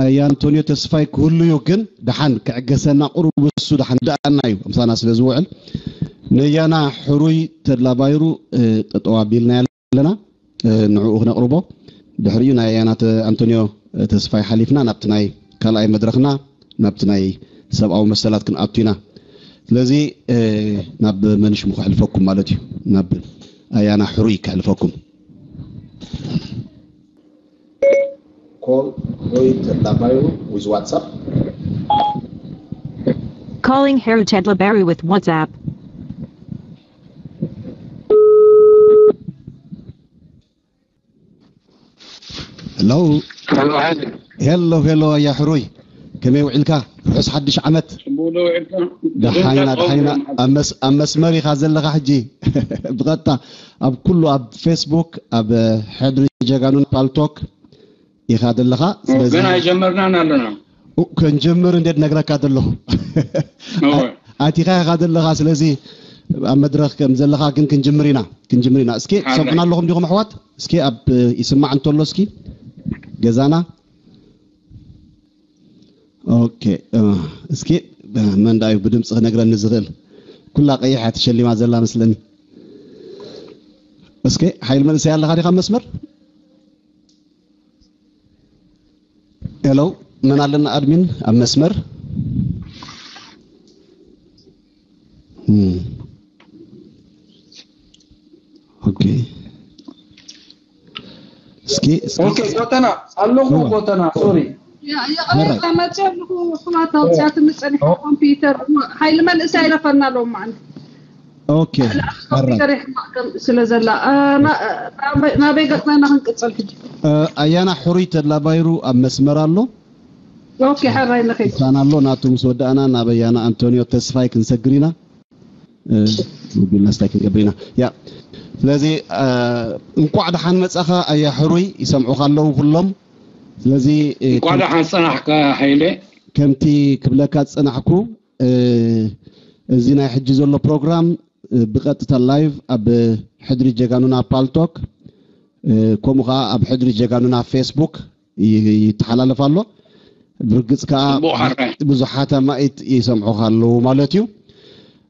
ኣያ ኣንቶንዮ ተስፋይ ክህሉ እዩ፣ ግን ደሓን ክዕገሰና ቁሩብ እሱ ደሓን ደኣና እዩ ምሳና ስለ ዝውዕል፣ ነያና ሕሩይ ተድላ ባይሩ ጠጠው ኣቢልና ኣለና። ንዕኡ ክነቕርቦ፣ ድሕሪኡ ናይ ኣያና ኣንቶንዮ ተስፋይ ሓሊፍና ናብቲ ናይ ካልኣይ መድረኽና፣ ናብቲ ናይ ሰብኣዊ መሰላት ክንኣቱ ኢና። ስለዚ ናብ መን ሽሙ ከሕልፈኩም ማለት እዩ? ናብ ኣያና ሕሩይ ከሕልፈኩም። Call Roy Tedlabairo with WhatsApp. Calling Haru Tedlabairo with WhatsApp. Hello. Hello, hello. Hello, hello, ኣያ ሕሩይ። ከመይ ውዒልካ? ርሑስ ሓድሽ ዓመት። ደሓይና፣ ደሓይና። ኣብ መስመር ኢኻ ዘለኻ ሕጂ። ብቐጥታ ኣብ ኩሉ፣ ኣብ ፌስቡክ፣ ኣብ ሕድሪ ጀጋኑን ፓልቶክ ኢኻ ዘለኻ። ስለዚ ግን ኣይጀመርናን ኣለና። ኡ፣ ክንጅምር እንዴት ነግረካ ዘለኹ። ኣቲኻ ኢኻ ዘለኻ። ስለዚ ኣብ መድረኽ ከም ዘለኻ ግን ክንጅምር ኢና፣ ክንጅምር ኢና። እስኪ ትሰምዑና ኣለኹም ዲኹም ኣሕዋት? እስኪ ኣብ ይስማዕ እንተሎ እስኪ ገዛና። ኦኬ፣ እስኪ መን ዳዩ ብድምፂ ክነግረኒ ዝኽእል? ኩላ ቀይሕ እያ ተሸሊማ ዘላ መስለኒ። እስኪ ሓይል መንእሰይ ኣለኻ ዲኻ መስመር? ሄሎ፣ መን ኣለና ኣድሚን ኣብ መስመር? እም። ኦኬ። እስኪ፣ እስኪ። ኦኬ፣ ጎተና፣ ኣለኹ እዋ። ጎተና፣ ሶሪ። ያ፣ ያ፣ መራይ። መፅእ ኣለኹ፣ ኣሕዋት ኣውፅኣትኒ ፀኒሐ ኦ። ኮምፒውተር፣ ሓይሊ መንእሰይ ኣይረፈና ኣለዎም ማለት። ኦኬ፣ ሓራይ። ኮምፒውተር ይሕማቕ ከም ስለ ዘላ፣ እ፣ ና-፣ እ፣ ናበይ፣ ናበይ ገጽና ኢና ክንቅጽል ሕጂ? እ፣ ኣያና ሕሩይ ተድላ ባይሩ ኣብ መስመር ኣሎ። ኦኬ፣ ሕራይ ንኺድ። ምሳና ኣሎ፣ ናቱ ምስ ወዳእና ናብ ኣያና ኣንቶንዮ ተስፋይ ክንሰግር ኢና። እ፣ ሞቢልና ስታይ ክንገብር ኢና። ያ፣ ስለዚ፣ እ፣ እንቋዕ ደሓን መጻኻ ኣያ ሕሩይ፣ ይሰምዑኻ ኣለዉ ኩሎም። ስለዚ፣ እ፣ እንቋዕ ከም-፣ ደሓን ጸናሕካ ሃይለ። ከምቲ ክብለካ ዝጸናሕኩ፣ እ፣ እዚ ናይ ሕጂ ዘሎ ፕሮግራም፣ እ፣ ብቐጥታ ላይቭ ኣብ ሕድሪ ጀጋኑና ፓልቶክ፣ እ፣ ከምኡ ኸዓ ኣብ ሕድሪ ጀጋኑና ፌስቡክ ይ-፣ ይተሓላለፍ ኣሎ። ብርግጽ ከኣ ጽቡቕ ሓራይ። ብዙሓት ኣማኢት ይሰምዑኻ ኣለዉ ማለት እዩ።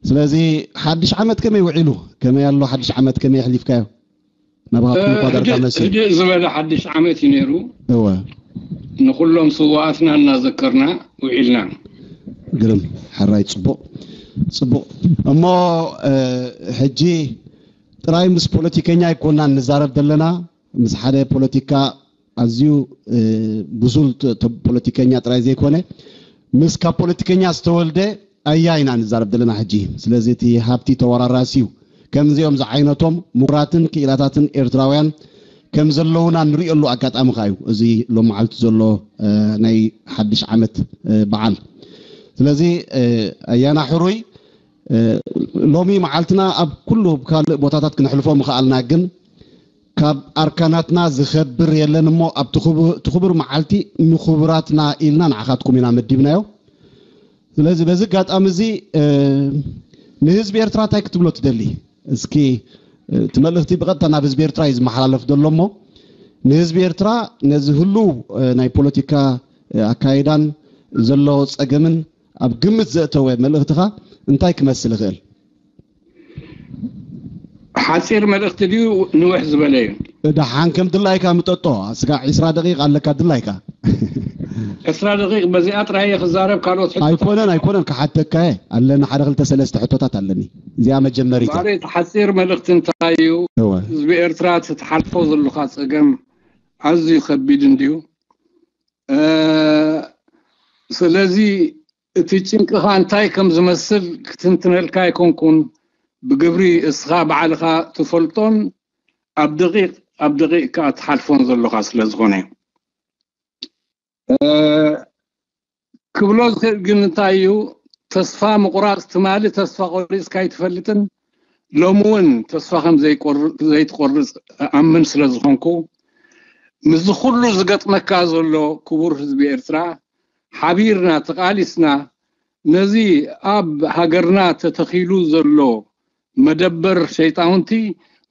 ስለዚ ሓድሽ ዓመት ከመይ ውዒሉ? ከመይ ኣሎ ሓድሽ ዓመት? ከመይ ኣሕሊፍካዮ? ናባኻትኩም እኳ ዳርጋ ሕድእ፣ መሲሉ። ሕድእ ዝበለ ሓድሽ ዓመት እዩ ነይሩ። እወ። ንኹሎም ስውኣትና እናዘከርና ውዒልና። ግርም፣ ሕራይ፣ ጽቡቕ፣ ጽቡቕ። እሞ፣ እ፣ ሕጂ ጥራይ ምስ ፖለቲከኛ ኣይኮናን ንዛረብ ዘለና፣ ምስ ሓደ ፖለቲካ ኣዝዩ፣ እ፣ ብሱል ተ-፣ ተ-፣ ፖለቲከኛ ጥራይ ዘይኮነ፣ ምስ ካብ ፖለቲከኛ ዝተወልደ ኣያ ኢና ንዛረብ ዘለና ሕጂ። ስለዚ እቲ ሃብቲ ተወራራሲ እዩ። ከምዚኦም ዝዓይነቶም ምሁራትን ክኢላታትን ኤርትራውያን ከም ዘለዉና ንሪእየሉ ኣጋጣሚ ከኣ እዩ እዚ ሎም መዓልቲ ዘሎ፣ እ፣ ናይ ሓድሽ ዓመት፣ እ፣ በዓል። ስለዚ፣ እ፣ ኣያና ሕሩይ፣ እ፣ ሎሚ መዓልትና ኣብ ኩሉ ካልእ ቦታታት ክነሕልፎ ምኸኣልና፣ ግን ካብ ኣርካናትና ዝኸብር የለን እሞ ኣብቲ ክቡ-፣ እቲ ክቡር መዓልቲ ንክቡራትና ኢልና ንዓኻትኩም ኢና መዲብናዮ። ስለዚ በዚ ኣጋጣሚ እዚ፣ እ፣ ንህዝቢ ኤርትራ እንታይ ክትብሎ ትደሊ? እስኪ፣ እ፣ እቲ መልእኽቲ ብቐጥታ ናብ ህዝቢ ኤርትራ እዩ ዝመሓላለፍ ዘሎ እሞ፣ ንህዝቢ ኤርትራ ነዚ ህሉው፣ እ፣ ናይ ፖለቲካ፣ እ፣ ኣካይዳን ዘሎ ጸገምን ኣብ ግምት ዘእተወ መልእኽትኻ እንታይ ክመስል ይኽእል? ሓጺር መልእኽቲ ድዩ ንውሕ ዝበለ እዩ? ደሓን ከም ድላይካ ምጠጦ። ስጋዕ ዒስራ ደቂቕ ኣለካ ድላይካ። ዒስራ ደቂቕ በዚኣ ጥራይ እየ ክዛረብ፣ ካልኦት ሕቶታት ኣይኮነን፣ ኣይኮነን፣ ክሓተካ እየ። ኣለኒ ሓደ ክልተ ሰለስተ ሕቶታት ኣለኒ። እዚኣ መጀመሪት እያ። ባሪ፣ እቲ ሓጺር መልእኽቲ እንታይ እዩ? እወ። ህዝቢ ኤርትራ እቲ ትሓልፎ ዘለኻ ጸገም ኣዝዩ ከቢድ እንድዩ። እ፣ ስለዚ እቲ ጭንቅኻ እንታይ ከም ዝመስል ክትንትነልካ ኣይኮንኩን፣ ብግብሪ እስኻ ባዕልኻ ትፈልጦን ኣብ ደቂቕ ኣብ ደቂቕ ከኣ ትሓልፎን ዘሎኻ ስለ ዝኾነ። እ፣ ክብሎ ዝኽእል ግን እንታይ እዩ፣ ተስፋ ምቑራጽ፣ ትማሊ ተስፋ ቆሪጽካ ኣይትፈልጥን፣ ሎሚ እውን ተስፋ ከም ዘይቆር-፣ ዘይትቆርጽ እኣምን ስለ ዝኾንኩ፣ ምስዚ ኩሉ ዝገጥመካ ዘሎ ክቡር ህዝቢ ኤርትራ፣ ሓቢርና ተቓሊስና ነዚ ኣብ ሃገርና ተተኺሉ ዘሎ መደበር ሸይጣውንቲ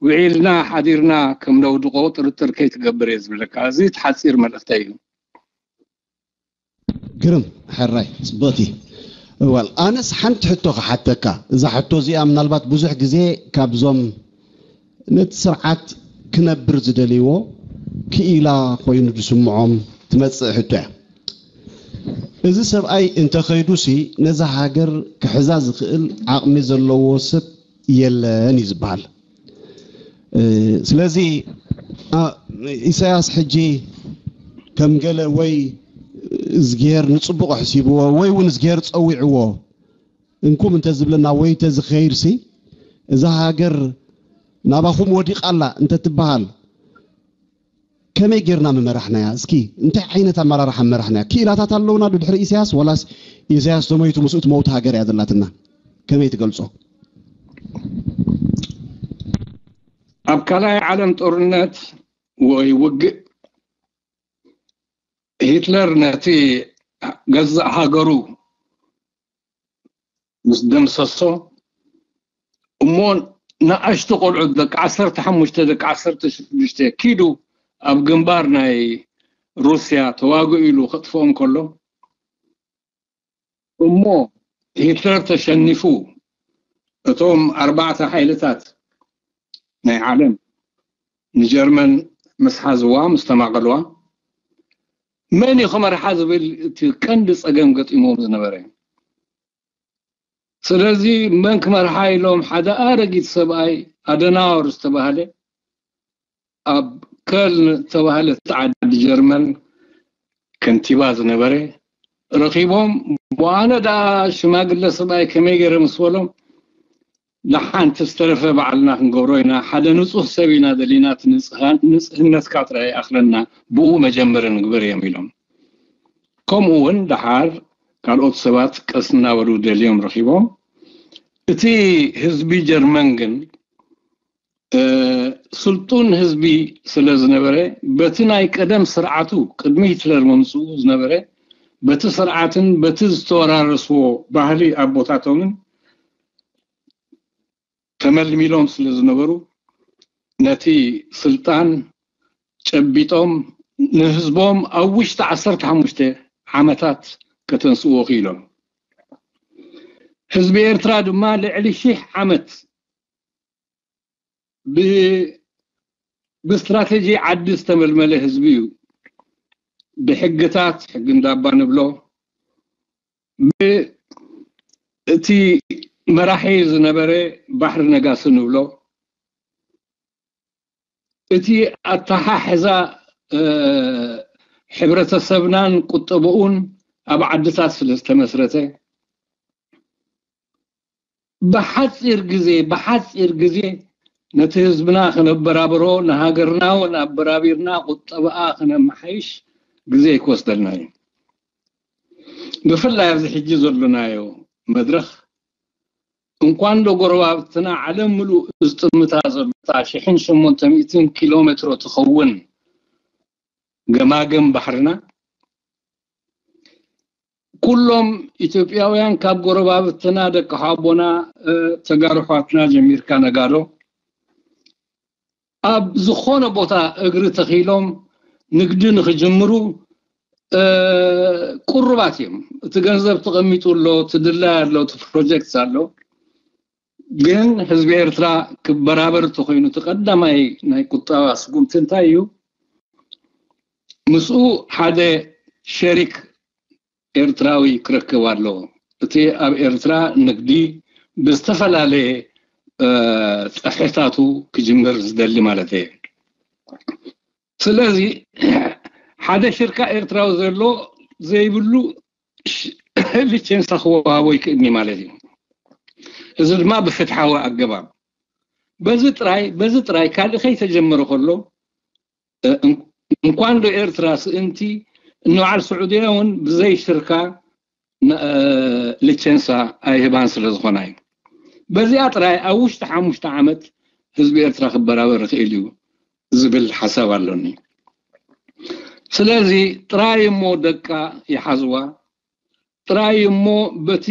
ውዒልና ሓዲርና ከም ነውድቖ ጥርጥር ከይትገብር እየ ዝብለካ። እዚ እቲ ሓጺር መልእኽተይ እዩ። ግርም፣ ሕራይ፣ ጽብቕቲ። እዋል፣ ኣነስ ሓንቲ ሕቶ ክሓተካ። እዛ ሕቶ እዚኣ ምናልባት ብዙሕ ግዜ ካብዞም ነቲ ስርዓት ክነብር ዝደልይዎ ክኢላ ኮይኑ ዝስምዖም ትመጽእ ሕቶ እያ። እዚ ሰብኣይ እንተኸይዱሲ ነዛ ሃገር ክሕዛ ዝኽእል ዓቕሚ ዘለዎ ሰብ የለን እዩ ዝበሃል። እ፣ ስለዚ፣ ኣ፣ ኢሳያስ ሕጂ ከም ገለ ወይ እዝግሄር ንጽቡቕ ኣሕሲብዎ ወይ እውን እዝግሄር ጸዊዕዎ እንኩም እንተዝብለና ወይ እንተዝኸይድሲ እዛ ሃገር ናባኹም ወዲቓ ኣላ እንተትበሃል ከመይ ጌርና ምመራሕናያ? እስኪ እንታይ ዓይነት ኣመራርሓ ምመራሕናያ? ክኢላታት ኣለውና ዶ ድሕሪ ኢሳያስ? ወላስ ኢሳያስ ተሞይቱ ምስኡ ትመውት ሃገር እያ ዘላትና? ከመይ ትገልጾ? ኣብ ካልኣይ ዓለም ጦርነት ወይ ውግእ ሂትለር ነቲ ገዛእ ሃገሩ ምስ ደምሰሶ እሞ ንኣሽቱ ቆልዑት ደቂ ዓሰርተ ሓሙሽተ ደቂ ዓሰርተ ሽዱሽተ ኪዱ ኣብ ግንባር ናይ ሩስያ ተዋግኡ ኢሉ ከጥፍኦም ከሎ እሞ ሂትለር ተሸኒፉ እቶም ኣርባዕተ ሓይልታት ናይ ዓለም ንጀርመን ምስ ሓዝዋ ምስ ተማቐልዋ መን እዩ ክመርሓ ዝብል እቲ ቀንዲ ፀገም ገጢሞም ዝነበረ። ስለዚ መን ክመርሓ ኢሎም ሓደ ኣረጊት ሰብኣይ ኣደናወር ዝተባህለ ኣብ ከልን ዝተባህለት ዓዲ ጀርመን ከንቲባ ዝነበረ ረኺቦም ኣነ ደኣ ሽማግለ ሰብኣይ ከመይ ገይረ ምስ በሎም ንሓንቲ ዝተረፈ ባዕልና ክንገብሮ ኢና ሓደ ንፁህ ሰብ ኢና ደሊና እቲ ንፅህነትካ ጥራይ ይኣኽለና ብኡ መጀመሪ ንግበር እዮም ኢሎም ከምኡ እውን ደሓር ካልኦት ሰባት ቀስ እናበሉ ደልዮም ረኺቦም እቲ ህዝቢ ጀርመን ግን ስልጡን ህዝቢ ስለ ዝነበረ በቲ ናይ ቀደም ስርዓቱ ቅድሚ ሂትለር ምምፅኡ ዝነበረ በቲ ስርዓትን በቲ ዝተወራረስዎ ባህሊ ኣቦታቶምን ተመልሚሎም ስለ ዝነበሩ ነቲ ስልጣን ጨቢጦም ንህዝቦም ኣብ ውሽጢ ዓሰርተ ሓሙሽተ ዓመታት ከተንስእዎ ክኢሎም። ህዝቢ ኤርትራ ድማ ልዕሊ ሺሕ ዓመት ብስትራተጂ ዓዲ ዝተመልመለ ህዝቢ እዩ። ብሕግታት ሕጊ እንዳባ ንብሎ እቲ መራሒ ዝነበረ ባሕሪ ነጋሲ ንብሎ እቲ ኣተሓሕዛ ሕብረተሰብናን ቁጠብኡን ኣብ ዓድታት ስለ ዝተመስረተ ብሓፂር ግዜ ብሓፂር ግዜ ነቲ ህዝብና ክነበራብሮ ንሃገርና እውን ኣበራቢርና ቁጠብኣ ክነመሓይሽ ግዜ ክወስደልና እዩ። ብፍላይ ኣብዚ ሕጂ ዘሎናዮ መድረኽ እንኳን ዶ ጎረባብትና ዓለም ምሉእ ዝጥምታ ዘሎታ ሽሕን ሸሞንተ ሚእትን ኪሎ ሜትሮ ትኸውን ገማግም ባሕርና ኩሎም ኢትዮጵያውያን ካብ ጎረባብትና ደቂ ሓቦና ተጋሩ ኣሕዋትና ጀሚርካ ነጋዶ ኣብ ዝኾነ ቦታ እግሪ ተኺሎም ንግዲ ንኽጅምሩ ቅሩባት እዮም። እቲ ገንዘብ ተቐሚጡ ኣሎ፣ እቲ ድላይ ኣሎ፣ እቲ ፕሮጀክት ኣሎ። ግን ህዝቢ ኤርትራ ክበራበር ተኮይኑ እቲ ቀዳማይ ናይ ቁጠባ ስጉምቲ እንታይ እዩ? ምስኡ ሓደ ሸሪክ ኤርትራዊ ክረክብ ኣለዎ። እቲ ኣብ ኤርትራ ንግዲ ብዝተፈላለየ ጸፍሕታቱ ክጅምር ዝደሊ ማለት እየ። ስለዚ ሓደ ሽርካ ኤርትራዊ ዘሎ ዘይብሉ ሊቸንሳ ክወሃቦ ይክእልኒ ማለት እዩ። እዚ ድማ ብፍትሓዊ ኣገባብ በዚ ጥራይ በዚ ጥራይ ካልእ ከይተጀመረ ከሎ እንኳን ዶ ኤርትራ ስእንቲ ንበዓል ስዑድያ እውን ብዘይ ሽርካ ሊቸንሳ ኣይህባን ስለ ዝኾና እዩ። በዚኣ ጥራይ ኣብ ውሽጢ ሓሙሽተ ዓመት ህዝቢ ኤርትራ ክበራበር ይኽእል እዩ ዝብል ሓሳብ ኣሎኒ። ስለዚ ጥራይ እሞ ደቃ ይሓዝዋ፣ ጥራይ እሞ በቲ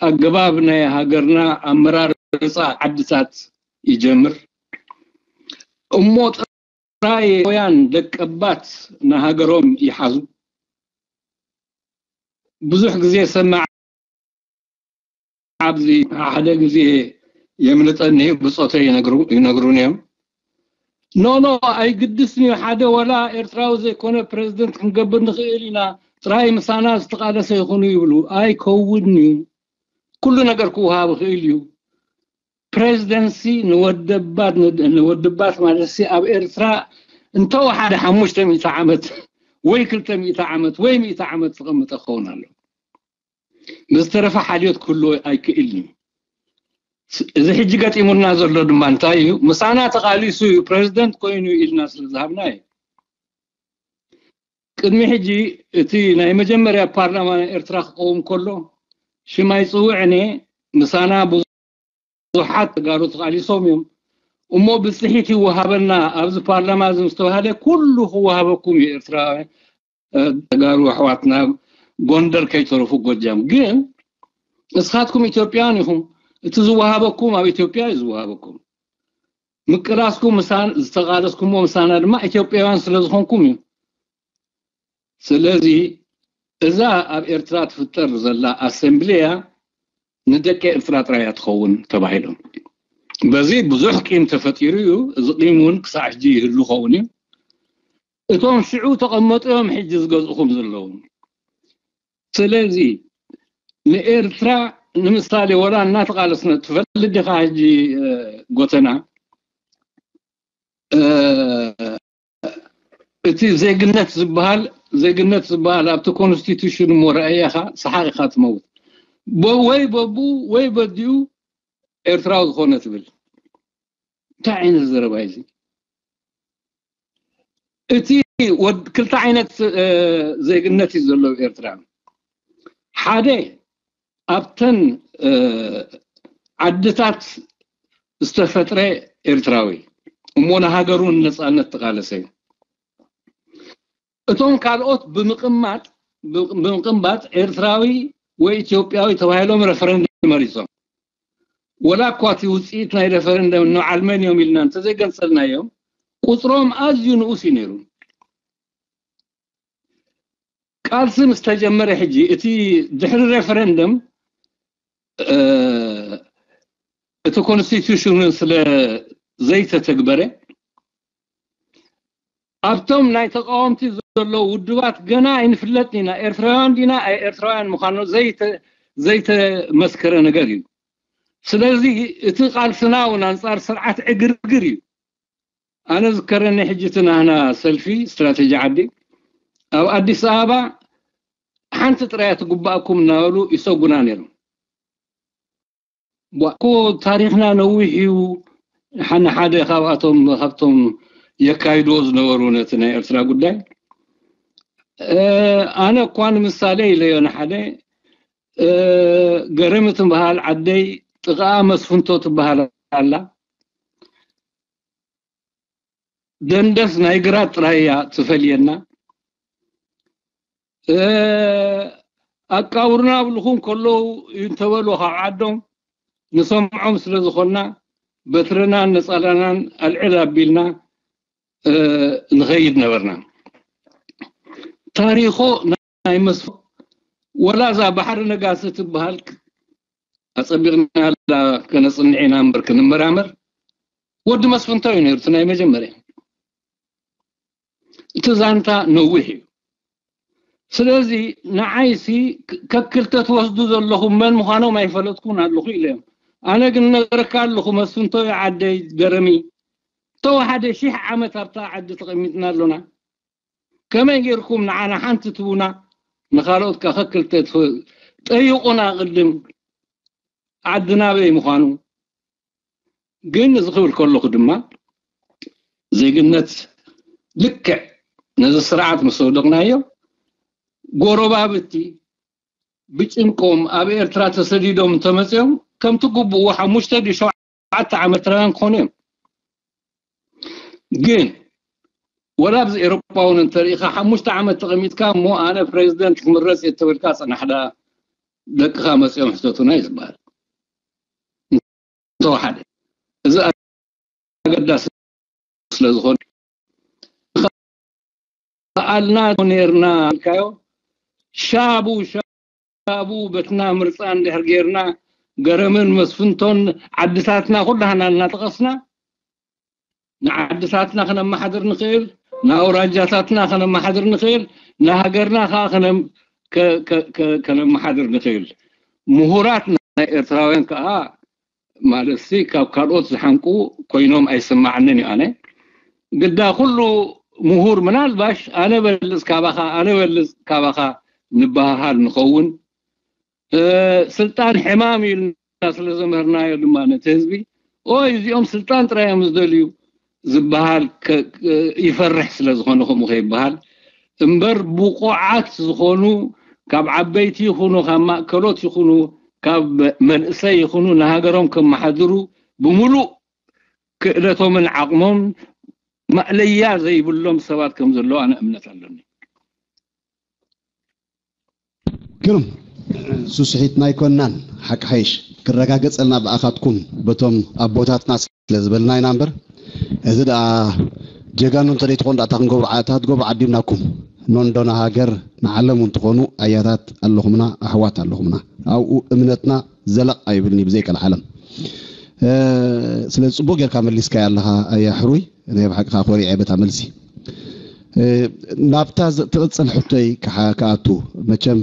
ኣገባብ ናይ ሃገርና ኣመራርፃ ዓድታት ይጀምር እሞ ጥራይ ያን ደቀባት ንሃገሮም ይሓዙ። ብዙሕ ግዜ ሰማዕ ኣብዚ ሓደ ግዜ የምልጠኒ ብጾተይ ይነግሩን እዮም። ኖ ኖ፣ ኣይግድስን እዩ፣ ሓደ ወላ ኤርትራዊ ዘይኮነ ፕሬዚደንት ክንገብር ንኽእል ኢና፣ ጥራይ ምሳና ዝተቓለሰ ይኹኑ ይብሉ። ኣይከውን እዩ። ኩሉ ነገር ክወሃብ ይኽእል እዩ። ፕሬዚደንሲ ንወደባት ንወደባት ማለት ሲ ኣብ ኤርትራ እንተወሓደ ሓሙሽተ ሚእቲ ዓመት ወይ ክልተ ሚእቲ ዓመት ወይ ሚእቲ ዓመት ዝቐምጠ ክኸውን ኣሎ። ብዝተረፈ ሓልዮት ክህልዎ ኣይክእልን እዩ። እዚ ሕጂ ገጢሙና ዘሎ ድማ እንታይ እዩ? ምሳና ተቓሊሱ እዩ ፕሬዚደንት ኮይኑ ኢልና ስለ ዝሃብና እዩ። ቅድሚ ሕጂ እቲ ናይ መጀመርያ ፓርላማ ናይ ኤርትራ ክቐውም ከሎ ሽም ኣይፅውዕን እየ፣ ምሳና ብዙሓት ተጋሩ ተቓሊሶም እዮም እሞ ብፅሒት ይወሃበና ኣብዚ ፓርላማ እዚ ምስ ተባሃለ ኩሉ ክወሃበኩም እዩ ኤርትራውያን ተጋሩ ኣሕዋትና ጎንደር ከይተረፉ ጎጃም ግን እስኻትኩም ኢትዮጵያን ኢኹም እቲ ዝወሃበኩም ኣብ ኢትዮጵያ እዩ ዝወሃበኩም ምቅላስኩም ምሳን ዝተቃለስኩሞ ምሳና ድማ ኢትዮጵያውያን ስለ ዝኾንኩም እዩ ስለዚ እዛ ኣብ ኤርትራ ትፍጠር ዘላ ኣሰምብሊያ ንደቂ ኤርትራ ጥራይ እያ ትኸውን ተባሂሎም በዚ ብዙሕ ቂም ተፈጢሩ እዩ እዚ ቂም እውን ክሳዕ ሕጂ ይህሉ ኸውን እዩ እቶም ሽዑ ተቐመጡ እዮም ሕጂ ዝገዝእኹም ዘለዉ ስለዚ ንኤርትራ ንምሳሌ ወላ እናተቃለስና ትፈልጥ ዲኻ ሕጂ ጎተና እቲ ዜግነት ዝበሃል ዜግነት ዝበሃል ኣብቲ ኮንስቲቱሽን እሞ ረኣያኻ ሰሓቕ ኢኻ ትመውት ወይ በቡ ወይ በዲኡ ኤርትራዊ ዝኾነ ትብል እንታይ ዓይነት ዘረባ እዚ እቲ ክልተ ዓይነት ዜግነት እዩ ዘለዎ ኤርትራ ሓደ ኣብተን ዓድታት ዝተፈጥረ ኤርትራዊ እሞ ንሃገሩ ንነፃነት ተቃለሰ እዩ እቶም ካልኦት ብምቕማጥ ብምቕንባጥ ኤርትራዊ ወይ ኢትዮጵያዊ ተባሂሎም ረፈረንደም መሪፆም ወላ እኳ እቲ ውፅኢት ናይ ረፈረንደም ንበዓል መን እዮም ኢልና እንተዘይገልፀልናዮም ቁፅሮም ኣዝዩ ንኡስ እዩ ነይሩ ቃልሲ ምስ ተጀመረ ሕጂ እቲ ድሕሪ ሬፈረንደም እቲ ኮንስቲቱሽን ስለ ዘይተተግበረ ኣብቶም ናይ ተቃወምቲ ዘለዉ ውድባት ገና ኣይንፍለጥን ኢና ኤርትራውያን ዲና ኣይ ኤርትራውያን ምዃኑ ዘይተመስከረ ነገር እዩ ስለዚ እቲ ቃልስና እውን ኣንፃር ስርዓት ዕግርግር እዩ ኣነ ዝከረኒ ሕጂ እቲ ናህና ሰልፊ ስትራተጂ ዓዲ ኣብ ኣዲስ ኣበባ ሓንቲ ጥራያ ትግባእኩም እናበሉ ይሰጉና ነይሮም። እኮ ታሪኽና ነዊሕ እዩ። ሓነ ሓደ ካብኣቶም ካብቶም የካይድዎ ዝነበሩ ነቲ ናይ ኤርትራ ጉዳይ ኣነ እኳ ንምሳሌ ኢለዮ ንሓደ ገረሚ ትበሃል ዓደይ ጥቓኣ መስፍንቶ ትበሃል ኣላ ደንደስ ናይ ግራት ጥራይ እያ ትፈልየና ኣቃብሩና ኣብልኹም ከለዉ እንተበሉ ካብ ዓዶም ንሰምዖም ስለ ዝኾንና በትርናን ነፃላናን ኣልዕል ኣቢልና ንኸይድ ነበርና ታሪኾ ናይ መስፍን ወላ እዛ ባሕሪ ነጋሲ ትበሃል ኣፀቢቕናላ ከነፅንዕ ኢና እምበር ክንመራመር ወዲ መስፍንቶ እዩ ነይሩ እቲ ናይ መጀመርያ እቲ ዛንታ ነዊሕ እዩ ስለዚ ንዓይሲ ከክልተ ትወስዱ ዘለኹም መን ምዃኖም ኣይፈለጥኩን ኣለኹ ኢለ እዮም ኣነ ግን ነገረካ ኣለኹ መስፍንቶ እዩ ዓደይ ገረሚ ተወሓደ ሺሕ ዓመት ኣብታ ዓዲ ተቐሚጥና ኣሎና ከመይ ጌርኩም ንዓና ሓንቲ ትቡና ንኻልኦት ከክልተ ጠይቑና ቅድም ዓዲ ናበይ ምዃኑ ግን እዚ ክብል ከለኹ ድማ ዜግነት ልክዕ ነዚ ስርዓት ምስ ወደቕናዮ ጎረባብቲ ብጭንቆም ኣብ ኤርትራ ተሰዲዶም እንተመፅኦም ከምቲ ግቡኡ ሓሙሽተ ድዩ ሸውዓተ ዓመት ኤርትራውያን ክኾኑ እዮም ግን ወላ ኣብዚ ኤሮጳ እውን እንተሪኢኻ ሓሙሽተ ዓመት ተቐሚጥካ እሞ ኣነ ፕሬዚደንት ክምረፅ እየ ተበልካ ፅናሕዳ ደቅኻ መፂኦም ሕተቱና እዩ ዝበሃል እንተወሓደ እዚ ኣገዳሲ ስለዝኾነ ከኣልና ነርና ኢልካዮ ሻቡ ብኣግባቡ በትና ምርፃ እንድሕር ጌርና፣ ገረምን መስፍንቶን ዓድታትና ኩላህና እናጠቐስና፣ ንዓድታትና ክነመሓድር ንኽእል፣ ንኣውራጃታትና ክነመሓድር ንኽእል፣ ንሃገርና ከዓ ከነም- ከ- ከ- ከ- ከነመሓድር ንኽእል። ምሁራት ናይ ኤርትራውያን ከዓ፣ ማለትሲ ካብ ካልኦት ዝሓንቁ ኮይኖም ኣይስማዓንን እዩ። ኣነ ግዳ ኩሉ ምሁር ምናልባሽ ኣነ በልጽ ካባኻ ኣነ በልጽ ካባኻ ንበሃሃል ንኸውን። ስልጣን ሕማም እዩ ኢልና ስለ ዘምህርናዮ ድማ ነቲ ህዝቢ፣ ኦይ እዚኦም ስልጣን ጥራይ እዮም ዝደልዩ ዝበሃል ይፈርሕ ስለ ዝኾነ ከምኡ ከይበሃል እምበር፣ ብቑዓት ዝኾኑ ካብ ዓበይቲ ይኹኑ ካብ ማእከሎት ይኹኑ ካብ መንእሰይ ይኹኑ ንሃገሮም ከመሓድሩ ብምሉእ ክእለቶምን ዓቕሞም ማእለያ ዘይብሎም ሰባት ከም ዘለዉ ኣነ እምነት ኣለኒ። ግሩም። ስስሒትና ኣይኮንናን፣ ሓቂ ሓይሽ ክረጋገጸልና ብኣኻትኩም በቶም ኣቦታትና ስለ ዝበልና ኢና እምበር፣ እዚ ደኣ ጀጋኑ እንተ ደይትኾኑ ደኣ እንታይ ክንገብሩ ዓ- እንታይ ክትገብሩ ዓዲምናኩም? ኖንዶ ንሃገር ንዓለም እውን ትኾኑ ኣያታት ኣለኹምና፣ ኣሕዋት ኣለኹምና። ኣብኡ እምነትና ዘለቕ ኣይብልኒ ብዘይቀልዓለም። ስለዚ ጽቡቕ ጌርካ መሊስካያ ኣለኻ ኣያ ሕሩይ። ናይ ብሓቂ ከዓ ኮሪዐ በታ መልሲ። ናብታ ትቕፅል ሕቶይ ክኣቱ፣ መቸም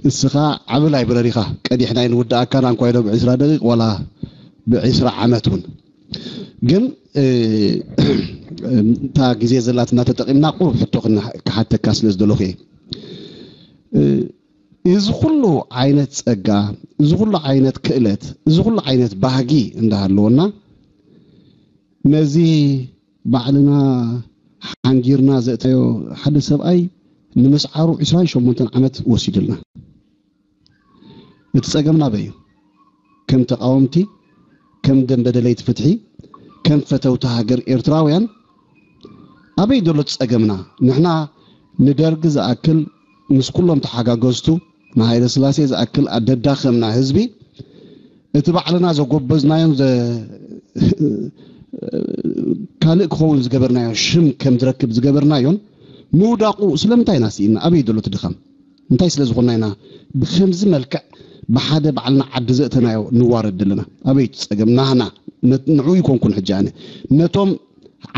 እስኻ ዓቢ ላይብረሪኻ ቀዲሕና ኣይንውድኣካን፣ ኣንኳይዶ ብዕስራ ደቂቕ ዋላ ብዕስራ ዓመት እውን። ግን እታ ግዜ ዘላትና ተጠቒምና ቁሩብ ሕቶ ክሓተካ ስለ ዝደለኹ እየ። እዚ ኩሉ ዓይነት ጸጋ፣ እዚ ኩሉ ዓይነት ክእለት፣ እዚ ኩሉ ዓይነት ባህጊ እንዳሃለወና፣ ነዚ ባዕልና ሓንጊርና ዘእተዮ ሓደ ሰብኣይ ንምስዓሩ ዕስራን ሸሞንተን ዓመት ወሲዱልና። እቲ ጸገምና ኣበይ እዩ? ከም ተቓወምቲ፣ ከም ደንበ ደለይቲ ፍትሒ፣ ከም ፈተውቲ ሃገር ኤርትራውያን ኣበይ ዘሎ እቲ ጸገምና? ንሕና ንደርጊ ዝኣክል ምስ ኩሎም ተሓጋገዝቱ ንሃይለ ስላሴ ዝኣክል ኣደዳኸምና ህዝቢ እቲ ባዕልና ዘጎበዝናዮን ካልእ ክኸውን ዝገበርናዮ ሽም ከም ዝረክብ ዝገበርናዮን ምውዳቑ ስለምንታይ ኢና ስኢና? ኣበይ ዘሎ እቲ ድኻም? እንታይ ስለ ዝኾንና ኢና ብኸምዚ መልክዕ ብሓደ ባዕልና ዓዲ ዘእተናዮ ንዋረድ ዘለና? ኣበይ እቲ ጸገም ናህና? ንዑ ይኮንኩን ሕጂ ኣነ ነቶም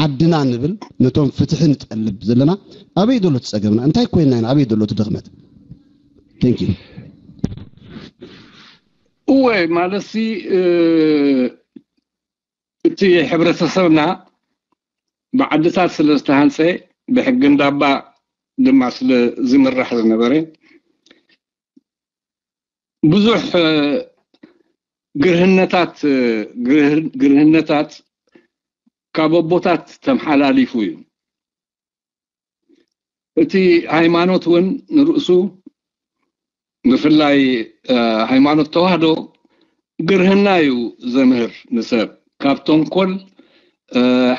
ዓድና ንብል ነቶም ፍትሒ ንጠልብ ዘለና ኣበይ ዘሎ እቲ ጸገምና? እንታይ ኮይንና ኢና? ኣበይ ዘሎ እቲ ድኽመት? Thank you። እወ ማለትሲ እቲ ሕብረተሰብና ብዓድታት ስለ ዝተሃንፀ ብሕጊ እንዳባ ድማ ስለ ዝምራሕ ዝነበረ ብዙሕ ግርህነታት ግርህነታት ካብ ኣቦታት ተመሓላሊፉ እዩ። እቲ ሃይማኖት እውን ንርእሱ ብፍላይ ሃይማኖት ተዋህዶ ግርህና እዩ ዘምህር ንሰብ ካብ ተንኮል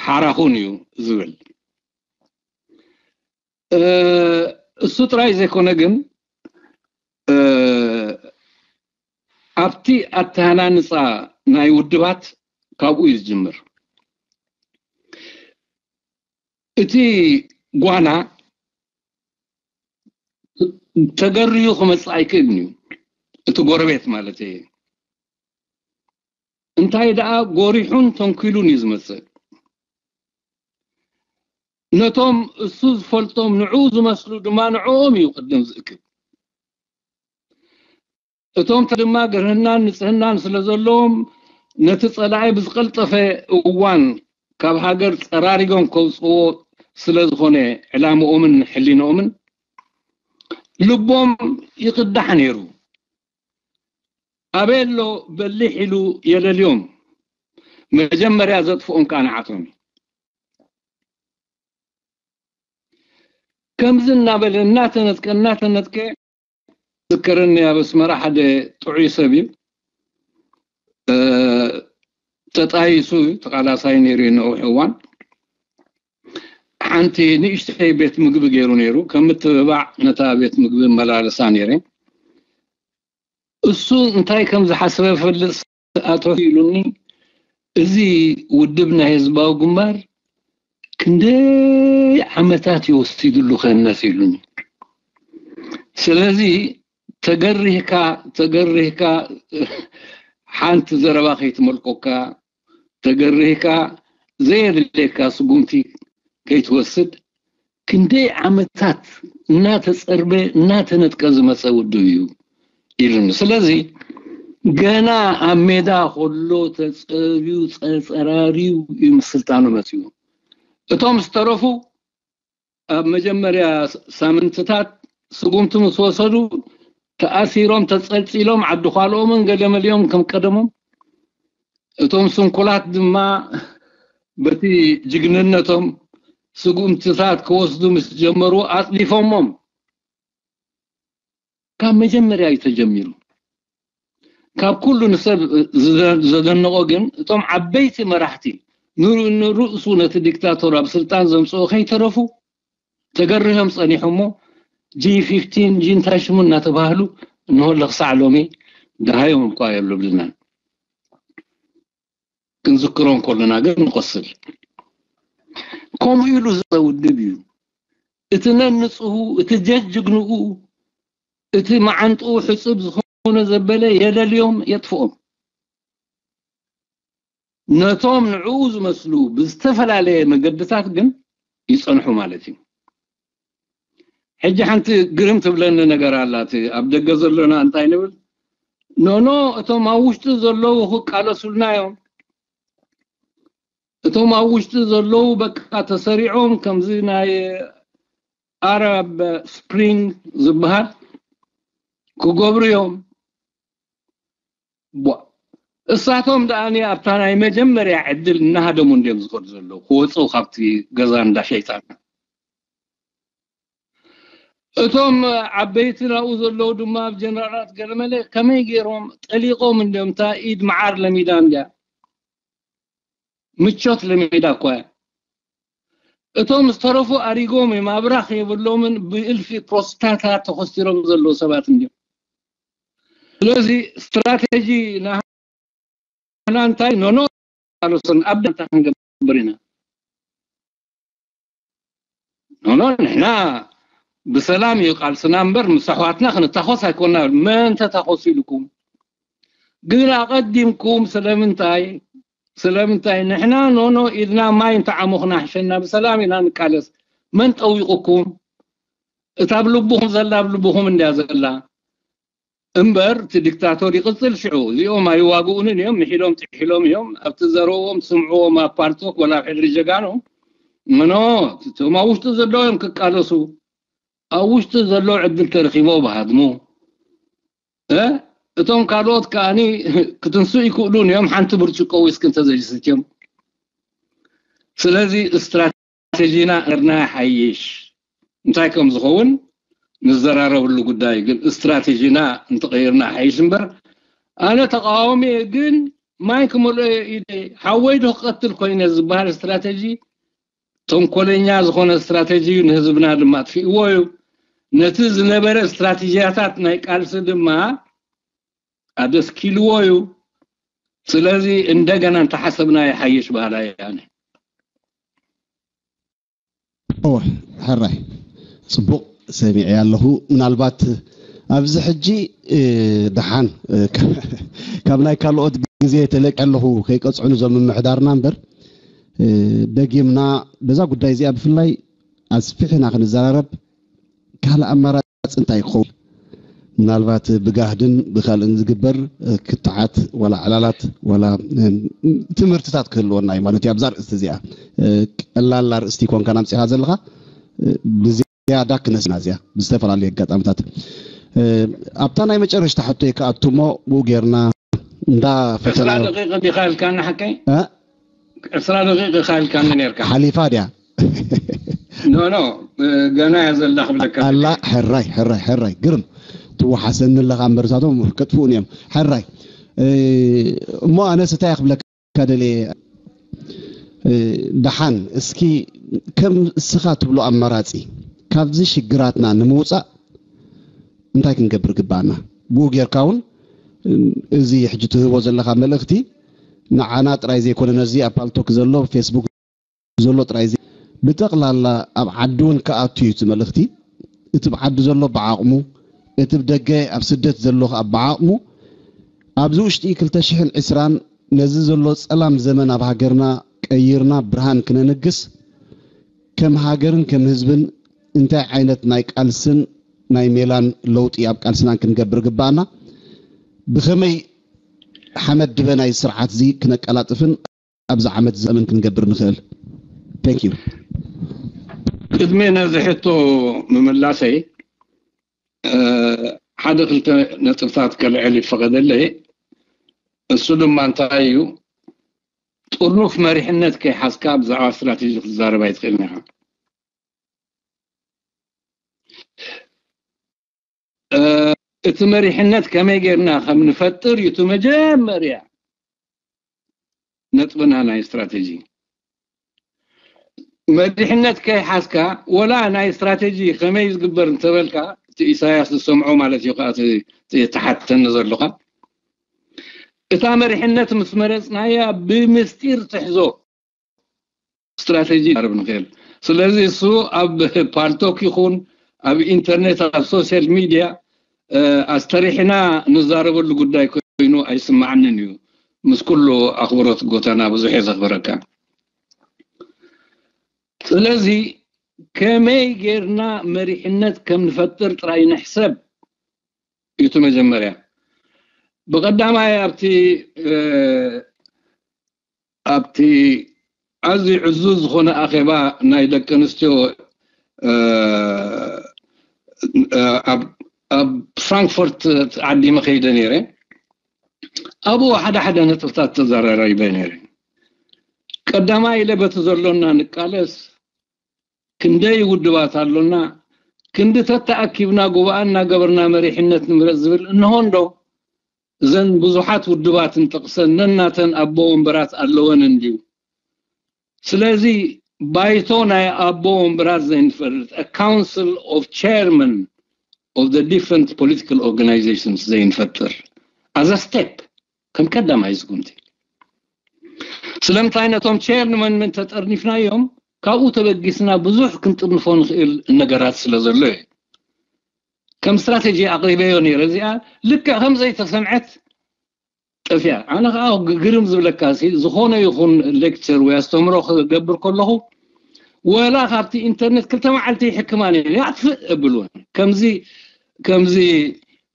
ሓራኹን እዩ ዝብል። እሱ ጥራይ ዘይኮነ ግን ኣብቲ ኣተሃናንፃ ናይ ውድባት ካብኡ እዩ ዝጅምር። እቲ ጓና ተገርዩ ክመፅእ ኣይክእልን እዩ። እቲ ጎረቤት ማለት እየ። እንታይ ደኣ ጎሪሑን ተንኪሉን እዩ ዝመፅእ። ነቶም እሱ ዝፈልጦም ንዑ ዝመስሉ ድማ ንዕኦም እዩ ቅድም ዝእክብ። እቶም ድማ ግርህናን ንፅህናን ስለ ዘለዎም ነቲ ፀላኢ ብዝቀልጠፈ እዋን ካብ ሃገር ፀራሪጎም ከውፅዎ ስለ ዝኾነ ዕላምኦምን ሕሊንኦምን ልቦም ይቅዳሕ ነይሩ። ኣበይ ኣሎ በሊሕ ኢሉ የለልዮም። መጀመርያ ዘጥፍኦም ከዓ ንዓቶም እዩ። ከምዚ እናበለ እናተነጥቀ እናተነጥቀ ዝከረኒ ኣብ ኣስመራ ሓደ ጥዑይ ሰብ እዩ። ተጣይሱ ተቃላሳይ ነይሩ እዩ ነዊሕ እዋን። ሓንቲ ንእሽተይ ቤት ምግቢ ገይሩ ነይሩ። ከም ምትብባዕ ነታ ቤት ምግቢ መላለሳ ነይረ። እሱ እንታይ ከም ዝሓሰበ ፈልጥ ኣቶ ኢሉኒ፣ እዚ ውድብ ናይ ህዝባዊ ግንባር ክንደይ ዓመታት ይወሲድሉ ከነት ኢሉኒ። ስለዚ ተገሪህካ ተገሪህካ ሓንቲ ዘረባ ከይትመልቆካ፣ ተገሪህካ ዘየድልየካ ስጉምቲ ከይትወስድ ክንደይ ዓመታት እናተጸርበ እናተነጥቀ ዝመጸ ውድብ እዩ ኢሉኒ። ስለዚ ገና ኣብ ሜዳ ከሎ ተጸርዩ ጸጸራርዩ እዩ ምስ ስልጣኑ መጺኡ። እቶም ዝተረፉ ኣብ መጀመርያ ሳምንትታት ስጉምቲ ምስ ወሰዱ ተኣሲሮም ተጸልጺሎም ዓዲ ኳልኦምን ገለመሊኦም ከም ቀደሞም፣ እቶም ስንኩላት ድማ በቲ ጅግንነቶም ስጉምትታት ክወስዱ ምስ ጀመሩ ኣጽዲፎሞም። ካብ መጀመርያ እዩ ተጀሚሩ። ካብ ኩሉ ንሰብ ዘደንቆ ግን እቶም ዓበይቲ መራሕቲ ንርእሱ ነቲ ዲክታቶር ኣብ ስልጣን ዘምፅኦ ከይተረፉ ተገርህም ፀኒሖሞ ጂ ፊፍቲን ጂ እንታይ ሽሙ እናተባህሉ እንሆ ለክሳዕ ሎሚ ደሃዮም እኳ የብልብልናን። ክንዝክሮም ከለና ግን ንቆስል። ከምኡ ኢሉ ዝውድብ እዩ። እቲ ነንፅሁ፣ እቲ ጀጅግንኡ፣ እቲ መዓንጥኡ ሕፁብ ዝኾነ ዘበለ የለልዮም፣ የጥፍኦም። ነቶም ንዕኡ ዝመስሉ ብዝተፈላለየ መገድታት ግን ይፀንሑ ማለት እዩ። ሕጂ ሓንቲ ግርም ትብለኒ ነገር ኣላት። ኣብ ደገ ዘለና እንታይ ንብል? ኖኖ፣ እቶም ኣብ ውሽጢ ዘለዉ ክቃለሱልና እዮም። እቶም ኣብ ውሽጢ ዘለዉ በቃ ተሰሪዖም ከምዚ ናይ ኣረብ ስፕሪንግ ዝበሃል ክገብሩ እዮም። እሳቶም ደኣኒ ኣብታ ናይ መጀመርያ ዕድል እናሃደሙ እንድዮም ዝኸዱ ዘለዉ ክወፅኡ ካብቲ ገዛ እንዳ ሸይጣን። እቶም ዓበይቲ ናብኡ ዘለዉ ድማ ኣብ ጀነራላት ገለመለ ከመይ ገይሮም ጠሊቖም እንድዮም። እታ ኢድ መዓር ለሚዳ እንድያ፣ ምቾት ለሚዳ እኳ እያ። እቶም ዝተረፉ ኣሪጎም እዮም፣ ኣብራኽ የብሎምን፣ ብእልፊ ፕሮስታታት ተኾስቲሮም ዘለዉ ሰባት እንድዮም። ስለዚ ስትራቴጂ ናህና እንታይ ኖኖ ኣሎሰን ኣብ ዳንታ ክንገብር ኢና። ኖኖ ንሕና ብሰላም እዩ ቃልስና እምበር ምስ ኣሕዋትና ክንታኾስ ኣይኮና። መን ተታኾሱ ኢልኩም ግን ኣቐዲምኩም ስለምንታይ ስለምንታይ ንሕና ኖኖ ኢልና ማይ እንተዓሞኽና ሕሸና ብሰላም ኢና ንቃለስ። መን ጠዊቑኩም? እታ ኣብ ልብኹም ዘላ ኣብ ልብኹም እንድያ ዘላ እምበር እቲ ዲክታቶር ይቕፅል። ሽዑ እዚኦም ኣይዋግኡንን እዮም፣ ምሒሎም ጥሒሎም እዮም። ኣብቲ ዘረዎም ትስምዕዎም ኣብ ፓልቶክ ወላ ኣብ ሕድሪ ጀጋኑ ምኖ እቶም ኣብ ውሽጢ ዘለዉ እዮም ክቃለሱ። ኣብ ውሽጢ ዘሎ ዕድል ተረኪቦ ብሃድሙ እ እቶም ካልኦት ከኣኒ ክትንሱ ይክእሉን እዮም ሓንቲ ብርጭቆ ዊስኪ እንተዘይሰትዮም። ስለዚ ስትራቴጂና እርና ሓይሽ እንታይ ከም ዝኸውን ንዘራረብሉ ጉዳይ ግን ስትራቴጂና እንተቐይርና ሓይሽ እምበር ኣነ ተቃዋሚ እየ ግን ማይ ክመልኦ እየ ኢለ ሓወይ ዶ ክቀትል ኮይነ ዝበሃል ስትራቴጂ ተንኮለኛ ዝኾነ ስትራቴጂ እዩ፣ ንህዝብና ድማ ኣጥፊእዎ እዩ። ነቲ ዝነበረ ስትራቴጂያታት ናይ ቃልሲ ድማ ኣደስኪልዎ እዩ። ስለዚ እንደገና እንተሓሰብና ይሓይሽ በሃላይ ኣነ። እወ፣ ሕራይ፣ ጽቡቕ ሰሚዐ ኣለኹ። ምናልባት ኣብዚ ሕጂ፣ እ፣ ደሓን፣ እ፣ ካብ ናይ ካልኦት ግዜ ተለቂዐ ኣለኹ፣ ከይቀጽዑኒ እዞም ምምሕዳርና እምበር፣ እ፣ ደጊምና በዛ ጉዳይ እዚኣ ብፍላይ ኣስፊሕና ክንዘራረብ ካልእ ኣማራጺ እንታይ ክኸውን? ምናልባት ብጋህድን ብካልእን ዝግበር፣ እ፣ ክትዓት ዋላ ዕላላት ዋላ፣ እ፣ ትምህርትታት ክህልወና እዩ ማለት እዩ። ኣብዛ ኣርእስቲ እዚኣ፣ እ፣ ቀላል ኣርእስቲ ኮንካ ናምጺኻ ዘለኻ፣ እ፣ ብዝያዳ ክነስና እዚኣ ብዝተፈላለዩ ኣጋጣሚታት። እ፣ ኣብታ ናይ መጨረሽታ ሕቶይ ክኣቱ እሞ ብኡ ጌርና እንዳ ዕስራ ፈተና ደቂቕ ዲኻ ኢልካኒ ሓቀይ? እ? ዕስራ ደቂቕ ኢኻ ኢልካኒ ነርካ። ሓሊፋ ድያ? ኖ፣ ኖ፣ እ፣ ገና እያ ዘላ ክብለካ ኣላ። ሕራይ፣ ሕራይ፣ ሕራይ፣ ግርም። ትወሓሰኒ ኣለኻ እምበር እሳቶም ከጥፍኡኒ እዮም። ሕራይ። እ፣ እሞ ኣነስ እንታይ እየ ክብለካ ደልየ፣ እ፣ ደሓን እስኪ ከም እስኻ ትብሎ ኣማራጺ ካብዚ ሽግራትና ንምውጻእ እንታይ ክንገብር ግባኣና? ብኡ ጌርካ እውን፣ እ፣ እዚ ሕጂ ትህቦ ዘለኻ መልእኽቲ ንዓና ጥራይ ዘይኮነ ነዚ ኣብ ፓልቶክ ዘሎ ፌስቡክ ዘሎ ጥራይ ዘይ-፣ ብጠቕላላ ኣብ ዓዲ እውን ክኣቱ እዩ እቲ መልእኽቲ። እቲ ብዓዲ ዘሎ ብዓቕሙ፣ እቲ ብደገ ኣብ ስደት ዘሎ ኣብ ብዓቕሙ ኣብዚ ውሽጢ ክልተ ሽሕን ዕስራን ነዚ ዘሎ ጸላም ዘመን ኣብ ሃገርና ቀይርና ብርሃን ክነንግስ ከም ሃገርን ከም ህዝብን እንታይ ዓይነት ናይ ቃልስን ናይ ሜላን ለውጢ ኣብ ቃልስናን ክንገብር ግባኣና? ብኸመይ ሓመድ ድበ ናይ ስርዓት እዚ ክነቀላጥፍን ኣብዚ ዓመት ዘመን ክንገብር ንኽእል? Thank you። ቅድሚ ነዚ ሕቶ ምምላሰይ ሓደ ክልተ ነጥብታት ከልዕል ይፈቐደለይ። እሱ ድማ እንታይ እዩ? ጥርኑፍ መሪሕነት ከይሓዝካ ብዛዕባ ስትራቴጂ ክትዛረብ ኣይትኽእልን ኢኻ። እቲ መሪሕነት ከመይ ጌርና ከም ንፈጥር እዩ እቲ መጀመርያ ነጥብና ናይ ስትራቴጂ። መሪሕነት ከይሓዝካ ወላ ናይ ስትራቴጂ ከመይ ዝግበር እንተበልካ እቲ ኢሳያስ ዝሰምዖ ማለት እዩ። ከዓ ትሓተኒ ዘለኻ እታ መሪሕነት ምስ መረፅናያ ብምስጢር ትሕዞ ስትራቴጂ ርብ ንኽእል። ስለዚ እሱ ኣብ ፓልቶክ ይኹን ኣብ ኢንተርኔት ኣብ ሶሻል ሚድያ ኣስተሪሕና ንዛረበሉ ጉዳይ ኮይኑ ኣይስማዓንን እዩ። ምስ ኩሉ ኣኽብሮት ጎተና ብዙሕ እየ ዘኽብረካ። ስለዚ ከመይ ጌርና መሪሕነት ከም ንፈጥር ጥራይ ንሕሰብ እዩ እቲ መጀመርያ። ብቐዳማይ ኣብቲ ኣብቲ ኣዝዩ ዕዙዝ ዝኾነ ኣኼባ ናይ ደቂ ኣንስትዮ ኣብ ፍራንክፎርት ዓዲመ ከይደ ነይረ። ኣብኡ ሓደ ሓደ ነጥብታት ተዘራሪበ ነይረ። ቀዳማይ ኢለ በቲ ዘሎና ንቃለስ፣ ክንደይ ውድባት ኣሎና፣ ክንዲ ተተኣኪብና ጉባኣ እናገበርና መሪሕነት ንምረፅ ዝብል እንሆ እንዶ እዘን ብዙሓት ውድባት እንጠቕሰን ነናተን ኣቦ ወንበራት ኣለወን እንድዩ። ስለዚ ባይቶ ናይ ኣቦ ወንበራት ዘይንፈርድ፣ a council of chairman of the different political organizations ዘይንፈጥር as a step ከም ቀዳማይ ስጉምቲ። ስለምንታይ ነቶም ቸርመን ተጠርኒፍናዮም ካብኡ ተበጊስና ብዙሕ ክንጥርንፎ ንኽእል ነገራት ስለ ዘሎ እዩ። ከም ስትራቴጂ ኣቕሪበዮ ነይረ። እዚኣ ልክዕ ከም ዘይተሰምዐት ጠፊኣ። ኣነ ከዓ ግርም ዝብለካ ሲ ዝኾነ ይኹን ሌክቸር ወይ ኣስተምሮ ክገብር ከለኹ ወላ ካብቲ ኢንተርኔት ክልተ መዓልቲ ይሕክማ ነይረ። ያጥፍእ እብልወን ከምዚ ከምዚ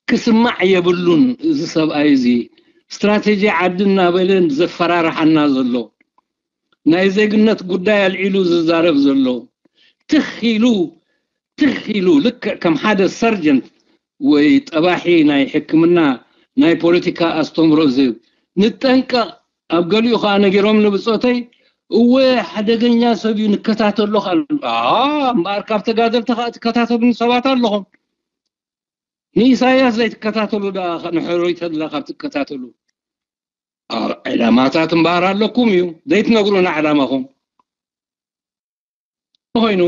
ክስማዕ የብሉን። እዚ ሰብኣይ እዚ ስትራቴጂ ዓዲ እናበለ ዘፈራርሓና ዘሎ፣ ናይ ዜግነት ጉዳይ ኣልዒሉ ዝዛረብ ዘሎ፣ ትኽ ኢሉ ትኽ ኢሉ ልክዕ ከም ሓደ ሰርጀንት ወይ ጠባሒ ናይ ሕክምና ናይ ፖለቲካ ኣስተምሮ ዝህብ። ንጠንቀቕ። ኣብ ገሊኡ ከዓ ነጊሮም ንብፆተይ እወ ሓደገኛ ሰብ እዩ ንከታተሎ። እምበኣር ካብ ተጋደልቲ ከዓ ትከታተሉኒ ሰባት ኣለኹም። ንኢሳያስ ዘይትከታተሉ ደኣ ንሕሩይ ተድላ ካብ ትከታተሉ ዕላማታት እምበኣር ኣለኩም እዩ ዘይትነግሩና ዕላማኹም። ኮይኑ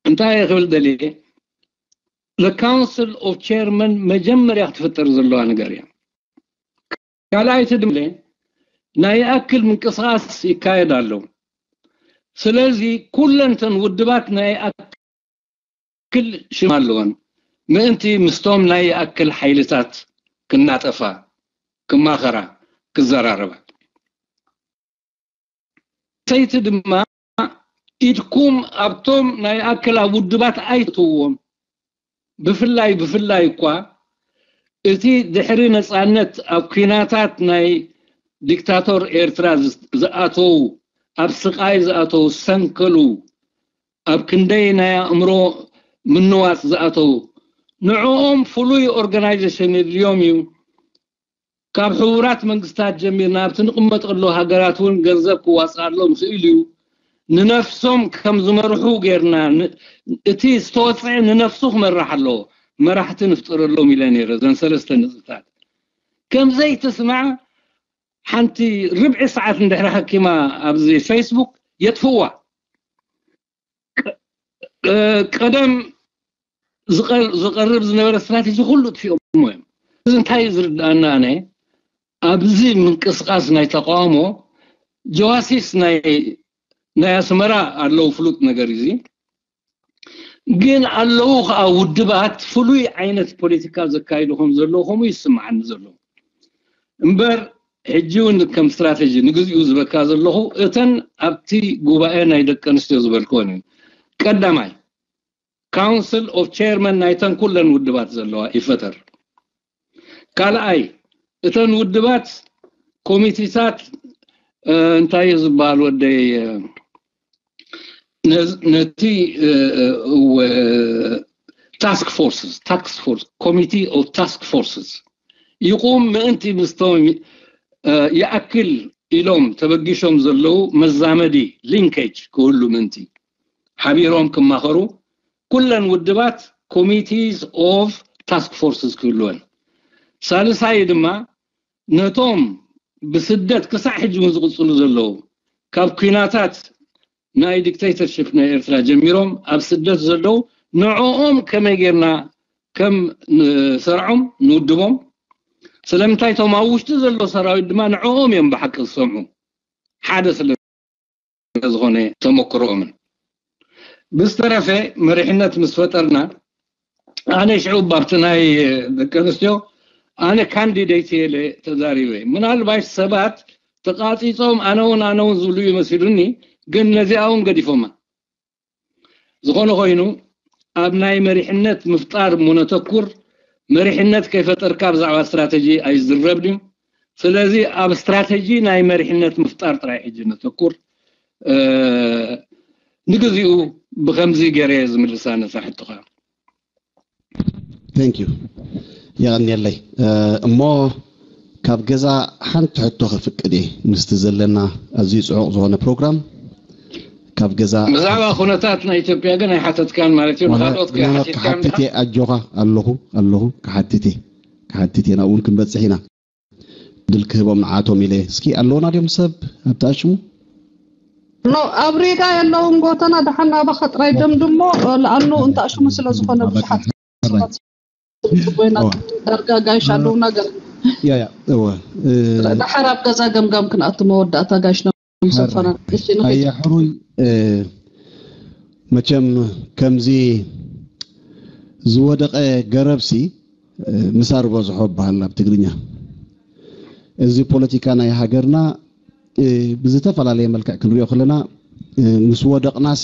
እንታይ ክብል ደልየ፣ the council of chairman መጀመርያ ክትፍጠር ዘለዋ ነገር እያ። ካልኣይቲ ድማ ናይ ይኣክል ምንቅስቃስ ይካየድ ኣሎ። ስለዚ ኩለንተን ውድባት ናይ ይኣክል ሽም ኣለወን ምእንቲ ምስቶም ናይ ይኣክል ሓይልታት ክናጠፋ ክማኸራ ክዘራረባ። ሰይቲ ድማ ኢድኩም ኣብቶም ናይ ኣክል ኣብ ውድባት ኣይትዎም። ብፍላይ ብፍላይ እኳ እቲ ድሕሪ ነፃነት ኣብ ኲናታት ናይ ዲክታቶር ኤርትራ ዝኣተዉ፣ ኣብ ስቓይ ዝኣተዉ፣ ዝሰንከሉ፣ ኣብ ክንደይ ናይ ኣእምሮ ምንዋፅ ዝኣተዉ፣ ንዕኦም ፍሉይ ኦርጋናይዜሽን የድልዮም እዩ። ካብ ሕቡራት መንግስታት ጀሚርና ኣብቲ ንቕመጠሉ ሃገራት እውን ገንዘብ ክዋፅኣሎም ይኽእል እዩ። ንነፍሶም ከም ዝመርሑ ጌርና እቲ ዝተወፅዐ ንነፍሱ ክመርሕ ኣለዎ። መራሕቲ ንፍጠረሎም ኢለ ነይረ። እዘን ሰለስተ ነጥብታት ከምዘይትስማዕ ሓንቲ ርብዒ ሰዓት እንድሕሪ ሓኪማ ኣብዚ ፌስቡክ የጥፍዋ። ቀደም ዝቐርብ ዝነበረ ስትራቴጂ ኩሉ ጥፊኦሞ እዮም። እዚ እንታይ እዩ ዝርድኣና? ኣነ ኣብዚ ምንቅስቃስ ናይ ተቃውሞ ጀዋሲስ ናይ ኣስመራ ኣለዉ። ፍሉጥ ነገር እዚ ግን ኣለዉ ከዓ ውድባት ፍሉይ ዓይነት ፖለቲካ ዘካይዱ ከም ዘለዉ ከምኡ ይስምዓኒ ዘሎ። እምበር ሕጂ እውን ከም ስትራተጂ ንግዚኡ ዝበካ ዘለኹ፣ እተን ኣብቲ ጉባኤ ናይ ደቂ ኣንስትዮ ዝበልክወን እዩ። ቀዳማይ፣ ካውንስል ኦፍ ቸርመን ናይተን ኩለን ውድባት ዘለዋ ይፈጠር። ካልኣይ፣ እተን ውድባት ኮሚቴታት እንታይ እዩ ዝበሃል ወደይ፣ ነቲ task forces, task force committee of task forces ይቁም ምእንቲ ምስቶም ይኣክል ኢሎም ተበጊሾም ዘለዉ መዛመዲ፣ linkage ክህሉ ምእንቲ ሓቢሮም ክማኸሩ ኩለን ውድባት committees of task forces ክህልወን። ሳልሳይ ድማ ነቶም ብስደት ክሳዕ ሕጂ እውን ዝቕፅሉ ዘለዉ ካብ ኩናታት ናይ dictatorship ናይ ኤርትራ ጀሚሮም ኣብ ስደት ዘለዉ ንዕኦም ከመይ ጌርና ከም ንሰርዖም ንውድቦም። ስለምንታይ እቶም ኣብ ውሽጢ ዘሎ ሰራዊት ድማ ንዕኦም እዮም ብሓቂ ዝሰምዑ። ሓደ ስለ ዝኾነ ተመክሮኦምን ብዝተረፈ መሪሕነት ምስ ፈጠርና ኣነ ሽዑ ኣብቲ ናይ ደቂ ኣንስትዮ ኣነ ካንዲዴት የለ ተዛሪበ። ምናልባሽ ሰባት ተቃፂፆም ኣነ እውን ኣነ እውን ዝብሉ እዩ መሲሉኒ፣ ግን ነዚኣ እውን ገዲፎማ። ዝኾነ ኮይኑ ኣብ ናይ መሪሕነት ምፍጣር እሞ ነተኩር። መሪሕነት ከይፈጠርካ ብዛዕባ ስትራተጂ ኣይዝረብን እዩ። ስለዚ ኣብ ስትራተጂ ናይ መሪሕነት ምፍጣር ጥራይ ሕጂ ነተኩር። ንግዚኡ ብከምዚ ገይረ ዝምልሳ ነታ ሕቶኻ። Thank you። የቐንየለይ። እሞ ካብ ገዛ ሓንቲ ሕቶ ክፍቅድ እየ ምስቲ ዘለና ኣዝዩ ፅዑቕ ዝኾነ ፕሮግራም ካብ ገዛ ብዛዕባ ኩነታት ናይ ኢትዮጵያ ግን ኣይሓተትካን ማለት እዩ። ንካልኦት ክሓትት እየ። ኣጆኻ ኣለኹ ኣለኹ ክሓትት እየ ክሓትት እየ ናብኡ እውን ክንበፅሕ ኢና። ድል ክህቦም ንዓቶም ኢለ እስኪ ኣለውና ድዮም ሰብ ኣብቲ ኣሽሙ ኖ ኣብ ሪጋ የለውን ጎተና ደሓን ናባኻ ጥራይ ደምድሞ ለኣኑ እንተ ኣሽሙ ስለ ዝኾነ ብዙሓት ጽቡና ዳርጋ ጋይሽ ኣለውና ገር ያ ያ እወ ድሓር ኣብ ገዛ ገምጋም ክንኣቱ መወዳእታ ጋይሽ ነምሰፈና እሺ ንኸይድ ኣያ ሕሩይ መቸም ከምዚ ዝወደቐ ገረብሲ ምሳር በዝሖ በሃል ኣብ ትግርኛ። እዚ ፖለቲካ ናይ ሃገርና ብዝተፈላለየ መልክዕ ክንሪኦ ከለና ምስ ወደቕናሲ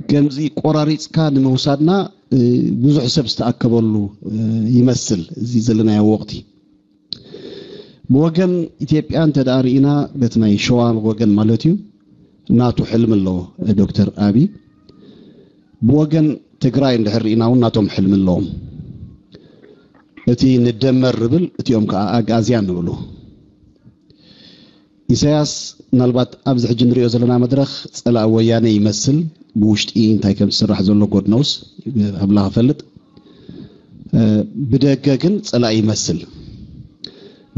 ከምዚ ቆራሪፅካ ንምውሳድና ብዙሕ ሰብ ዝተኣከበሉ ይመስል እዚ ዘለናዮ ወቕቲ። ብወገን ኢትዮጵያ እንተ ደኣ ርኢና በቲ ናይ ሸዋ ወገን ማለት እዩ ናቱ ሕልሚ ኣለዎ ዶክተር ኣቢ። ብወገን ትግራይ እንድሕር ርኢና እውን ናቶም ሕልሚ ኣለዎም። እቲ ንደመር ርብል እቲኦም ከዓ ኣግኣዝያን ንብሉ። ኢሳያስ ምናልባት ኣብዚ ሕጂ ንሪኦ ዘለና መድረኽ ፀላኢ ወያነ ይመስል ብውሽጢ እንታይ ከም ዝስራሕ ዘሎ ጎድነውስ ኣምላኽ ይፈልጥ። ብደገ ግን ፀላኢ ይመስል።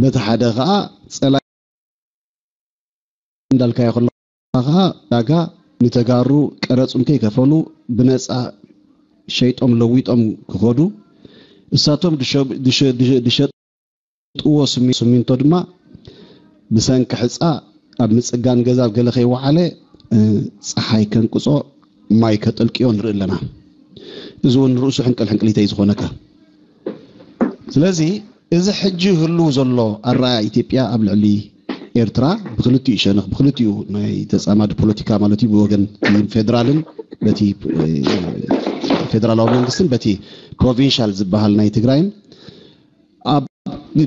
በቲ ሓደ ከዓ ፀላኢ እንዳልካዮ ከለካ ከዓ ዳጋ ንተጋሩ ቀረፁም ከይከፈሉ ብነፃ ሸይጦም ለዊጦም ክኸዱ እሳቶም ድሸጥዎ ስሚንቶ ድማ ብሰንኪ ሕፃ ኣብ ምፅጋን ገዛ ኣብ ገለ ከይወዓለ ፀሓይ ከንቅፆ ማይ ከጠልቅዮ ንርኢ ኣለና። እዚ እውን ንርእሱ ሕንቅል ሕንቅሊተይ ዝኾነካ። ስለዚ እዚ ሕጂ ህልው ዘሎ ኣረኣያ ኢትዮጵያ ኣብ ልዕሊ ኤርትራ ብክልቲኡ ሸነኽ ብክልቲኡ ናይ ተፃማዲ ፖለቲካ ማለት እዩ ብወገን ፌደራልን በቲ ፌደራላዊ መንግስትን በቲ ፕሮቪንሻል ዝበሃል ናይ ትግራይን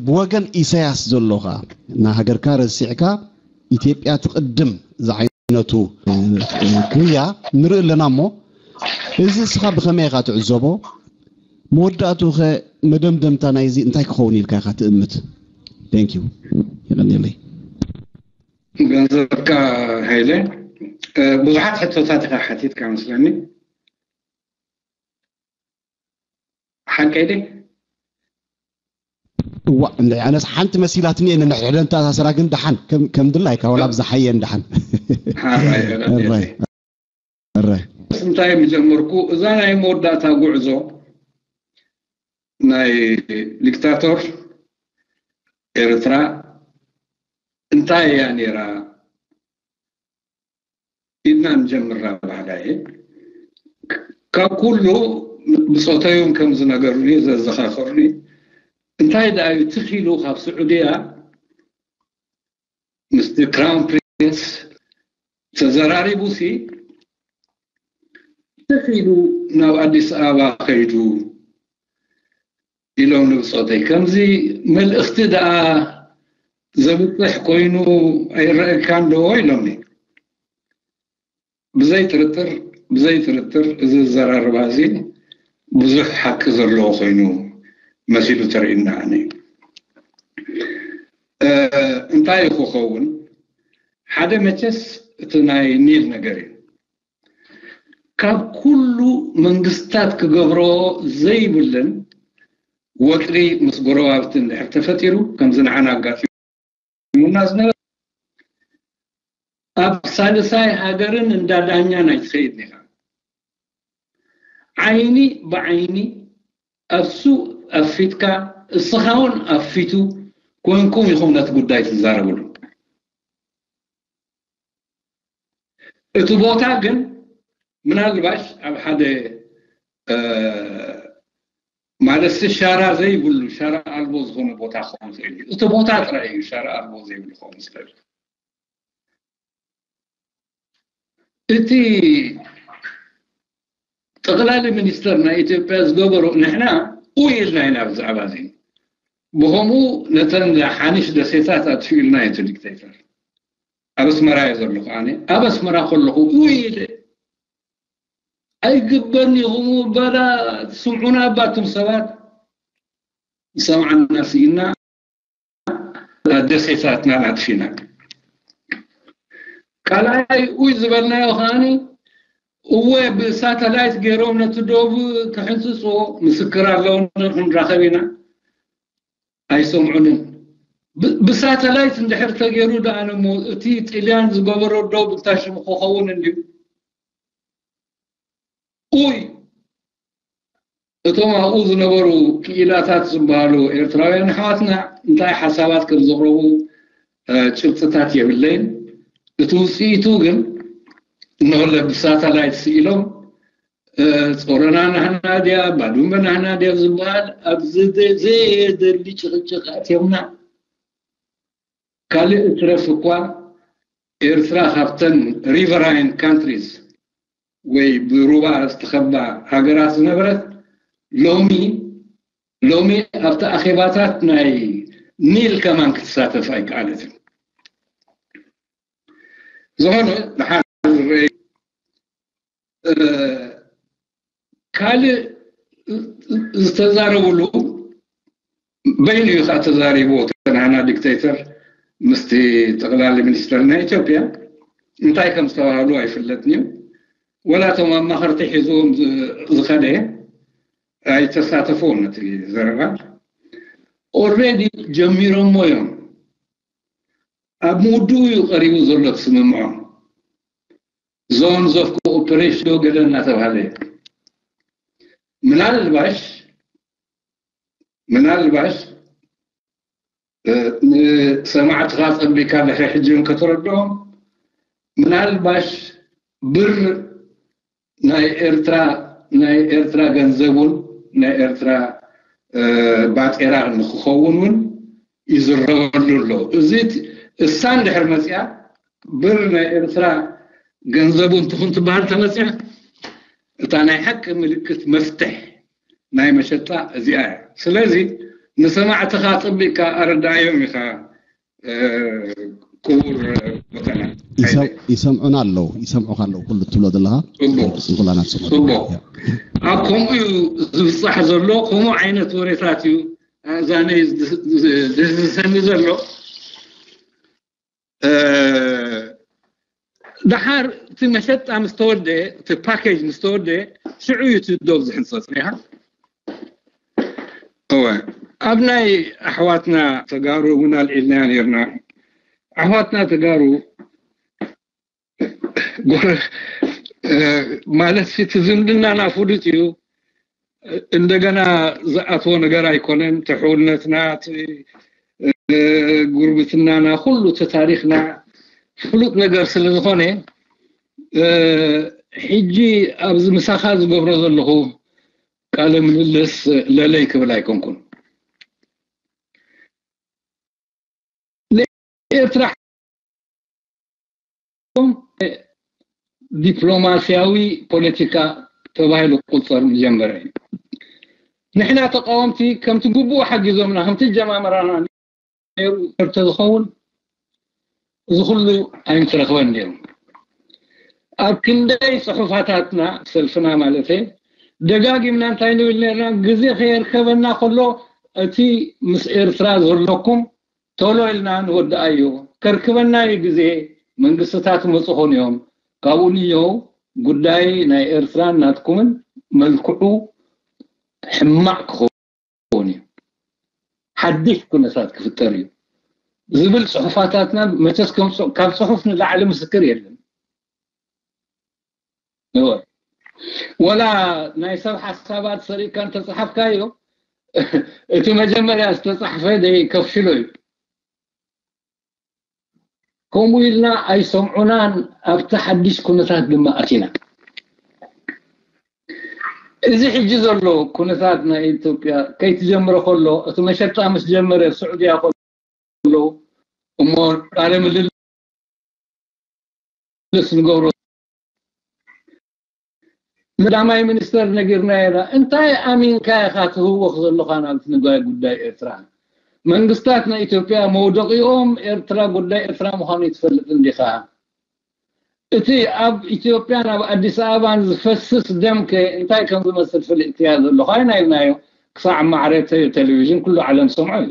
ብወገን ኢሳያስ ዘሎ ኸዓ ንሃገርካ ረሲዕካ ኢትዮጵያ ትቕድም ዝዓይነቱ ጉያ ንርኢ ኣለና እሞ እዚ እስኻ ብኸመይ ኢኻ ትዕዘቦ? መወዳእትኡ ኸ መደምደምታ ናይዚ እንታይ ክኸውን ኢልካ ኢኻ ትእምት? Thank you። የቐንየለይ። ገንዘብካ ሃይለ ብዙሓት ሕቶታት ኢኻ ሓቲትካ መስለኒ። ሓቀይ ድየ? እዋ እንደ ኣነስ ሓንቲ መሲላትኒ እየ ንሕደን ተኣሳሰራ ግን ደሓን ከም ድላይካ ወላ ብዝሓየን ደሓን እንታይ ምጀመርኩ እዛ ናይ መወዳእታ ጉዕዞ ናይ ዲክታቶር ኤርትራ እንታይ እያ ነይራ ኢልና ንጀምር ናባህላ እየ ካብ ኩሉ ብጾተዮም ከም ዝነገሩኒ ዘዘኻኸሩኒ እንታይ ደኣ እዩ ትኺሉ ካብ ስዑድያ ምስቲ ክራውን ፕሪንስ ተዘራሪቡ ሲ ትኺሉ ናብ ኣዲስ ኣበባ ከይዱ ኢሎም ንብጾተይ ከምዚ መልእኽቲ ደኣ ዘብፅሕ ኮይኑ ኣይረአካን ዶ ኢሎምኒ። ብዘይ ጥርጥር ብዘይ ጥርጥር እዚ ዘራርባ እዚ ብዙሕ ሓቂ ዘለዎ ኮይኑ መሲሉ ተርእዩና ኣነ እንታይ እዩ ክኸውን? ሓደ መቸስ እቲ ናይ ኒል ነገር እዩ። ካብ ኩሉ መንግስታት ክገብሮ ዘይብልን ወጥሪ ምስ ጎረባብቲ እንድሕር ተፈጢሩ ከምዚ ንዓና ኣጋጢሙና ዝነበረ ኣብ ሳልሳይ ሃገርን እንዳ ዳኛን ኣይትኸይድ ኢኻ። ዓይኒ ብዓይኒ ኣብሱ ኣፊትካ እስኻ እውን ኣፊቱ ኮንኩም ኢኹም ነቲ ጉዳይ ትዛረብሉ። እቲ ቦታ ግን ምናልባሽ ኣብ ሓደ ማለትሲ ሻራ ዘይብሉ ሻራ ኣልቦ ዝኾነ ቦታ ክኸውን ይኽእል እዩ። እቲ ቦታ ጥራይ እዩ ሻራ ኣልቦ ዘይብሉ ክኸውን ዝኽእል። እቲ ጠቕላሊ ሚኒስተር ናይ ኢትዮጵያ ዝገበሮ ንሕና ኡ ኢልና ኢና ብዛዕባ እዚ ብኸምኡ ነተን ሓኒሽ ደሴታት ኣጥፊኡ ኢልና እዩ ዲክቴተር ኣብ ኣስመራ እየ ዘለኹ ኣነ ኣብ ኣስመራ ከለኹ ኡ ኢለ ኣይግበን ይኹም በላ ትስምዑና ባቱም ሰባት ዝሰምዓና ስኢና ደሴታትና ኣጥፊና ካልኣይ ኡይ ዝበልናዮ ከዓኒ እወ ብሳተላይት ገይሮም ነቲ ዶብ ክሕንፅፅዎ ምስክር ኣለውና ክንራኸብ ኢና ኣይሰምዑንን ብሳተላይት እንድሕር ተገይሩ ደኣ ነሞ እቲ ጥልያን ዝገበሮ ዶብ እንታይ ሽሙ ክኸውን እንድዩ ኡይ እቶም ኣብኡ ዝነበሩ ክኢላታት ዝበሃሉ ኤርትራውያን ኣሕዋትና እንታይ ሓሳባት ከም ዘቕረቡ ጭብጥታት የብለይን። እቲ ውፅኢቱ ግን እንሆለ ብሳተላይት ስኢሎም ጾረና ናህና ድያ ባዱመ ናህና ድያ ዝበሃል ኣብዚ ዘየደሊ ጭቕጭቕ ኣትዮምና። ካልእ እትረፍ እኳ ኤርትራ ካብተን riverine countries ወይ ብሩባ ዝተኸባ ሃገራት ዝነበረት ሎሚ ሎሚ ኣብቲ ኣኼባታት ናይ ኒል ከማን ክትሳተፍ ኣይከኣለትን። ዝኾነ ድሓር ዝረአ ካልእ ዝተዛረብሉ በይኑ እዩ ከዓ ተዛሪብዎ ተናና ዲክቴተር ምስቲ ጠቕላሊ ሚኒስተር ናይ ኢትዮጵያ እንታይ ከም ዝተባህሉ ኣይፍለጥን እዩ ወላ እቶም ኣማኸርቲ ሒዝዎም ዝኸደ ኣይተሳተፍዎም ነቲ ዘረባ ኦልሬዲ ጀሚሮሞ እዮም ኣብ ምውድኡ እዩ ቀሪቡ ዘሎ ትስምምዖ zones of cooperation ገለ እናተባሃለ ምናልባሽ ምናልባሽ ንሰማዕትኻ ጸቢካ ድሕሪ ሕጂ እውን ከተረድኦም ምናልባሽ ብር ናይ ኤርትራ ናይ ኤርትራ ገንዘቡን ናይ ኤርትራ ባጤራ ንክኸውን እውን ይዝረበሉ ኣሎ። እዚ እሳ እንድሕር መፅያ ብር ናይ ኤርትራ ገንዘቡ እንትኹን ትበሃል ተመፅያ እታ ናይ ሓቂ ምልክት መፍትሕ ናይ መሸጣ እዚኣ እያ። ስለዚ ንሰማዕትኻ ኣጸቢቕካ ኣረድኣዮም ኢኻ ክቡር ቦተና። ይሰምዑና ኣለዉ፣ ይሰምዑኻ ኣለዉ ኩሉ እትብሎ ዘለኻ። ጽቡቕ። ጽንኩላና ትሰምዑ ጽቡቕ። ኣለዉ። ኣብ ከምኡ እዩ ዝብጻሕ ዘሎ፣ ከምኡ ዓይነት ወሬታት እዩ ኣእዛነይ ዝሰሚ ዘሎ። ደሓር እቲ መሸጣ ምስ ተወደ እቲ ፓኬጅ ምስ ተወደ ሽዑ እዩ እቲ ዶብ ዝሕንፀፅ ሪኢኻ እወ ኣብ ናይ ኣሕዋትና ተጋሩ እውን ኣልዒልና ነርና ኣሕዋትና ተጋሩ ማለት እቲ ዝምድናና ፍሉጥ እዩ እንደገና ዝኣትዎ ነገር ኣይኮነን ትሕውነትና ጉርብትናና ኩሉ እቲ ታሪክና ፍሉጥ ነገር ስለ ዝኾነ ሕጂ ኣብዚ ምሳኻ ዝገብሮ ዘለኹ ቃለ ምልልስ ለለይ ክብል ኣይኮንኩን። ንኤርትራ ዲፕሎማስያዊ ፖለቲካ ተባሂሉ ክቁጸር ምጀመረ እዩ። ንሕና ተቃወምቲ ከምቲ ግቡእ ሓጊዞምና፣ ከምቲ ጀማምራና ነይሩ እንተዝኸውን፣ እዚ ኩሉ ኣይምትረኽበን ነይሩ። ኣብ ክንደይ ጽሑፋታትና፣ ሰልፍና ማለተይ፣ ደጋጊምና እንታይ ንብል ነርና? ግዜ ከየርከበና ከሎ፣ እቲ ምስ ኤርትራ ዘለኩም ቶሎ ኢልና ንወድኣዮ። ከርክበና እዩ ግዜ፣ መንግስትታት ይመጹ ኾኑ እዮም። ካብኡ ንየው ጉዳይ ናይ ኤርትራን ናትኩምን መልክዑ ሕማቕ ክኸውን እዩ። ሓድሽ ኩነታት ክፍጠር እዩ ዝብል ጽሑፋታትና መቸስ ከም ጽ-፣ ካብ ጽሑፍ ንላዕሊ ምስክር የለን። እወ። ወላ ናይ ሰብ ሓሳባት ሰሪቅካ እንተጸሓፍካዮ፣ እቲ መጀመርያ ዝተጻሕፈ ደይ ከፍሽሎ እዩ። ከምኡ ኢልና ኣይሰምዑናን፣ ኣብቲ ሓድሽ ኩነታት ድማ ኣቲና። እዚ ሕጂ ዘሎ ኩነታት ናይ ኢትዮጵያ ከይትጀምሮ ከሎ፣ እቲ መሸጣ ምስ ጀመረ፣ ስዑድያ ከሎ እሞ ቃለ ምልልስ ንገብሮ፣ ቀዳማይ ሚኒስተር ነጊርናዮ ኢና። እንታይ ኣሚንካ ኢኻ ትህወኽ ዘለኻ ናብቲ ንጓይ ጉዳይ ኤርትራ? መንግስታት ናይ ኢትዮጵያ መውደቂኦም ኤርትራ፣ ጉዳይ ኤርትራ ምዃኑ ይትፈልጥ እንዲኻ? እቲ ኣብ ኢትዮጵያን ኣብ ኣዲስ ኣበባን ዝፈስስ ደምከ እንታይ ከም ዝመስል ፍልጥያ ዘለኻ ኢና ኢልናዮ። ክሳዕ ማዕረ ተ-፣ ቴሌቪዥን ኩሉ ዓለም ሰምዖ እዩ።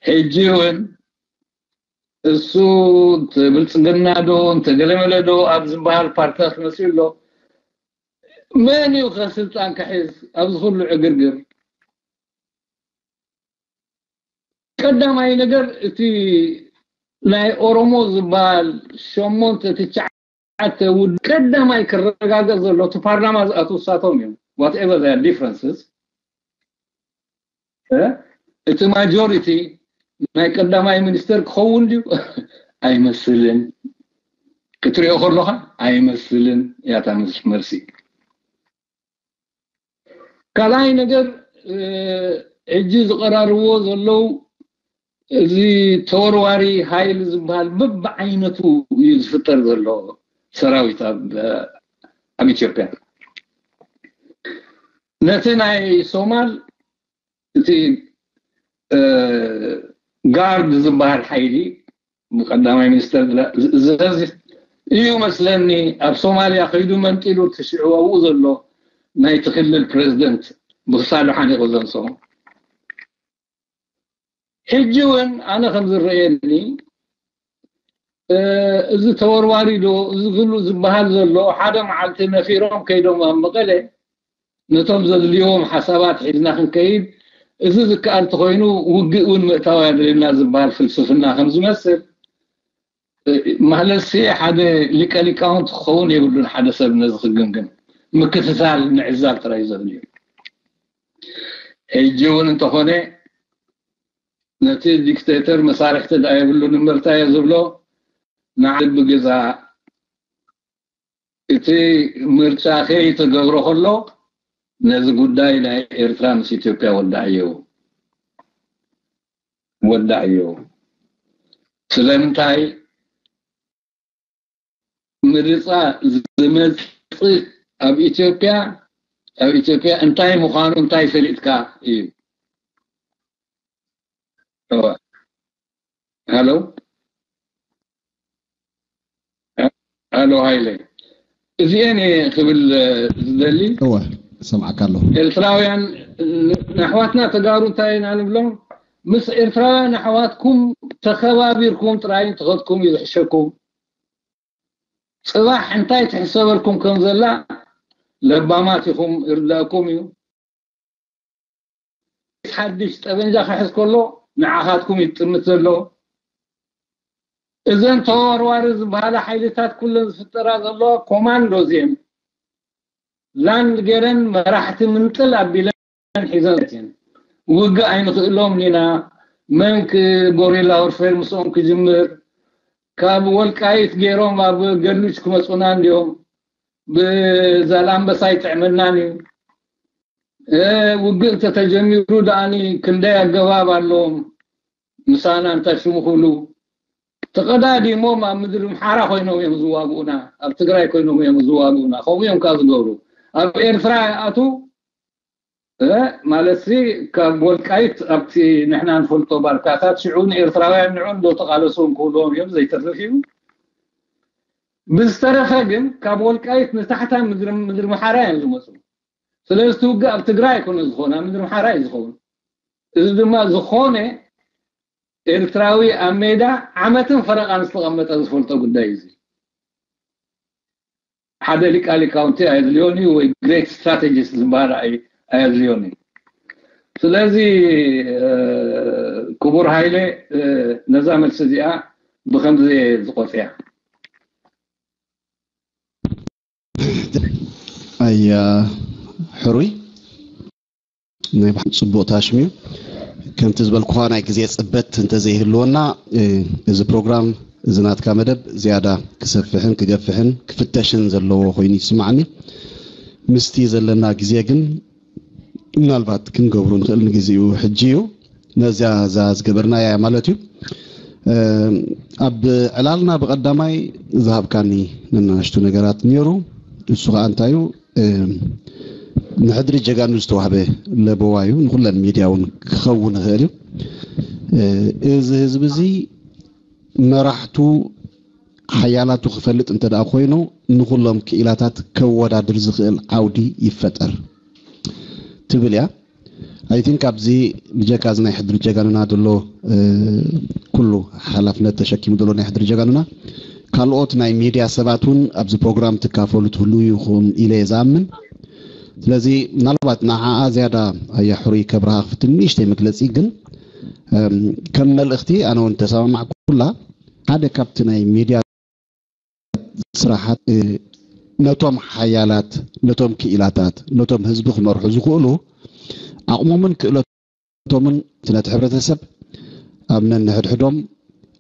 ሕጂ እውን እሱ እንተ ብልጽግና ዶ እንተ ገለመለ ዶ ኣብ ዝበሃል ፓርትታት መፅኡ ኣሎ። መን እዩ ከ ስልጣን ክሕዝ ኣብዚ ኩሉ ዕግርግር? ቀዳማይ ነገር እቲ ናይ ኦሮሞ ዝበሃል ሸሞንተ ትሽዓተ ውድ-፣ ቀዳማይ ክረጋገጽ ዘሎ እቲ ፓርላማ ዝኣትዉ እሳቶም እዮም። Whatever their differences፣ እ? እቲ ማጆሪቲ ናይ ቀዳማይ ሚኒስተር ክኸውን ድዩ? ኣይመስልን። ክትሪኦ ከሎኻ ኣይመስልን እያ እታ መልሲ። ካልኣይ ነገር፣ እ፣ ሕጂ ዝቐራርብዎ ዘለዉ እዚ ተወርዋሪ ሃይል ዝበሃል በብዓይነቱ እዩ ዝፍጠር ዘሎ ሰራዊት ኣብ፣ ኣብ ኢትዮጵያ። ነቲ ናይ ሶማል እቲ፣ እ፣ ጋርድ ዝበሃል ሓይሊ ብቀዳማይ ሚኒስተር ዝእዘዝ እዩ መስለኒ። ኣብ ሶማልያ ከይዱ መንጢሉ እቲ ሽዑ ኣብኡ ዘሎ ናይቲ ክልል ፕሬዝደንት ብክሳዱ ሓኒቑ ዘንስኦ። ሕጂ እውን ኣነ ከም ዝረኣየኒ፣ እ፣ እዚ ተወርዋሪ ዶ፣ እዚ ኩሉ ዝበሃል ዘሎ፣ ሓደ መዓልቲ ነፊሮም ከይዶም ኣብ መቐለ ነቶም ዘድልይዎም ሓሳባት ሒዝና ክንከይድ፣ እዚ ዝከኣል ተኾይኑ ውግእ እውን ምእታው ኣየድልየና ዝበሃል ፍልስፍና ከም ዝመስል፣ እ፣ ማለትሲ ሓደ ሊቀ ሊቃውንት ክኸውን የብሉን። ሓደ ሰብ ነዚ ክግምግም ምክትታል ምዕዛብ ጥራይ ዘድልዩ። ሕጂ እውን እንተኾነ ነቲ ዲክቴተር መሳርሕቲ ደኣ የብሉን እምበርታ እየ ዝብሎ። ንዓል ብገዛ እቲ ምርጫ ከይተገብሮ ከሎ ነዚ ጉዳይ ናይ ኤርትራ ምስ ኢትዮጵያ ወዳዕዮ፣ ወዳዕዮ። ስለምንታይ ምርጫ ዝመጽእ ኣብ ኢትዮጵያ፣ ኣብ ኢትዮጵያ እንታይ ምዃኑ እንታይ ፈሊጥካ እዩ። እወ። ሃሎ? ሃሎ ሃይለ። እዚኤን እየ ክብል ዝደሊ። እወ፣ እሰምዓካ ኣለኹ። ኤርትራውያን ን-፣ ንኣሕዋትና ተጋሩ እንታይ ኢና ንብሎም? ምስ ኤርትራውያን ኣሕዋትኩም ተኸባቢርኩም ጥራይ እንተኸድኩም እዩ ዝሕሸኩም። ጽባሕ እንታይ ትሕሰበልኩም ከም ዘላ ለባማት ኢኹም፣ ይርዳእኩም እዩ። ሓድሽ ጠበንጃ ክሕዝ ከሎ ንዓኻትኩም እዩ ዝጥምት ዘሎ። እዘን ተወርዋሪ ዝበሃላ ሓይልታት ኩለን ዝፍጠራ ዘለዋ ኮማንዶ እዚአን ላንድ ገይረን መራሕቲ ምንጥል ኣቢለን ሒዘን እየን። ውግእ ኣይንኽእሎም ኢና፣ መን ክ-፣ ጎሪላ ወርፌር ምስኦም ክጅምር፣ ካብ ወልቃይት ገይሮም ኣብ ገሉጅ ክመፁና እንዲዮም። ብዛላምበሳ ይጥዕመናን እዩ። ውግእ እንተተጀሚሩ ደኣኒ ክንደይ ኣገባብ ኣለዎም። ምሳና እንታይ ሽሙ ክብሉ ተቐዳዲሞም ኣብ ምድሪ ምሓራ ኮይኖም እዮም ዝዋግኡና፣ ኣብ ትግራይ ኮይኖም እዮም ዝዋግኡና። ከምኡ እዮም ከዓ ዝገብሩ። ኣብ ኤርትራ ይኣቱ ማለት ሲ ካብ ወልቃይት ኣብቲ ንሕና ንፈልጦ ባርካታት ሽዑ ንኤርትራውያን ንዑ እንዶ ተቓለሱ ክብልዎም እዮም ዘይተርፍ እዩ። ብዝተረፈ ግን ካብ ወልቃይት ንታሕታ ምድሪ ምሓራ እዮም ዝመፁ። ስለዚ እቲ ውግእ ኣብ ትግራይ ኣይኮነ ዝኾነ፣ ኣብ ምድሪ ምሓራ እዩ ዝኸውን። እዚ ድማ ዝኾነ ኤርትራዊ ኣብ ሜዳ ዓመትን ፈረቓን ዝተቐመጠ ዝፈልጦ ጉዳይ እዩ። ሓደ ሊቃ ሊቃውንቲ ኣየድልዮን እዩ ወይ ግሬት ስትራቴጂስት ዝበሃል ኣየድልዮን እዩ። ስለዚ ክቡር ሃይለ ነዛ መልሲ እዚኣ ብከምዚ ዝቆፅያ። ኣያ ሕሩይ ናይ ብሓቂ ጽቡቕ ታሽም እዩ። ከምቲ ዝበልኩኻ ናይ ግዜ ጽበት እንተዘይህልወና እዚ ፕሮግራም እዚ ናትካ መደብ ዝያዳ ክሰፍሕን ክገፍሕን ክፍተሽን ዘለዎ ኮይኑ ይስማዓኒ። ምስቲ ዘለና ግዜ ግን ምናልባት ክንገብሮ ንኽእል ንግዜኡ ሕጂ እዩ። ነዚያ እዛ ዝገበርናያ ማለት እዩ። ኣብ ዕላልና ብቐዳማይ ዝሃብካኒ ነናሽቱ ነገራት ነይሩ። እሱ ከዓ እንታይ እዩ? ንሕድሪ ጀጋኑ ዝተዋህበ ለበዋ እዩ። ንኩለን ሚድያ እውን ክኸውን ይኽእል እዩ። እዚ ህዝቢ እዚ መራሕቱ ሓያላቱ ክፈልጥ እንተ ደኣ ኮይኑ ንኩሎም ክኢላታት ከወዳድር ዝኽእል ዓውዲ ይፈጠር ትብል እያ። I think ኣብዚ ብጀካ እዚ ናይ ሕድሪ ጀጋኑና ዘሎ ኩሉ ሓላፍነት ተሸኪሙ ዘሎ ናይ ሕድሪ ጀጋኑና ካልኦት ናይ ሚድያ ሰባት እውን ኣብዚ ፕሮግራም ትካፈሉ ትህሉ ይኹም ኢለ እየ ዝኣምን። ስለዚ ምናልባት ንዓኣ ዝያዳ ኣያ ሕሩይ ከብርሃ ክፍትን ንእሽተይ መግለፂ ግን ከም መልእኽቲ ኣነ እውን ተሰማማዕኩላ ሓደ ካብቲ ናይ ሚድያ ስራሓት ነቶም ሓያላት ነቶም ክኢላታት ነቶም ህዝቢ ክመርሑ ዝኽእሉ ዓቕሞምን ክእለቶምን ነቲ ሕብረተሰብ ኣብ ነንሕድሕዶም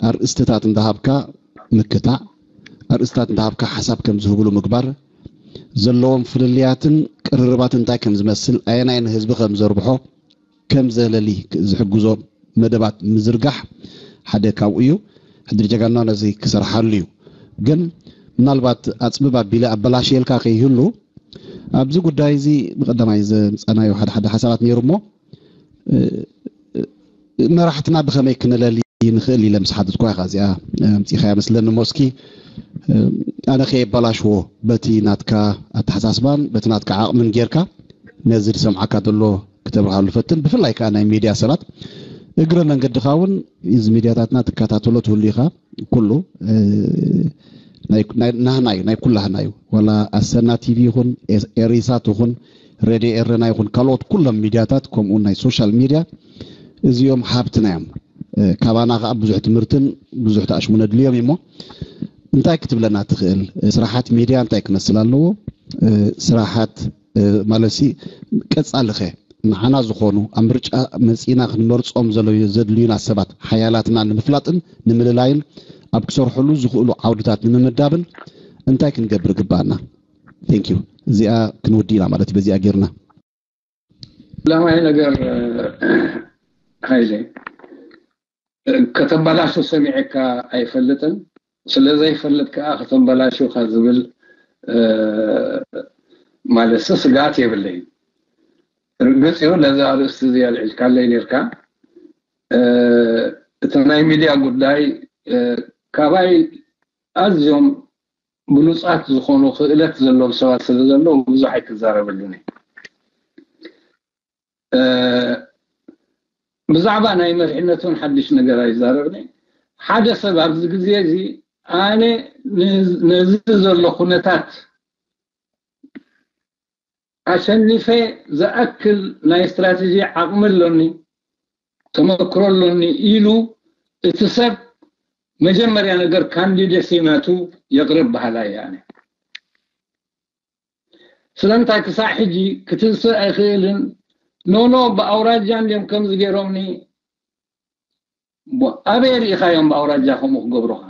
ኣርእስትታት እንዳሃብካ ምክታዕ ኣርእስትታት እንዳሃብካ ሓሳብ ከም ዝህብሉ ምግባር ዘለዎም ፍልልያትን ቅርርባትን እንታይ ከም ዝመስል ኣየናይ ንህዝቢ ከም ዘርብሖ ከም ዘለሊ ዝሕግዞ መደባት ምዝርጋሕ ሓደ ካብኡ እዩ። ሕድሪ ጀጋና ነዚ ክሰርሓሉ እዩ። ግን ምናልባት ኣፅብብ ኣቢለ ኣበላሽየልካ ከይህሉ ኣብዚ ጉዳይ እዚ ብቀዳማይ ዘምፀናዮ ሓደ ሓደ ሓሳባት ነይሩ እሞ መራሕትና ብኸመይ ክነለሊ ንኽእል ኢለ ምስ ሓተትኳ ኢኻ እዚኣ ኣምፂኻያ መስለኒ እሞ እስኪ ኣነ ከየበላሽዎ በቲ ናትካ ኣተሓሳስባን በቲ ናትካ ዓቕምን ጌርካ ነዚ ዝሰምዓካ ዘሎ ክተብርሃሉ ፈትን ብፍላይ ከዓ ናይ ሚድያ ሰባት እግረ መንገድኻ እውን እዚ ሚድያታትና ትከታተሎ ትህሉ ኢኻ ኩሉ ናህና እዩ ናይ ኩላህና እዩ ዋላ ኣሰና ቲቪ ይኹን ኤሪሳት ይኹን ሬድዮ ኤረና ይኹን ካልኦት ኩሎም ሚድያታት ከምኡ ናይ ሶሻል ሚድያ እዚኦም ሃብትና እዮም ካባና ከዓ ብዙሕ ትምህርትን ብዙሕ ተኣሽሙ ነድልዮም እሞ እንታይ ክትብለና ትኽእል ስራሓት ሚድያ እንታይ ክመስል ኣለዎ ስራሓት ማለት ቀፃልኸ ንዓና ዝኾኑ ኣብ ምርጫ መፂና ክንመርፆም ዘድልዩና ሰባት ሓያላትና ንምፍላጥን ንምልላይን ኣብ ክሰርሕሉ ዝኽእሉ ዓውድታት ንምምዳብን እንታይ ክንገብር ግባኣና ቴንክ ዩ እዚኣ ክንውዲ ኢና ማለት እዩ በዚኣ ጌርና ለማይ ነገር ሃይለ ከተበላሹ ሰሚዐካ ኣይፈልጥን ስለዘይፈልጥ ከዓ ከተበላሹካ ዝብል ማለት ስጋት የብለይ ርግፅ እዩ ነዚ ኣርእስቲ እዚ ኣልዒልካለይ ነርካ እቲ ናይ ሚድያ ጉዳይ ካባይ ኣዝዮም ብሉፃት ዝኾኑ ክእለት ዘለዎም ሰባት ስለ ዘለዉ ብዙሕ ኣይክዛረበሉን ብዛዕባ ናይ መሪሕነት እውን ሓድሽ ነገር ኣይዛረብኒ ሓደ ሰብ ኣብዚ ግዜ እዚ ኣነ ነዚ ዘሎ ኩነታት ኣሸኒፈ ዝኣክል ናይ ስትራቴጂ ዓቕሚ ኣሎኒ ተመክሮ ኣሎኒ ኢሉ እቲ ሰብ መጀመርያ ነገር ካንዲደሲ ናቱ የቕርብ በሃላይ ኣነ ስለምንታይ ክሳዕ ሕጂ ክትንስእ ኣይኽእልን ኖኖ ብኣውራጃ እንድዮም ከምዚ ገይሮምኒ ኣበይ ርኢኻዮም ብኣውራጃ ከምኡ ክገብሩኻ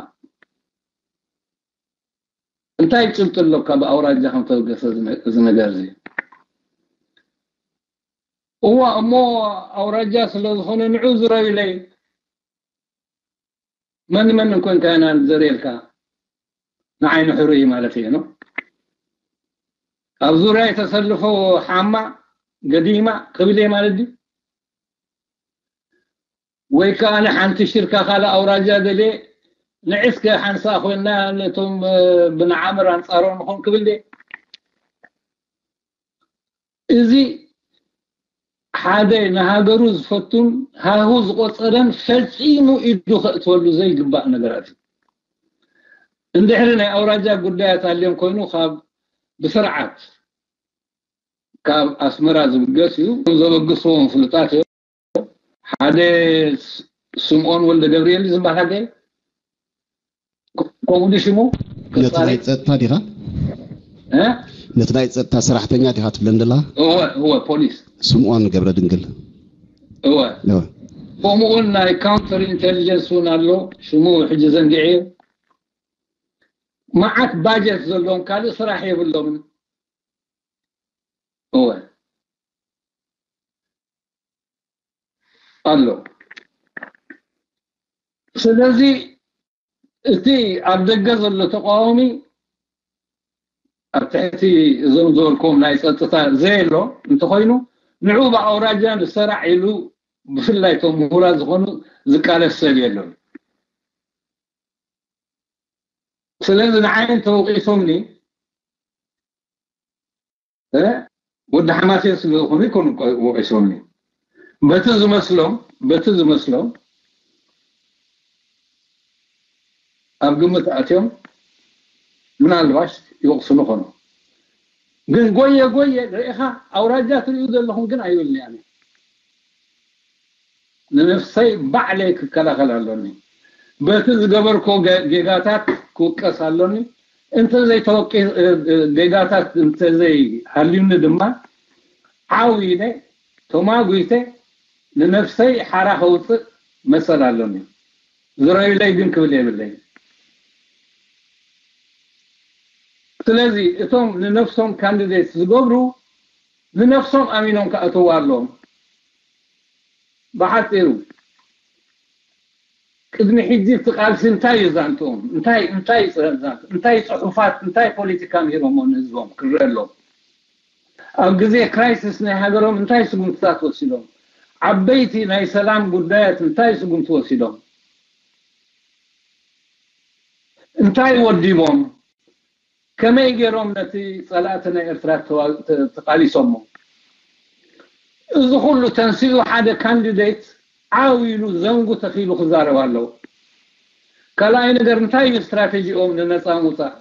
እንታይ ጭብጢ ኣሎ ካብ ኣውራጃ ከም ተበገሰ እዚ ነ- እዚ ነገር እዚ? እዋ እሞ ኣውራጃ ስለ ዝኾነ ንዑ ዝረዩለይ መን መን እንኮንካ ኢና ንዘርየልካ ንዓይኒ ሕሩይ ማለት እዩ ነው። ኣብ ዙርያ የተሰልፎ ሓማ ገዲማ ክብል እየ ማለት ድዩ? ወይ ከዓ ንሓንቲ ሽርካ ካልእ ኣውራጃ ደልየ ንዕስከ ሓንሳ ኮይና ነቶም ብንዓምር ኣንፃሮም ንኾን ክብል ድየ? እዚ ሓደ ንሃገሩ ዝፈቱን ሃሁ ዝቆፀረን ፈፂሙ ኢዱ ከእትወሉ ዘይግባእ ነገራት እዩ። እንድሕሪ ናይ ኣውራጃ ጉዳያት ኣልዮም ኮይኑ ካብ ብስርዓት ካብ ኣስመራ ዝብገስ እዩ። ዘበግስዎም ፍሉጣት እዮም። ሓደ ስምኦን ወልደ ገብርኤል ዝበሃል ሓደ ከምኡ ሽሙ ነቲ ናይ ጸጥታ ዲኻ? ነቲ ናይ ጸጥታ ሰራሕተኛ ዲኻ ትብለን ደላ? እወ እወ፣ ፖሊስ ስምኦን ገብረ ድንግል። እወ ከምኡውን ናይ ካውንተር ኢንቴሊጀንስ እውን ኣሎ። ሽሙ ሕጂ ዘንጊዐ። መዓት ባጀት ዘለዎም ካልእ ስራሕ የብሎምን። እወ ኣሎ። ስለዚ እቲ ኣብ ደገ ዘሎ ተቃዋሚ ኣብ ትሕቲ እዞም ዝበልኩም ናይ ጸጥታ ዘየሎ እንተኾይኑ ንዑ ብኣውራጃ ንሰራዕ ኢሉ ብፍላይ እቶም ምሁራት ዝኾኑ ዝቃለስ ሰብ የሎን። ስለዚ ንዓይ እንተወቂሶምኒ ወዲ ሓማሴን ስለ ዝኾኑ ይኮኑ ወቂሶምኒ። በቲ ዝመስሎም በቲ ዝመስሎም ኣብ ግምት ኣትዮም ምናልባሽ ይወቅስሉ ኾኑ። ግን ጎየ ጎየ ርኢኻ ኣውራጃ ትሪኡ ዘለኹም ግን ኣይብልኒ ኣነ። ንነፍሰይ ባዕለይ ክከላኸል ኣሎኒ። በቲ ዝገበርኮ ገ- ጌጋታት ክውቀስ ኣሎኒ። እንተዘይተወቂ ጌጋታት እንተዘይሃልዩኒ ድማ ዓው ኢለ ተማጒተ ንነፍሰይ ሓራ ከውፅእ መሰል ኣሎኒ። ዝረዩለይ ግን ክብል የብለይ። ስለዚ እቶም ንነፍሶም ካንዲዴት ዝገብሩ ንነፍሶም ኣሚኖም ክኣተዉ ኣለዎም። ብሓፂሩ ቅድሚ ሕጂ እቲ ቃልሲ እንታይ እዩ ዛንትኦም? እንታይ እንታይ ዛንት እንታይ ፅሑፋት እንታይ ፖለቲካ ምሂሮሞ ንህዝቦም ክረአ ኣለዎም። ኣብ ግዜ ክራይሲስ ናይ ሃገሮም እንታይ ስጉምትታት ወሲዶም? ዓበይቲ ናይ ሰላም ጉዳያት እንታይ ስጉምቲ ወሲዶም? እንታይ ወዲቦም? ከመይ ገይሮም ነቲ ጸላእቲ ናይ ኤርትራ ተቃሊሶሞ? እዚ ኩሉ ተንሲኡ ሓደ ካንዲዴት ዓው ኢሉ ዘንጉ ተኺሉ ክዛረብ ኣለዎ። ካልኣይ ነገር እንታይ እዩ ስትራቴጂኦም ንነጻ ምውጻእ?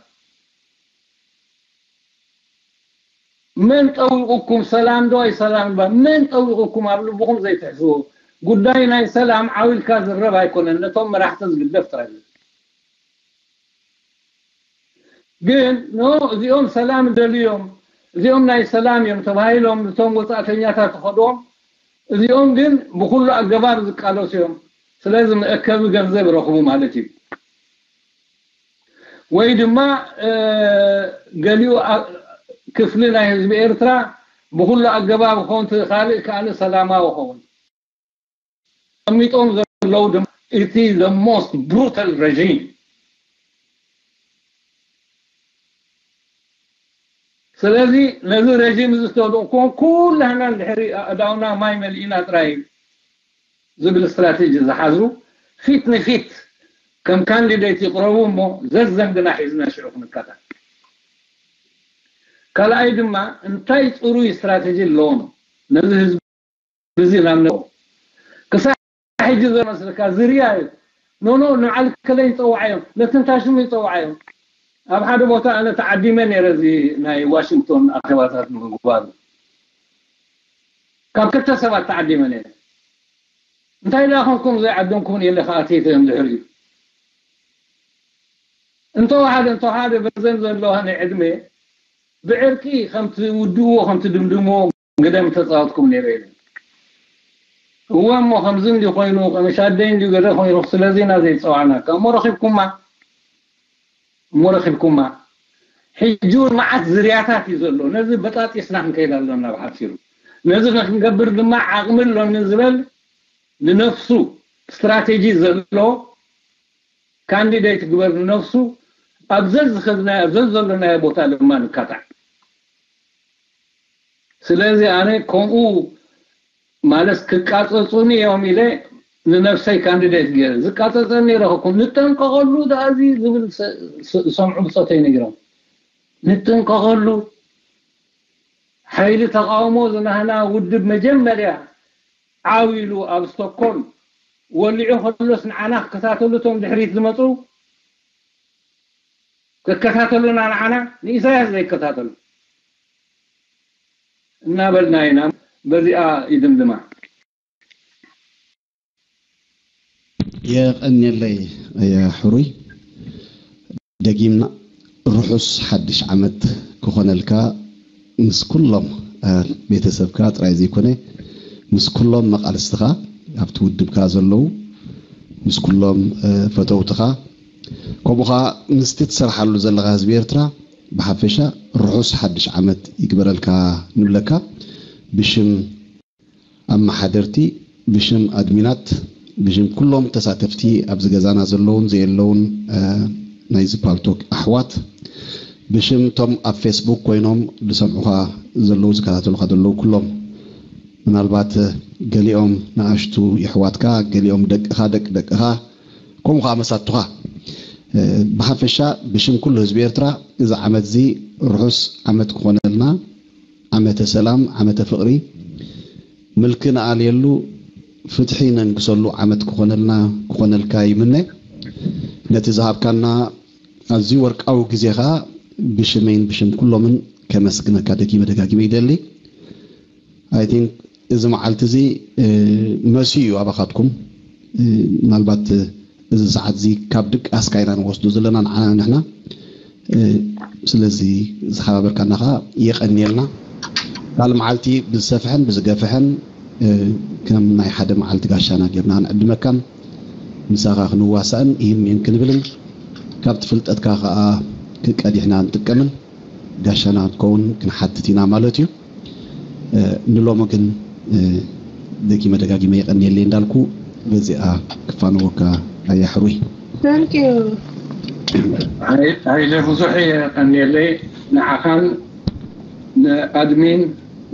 መን ጠዊቑኩም ሰላም ዶ ኣይሰላም ባ መን ጠዊቑኩም ኣብ ልብኹም ዘይትሕስቡ ጉዳይ ናይ ሰላም ዓው ኢልካ ዝረብ ኣይኮነን ነቶም መራሕቲ ዝግደፍ ጥራይ ግን ኖ እዚኦም ሰላም ደልዮም እዚኦም ናይ ሰላም እዮም ተባሂሎም እቶም ወፃእተኛታት ተኸድዎም እዚኦም ግን ብኩሉ ኣገባብ ዝቃለሱ እዮም ስለዚ መእከቢ ገንዘብ ረኽቡ ማለት እዩ ወይ ድማ ገሊኡ ክፍሊ ናይ ህዝቢ ኤርትራ ብኩሉ ኣገባብ ክኸውን ካልእ ከኣ ሰላማዊ ክኸውን ቀሚጦም ዘለዉ ድማ እቲ the most brutal regime ስለዚ ነዚ regime እዚ ዝተወደቕኩዎም ኩላህና እንድሕሪ ኣእዳውና ማይ መሊእና ጥራይ ዝብል ስትራቴጂ ዝሓዙ ፊት ንፊት ከም ካንዲዴት ይቕረቡ እሞ ዘዘንግና ሒዝና ሽዑ ክንከታል ካልኣይ ድማ እንታይ ፅሩይ ስትራቴጂ ኣለዎም ነዚ ህዝቢ እዚ ናብ ክሳብ ሕጂ ዘመስልካ ዝርያ እዩ ኖኖ ንዓል ከለይ ይፀውዓዮም ነትንታሽሙ ይፀውዓዮም ኣብ ሓደ ቦታ ኣነ ተዓዲመ ነረ እዚ ናይ ዋሽንግቶን ኣኼባታት ንምግባሩ ካብ ክልተ ሰባት ተዓዲመ ነረ እንታይ ደኣ ኮንኩም ዘይዓደምኩም ኢለ ከኣትይተ እዮም ድሕሪኡ እንተወሓደ እንተወሓደ በዘን ዘለዋ ናይ ዕድመ ብዕርቂ ከምቲ ውድእዎ ከምቲ ድምድምዎ ግደ ምተፃወትኩም ነይረ ኢለ እወ እሞ ከምዚ እንዲ ኮይኑ ቀመሻደይ እንዲ ገለ ኮይኑ ስለዚ ኢና ዘይፀዋዕናካ እሞ ረኪብኩማ እሞ ረኪብኩማ ሕጂ እውን መዓት ዝርያታት እዩ ዘሎ። ነዚ በጣጢስና ክንከይድ ኣለና ብሓጺሩ። ነዚ ንክንገብር ድማ ዓቕሚ ኣሎኒ ዝበል ንነፍሱ ስትራቴጂ ዘሎ ካንዲዴት ግበር ንነፍሱ ኣብ ዘዝኸድናዮ ዘዘሎናዮ ቦታ ድማ ንካታዕ። ስለዚ ኣነ ከምኡ ማለት ክቃጸጹኒ እዮም ኢለ ንነፍሰይ ካንዲዴት ገይረ ዝቃጸጸኒ ረኸብኩ። ንጠንቀቐሉ ደኣ እዚ ዝብል ሰ- ሰ- ዝሰምዑ ብጾተይ ነጊሮም ንጥንቀቐሉ። ሓይሊ ተቃውሞ ዝናህና ውድብ መጀመርያ ዓው ኢሉ ኣብ ስቶክሆልም ወሊዑ ከሎስ ንዓና ክከታተሉ እቶም ድሕሪት ዝመፁ ክከታተሉና ንዓና ንኢሳያስ ዘይከታተሉ እናበልና ኢና። በዚኣ ይድምድማ። የቐንየለይ ሕሩይ ደጊምና ርሑስ ሓድሽ ዓመት ክኾነልካ ምስ ኩሎም ቤተሰብካ ጥራይ ዘይኮነ ምስ ኩሎም መቓልስትኻ ኣብቲ ውድብካ ዘለዉ ምስ ኩሎም ፈተውትኻ ከምኡ ኸዓ ምስቲ ትሰርሓሉ ዘለኻ ህዝቢ ኤርትራ ብሓፈሻ ርሑስ ሓድሽ ዓመት ይግበረልካ ንብለካ ብሽም ኣመሓደርቲ ብሽም ኣድሚናት ብሽም ኩሎም ተሳተፍቲ ኣብዚ ገዛና ዘለውን ዘየለውን ናይዚ ፓልቶክ ኣሕዋት ብሽም እቶም ኣብ ፌስቡክ ኮይኖም ዝሰምዑኻ ዘለዉ ዝከታተሉኻ ዘለዉ ኩሎም ምናልባት ገሊኦም ንኣሽቱ የሕዋትካ ገሊኦም ደቅኻ ደቂ ደቅኻ ከምኡ ከዓ መሳቱኻ ብሓፈሻ ብሽም ኩሉ ህዝቢ ኤርትራ እዚ ዓመት እዚ ርሑስ ዓመት ክኾነልና ዓመተ ሰላም ዓመተ ፍቕሪ ምልኪ ንኣልየሉ ፍትሒ ነንግሰሉ ዓመት ክኾነልና ክኾነልካ ይምነ ነቲ ዝሃብካና ኣዝዩ ወርቃዊ ግዜ ከዓ ብሽመይን ብሽም ኩሎምን ከመስግነካ ደጊመ ደጋጊመ ይደሊ I think እዚ መዓልቲ እዚ መሲኡ እዩ ኣባኻትኩም ምናልባት እዚ ሰዓት እዚ ካብ ድቃስካ ኢና ንወስዶ ዘለና ንዓና ንሕና ስለዚ ዝሓባበርካና ከዓ የቐንየልና ካልእ መዓልቲ ብዝሰፍሐን ብዝገፍሐን ከም ናይ ሓደ መዓልቲ ጋሻና ጌርና ክንዕድመካን ምሳኻ ክንዋሳእን ይህን ይህን ክንብልን ካብቲ ፍልጠትካ ከዓ ክቀዲሕና ንጥቀምን ጋሻና ክትከውን ክንሓትት ኢና ማለት እዩ ንሎሚ ግን ደጊመ ደጋጊመ የቐንየለይ እንዳልኩ በዚኣ ክፋነወካ ኣያ ሕሩይ ሃይለ ብዙሕ የቐንየለይ ንዓኻን ንኣድሚን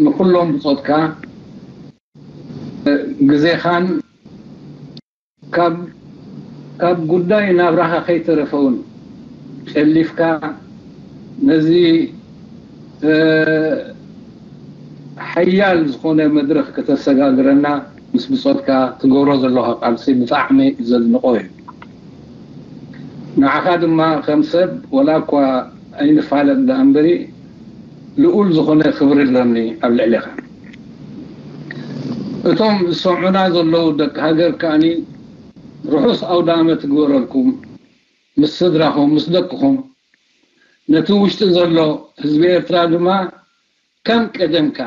ንኩሎም ብፆትካ ግዜኻን ካብ ጉዳይ ናብራኻ ከይተረፈ እውን ጨሊፍካ ነዚ ሓያል ዝኾነ መድረኽ ከተሰጋግረና ምስ ብፆትካ ትገብሮ ዘለኻ ቃልሲ ብጣዕሚ ዘድንቆ እዩ። ንዓኻ ድማ ከም ሰብ ወላ እኳ ኣይንፋለጥ ደኣ እምበሪ ልኡል ዝኾነ ክብሪ ኣለኒ ኣብ ልዕሌኻ። እቶም ዝሰምዑና ዘለዉ ደቂ ሃገር ከኣኒ ርሑስ ኣውደ ኣመት ይግበረልኩም ምስ ስድራኹም ምስ ደቅኹም ነቲ ውሽጢ ዘሎ ህዝቢ ኤርትራ ድማ ከም ቀደምካ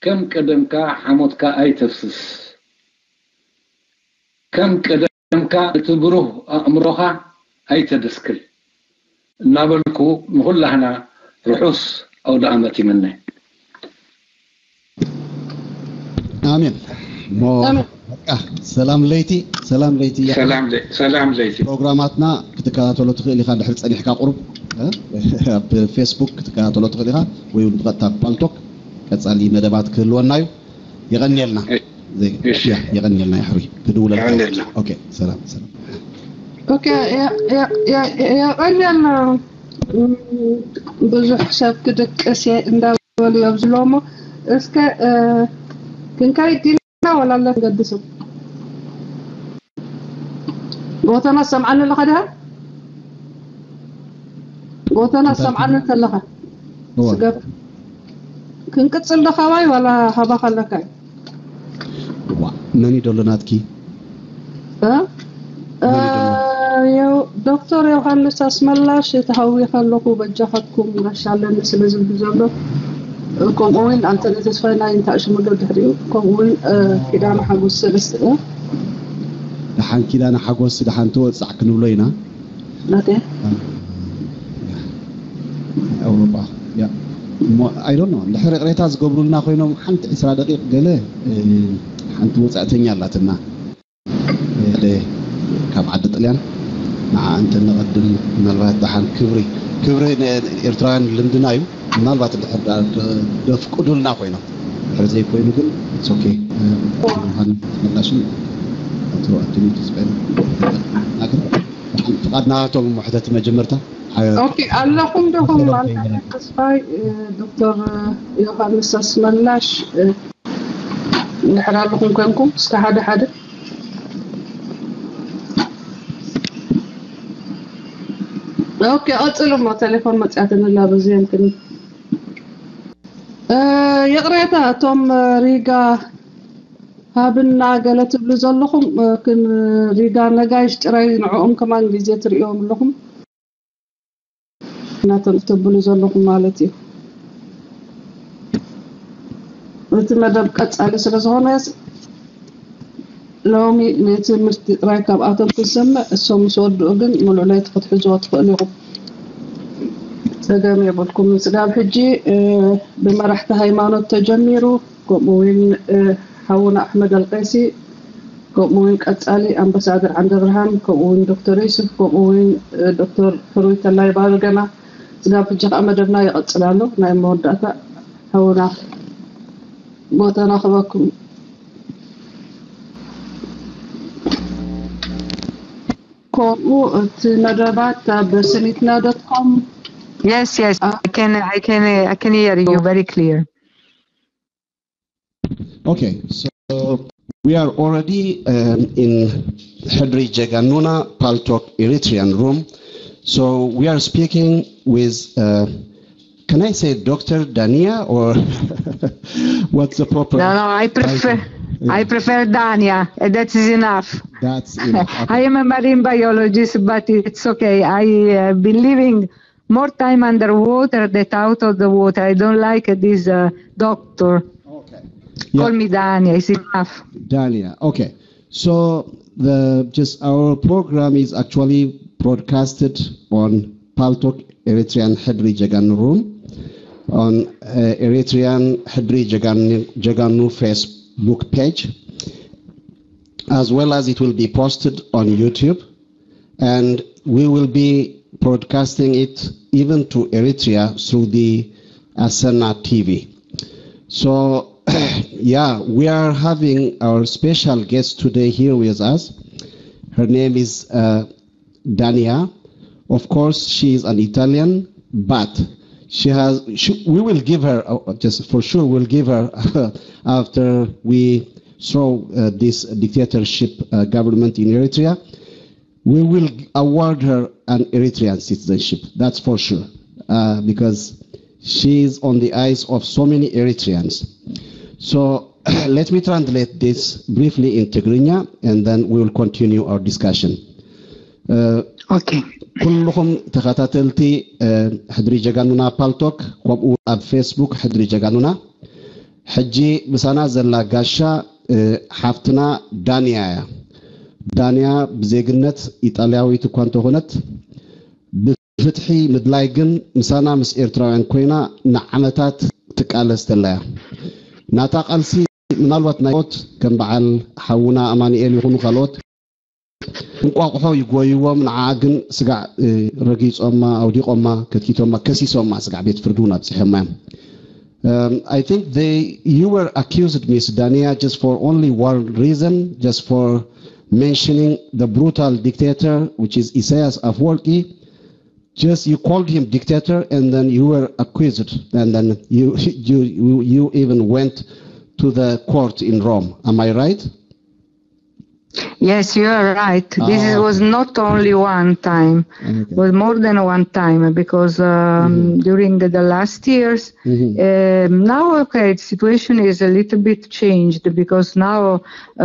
ከም ቀደምካ ሓሞትካ ኣይተፍስስ ከም ቀደምካ እቲ ብሩህ ኣእምሮኻ ኣይተደስክል እናበልኩ ንኹላህና ርሑስ ኣውደ ኣመት ይምነ። ኣሜን። እሞ በቃ ሰላም ለይቲ ሰላም ለይቲ እያ። ሰላም ለይ- ሰላም ለይቲ። ፕሮግራማትና ክትከታተሎ ትኽእል ኢኻ ድሕሪ ጸኒሕካ ቁሩብ እ? ኣብ ፌስቡክ ክትከታተሎ ትኽእል ኢኻ ወይ እውን ብቐጥታ ብፓልቶክ ቀጻሊ መደባት ክህልወና እዩ። የቐንየልና። እሺ። ያ፣ የቐንየልና ይሕሩይ። ክድውለልካ። የቐንየልና። ኦኬ፣ ሰላም ሰላም። ኦኬ፣ የ- የ- የ- የቐንየልና። እም፣ ብዙሕ ሰብ ክድቅስ እየ እንዳበሉ እዮም ዝብልዎ እሞ እስከ እ፣ ክንከይድ ዲና ወላ ኣሎ ንገድሶም ጎተና ትሰምዓኒ ኣለኻ ድያ? ጎተና እንታይ ትሰምዓኒ እንተለኻ እዋ። ስገብ ክንቅጽል ዶ ካባይ ዋላ ሃባኻ ኣለካ እዩ? ዋ መን እዩ ደሎ ናትኪ? እ? መን እዩ ደሎ? እ፣ የው- ዶክተር ዮሃንስ ኣስመላሽ ተሃዊኸ ኣለኹ በጃኻትኩም ጋሻ ኣለኒ ስለ ዝብል ዘሎ ከምኡ እውን ኣንተነ ተስፋይ ናይ እንታይ ሽሙ ዶ ድሕሪኡ ከምኡ እውን እ፣ ኪዳነ ሓጎስ ሰለስተ እ፣ ደሓን ኪዳነ ሓጎስ ደሓን ትወፃዕ ክንብሎ ኢና። ናተ I don't know፣ እንድሕር ይቕሬታ ዝገብሩልና ኮይኖም ሓንቲ ዕስራ ደቂቕ ገለ ሓንቲ ወፃእተኛ ኣላትና፣ ሓደ ካብ ዓዲ ጥልያን። ንዓ እንተ ነቐድም፣ ምናልባት ደሓን ክብሪ ክብሪ ንኤርትራውያን ልምድና እዩ። ምናልባት እንድሕር ደፍቅዱልና ኮይኖም፣ ድሕር ዘይኮይኑ ግን ሶኬ። ዮሃንስ መላሽን ኣቶ ኣዱኒ ተስፋይ ናግር፣ ፍቓድና እቶም ሕተቲ መጀመርታ። ኦኬ፣ ኣለኹም ዶኹም ማለት ተስፋይ፣ ዶክተር ዮሃንስ ኣስመላሽ፣ እንድሕር ኣለኹም ኮንኩም እስከ ሓደ ሓደ። ኦኬ፣ ቀጽሉ እሞ፣ ቴሌፎን መጽያትኒ ኣላ፣ በዚ የምክን። ይቕሬታ፣ እቶም ሪጋ ሃብና ገለ ትብሉ ዘለኹም፣ ግን ሪጋ ነጋይሽ ጥራይ ንዕኦም ከማን ግዜ ትርእዮም ኣለኹም። ናቶም ትብሉ ዘለኹም ማለት እዩ። እቲ መደብ ቀጻሊ ስለ ዝኾነ፣ ሎሚ ንትምህርቲ ጥራይ ካብኣቶም ክንሰምዕ፣ እሶም ምስ ወድኡ ግን ሙሉእ ለይቲ ክትሕዝዎ ትኽእሉ ኢኹም። ጸገም የብልኩም። ስጋብ ሕጂ ብመራሕቲ ሃይማኖት ተጀሚሩ፣ ከምኡ እውን ሓውና ኣሕመድ ኣልቀይሲ፣ ከምኡ እውን ቀጻሊ ኣምባሳደር ዓንደብርሃን፣ ከምኡ እውን ዶክተር ዩሱፍ፣ ከምኡ እውን ዶክተር ሕሩይ ተላይ ባርገና። ስጋብ ሕጂ ከዓ መደብና ይቐጽል ኣሎ። ናይ መወዳእታ ሓውና ቦታ ናኽበኩም። ከምኡ እቲ መደባት ኣብ ሰኒትና ዶት ኮም። Yes, yes, I can, I can, I can hear you very clear. Okay, so we are already um, in Hedri Jaganuna Paltok Eritrean room. So we are speaking with, uh, can I say Doctor Dania or what's the proper? No, no, I prefer, I prefer Dania. That is enough. That's enough. I am a marine biologist, but it's okay. I have been living more time underwater than out of the water. I don't like this uh, doctor. Okay. Call me Dania. It's enough. Dania. Okay. So the just our program is actually broadcasted on Paltok Eritrean Hedri Jaganu Room on uh, Eritrean Hedri Jaganu, Jaganu Facebook page, as well as it will be posted on YouTube, and we will be broadcasting it even to Eritrea through the Asena T V. So, yeah, we are having our special guest today here with us. Her name is uh, Dania. Of course, she is an Italian, but she has. She, we will give her uh, just for sure. We'll give her after we throw uh, this dictatorship uh, government in Eritrea. We will award her an Eritrean citizenship. That's for sure, uh, because she is on the eyes of so many Eritreans. So let me translate this briefly in Tigrinya, and then we will continue our discussion. Uh, okay. ኩልኹም ተኸታተልቲ ሕድሪ ጀጋኑና ፓልቶክ፣ ከምኡ ኣብ ፌስቡክ ሕድሪ ጀጋኑና። ሕጂ ምሳና ዘላ ጋሻ ሓፍትና ዳንያ እያ። ዳንያ ብዜግነት ኢጣልያዊት እኳ እንተኾነት፣ ብፍትሒ ምድላይ ግን ምሳና ምስ ኤርትራውያን ኮይና ንዓመታት ትቃለስ ተላ እያ። ናታ ቃልሲ ምናልባት ናይ ሞት ከም በዓል ሓውና ኣማኑኤል ይኹኑ ካልኦት እንቋቑሖ ይጎይዎም፣ ንዓ ግን ስጋዕ ረጊጾማ፣ ኣውዲቖማ፣ ከትኪቶማ፣ ከሲሶማ ስጋዕ ቤት ፍርዲ እውን ኣብጺሖማ እዮም። Um, I think they, you were accused, Miss Dania, just for only one reason, just for mentioning the brutal dictator, which is Isaias Afwerki. Just you called him dictator, and then you were accused, and then you you you even went to the court in Rome. Am I right? Yes, you are right. This ah. was not only one time. Okay. It was more than one time because um, mm-hmm. during the last years, mm-hmm. uh, now, okay, the situation is a little bit changed because now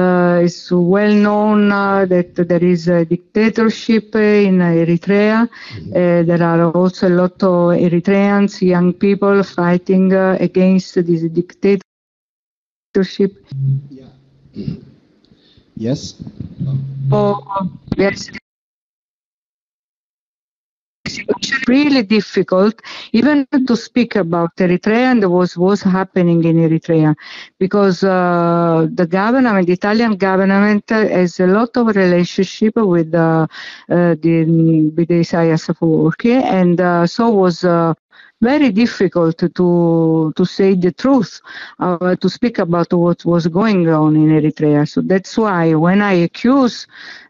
uh, it's well known uh, that there is a dictatorship in Eritrea. Mm-hmm. Uh, there are also a lot of Eritreans, young people fighting uh, against this dictator. Dictatorship. Yeah. Yes. Oh, yes. It's really difficult even to speak about Eritrea and what was happening in Eritrea, because uh, the government, the Italian government, uh, has a lot of relationship with uh, uh, the with the Isaias Afwerki, and uh, so was uh, very difficult to to say the truth, uh, to speak about what was going on in Eritrea. So that's why when I accuse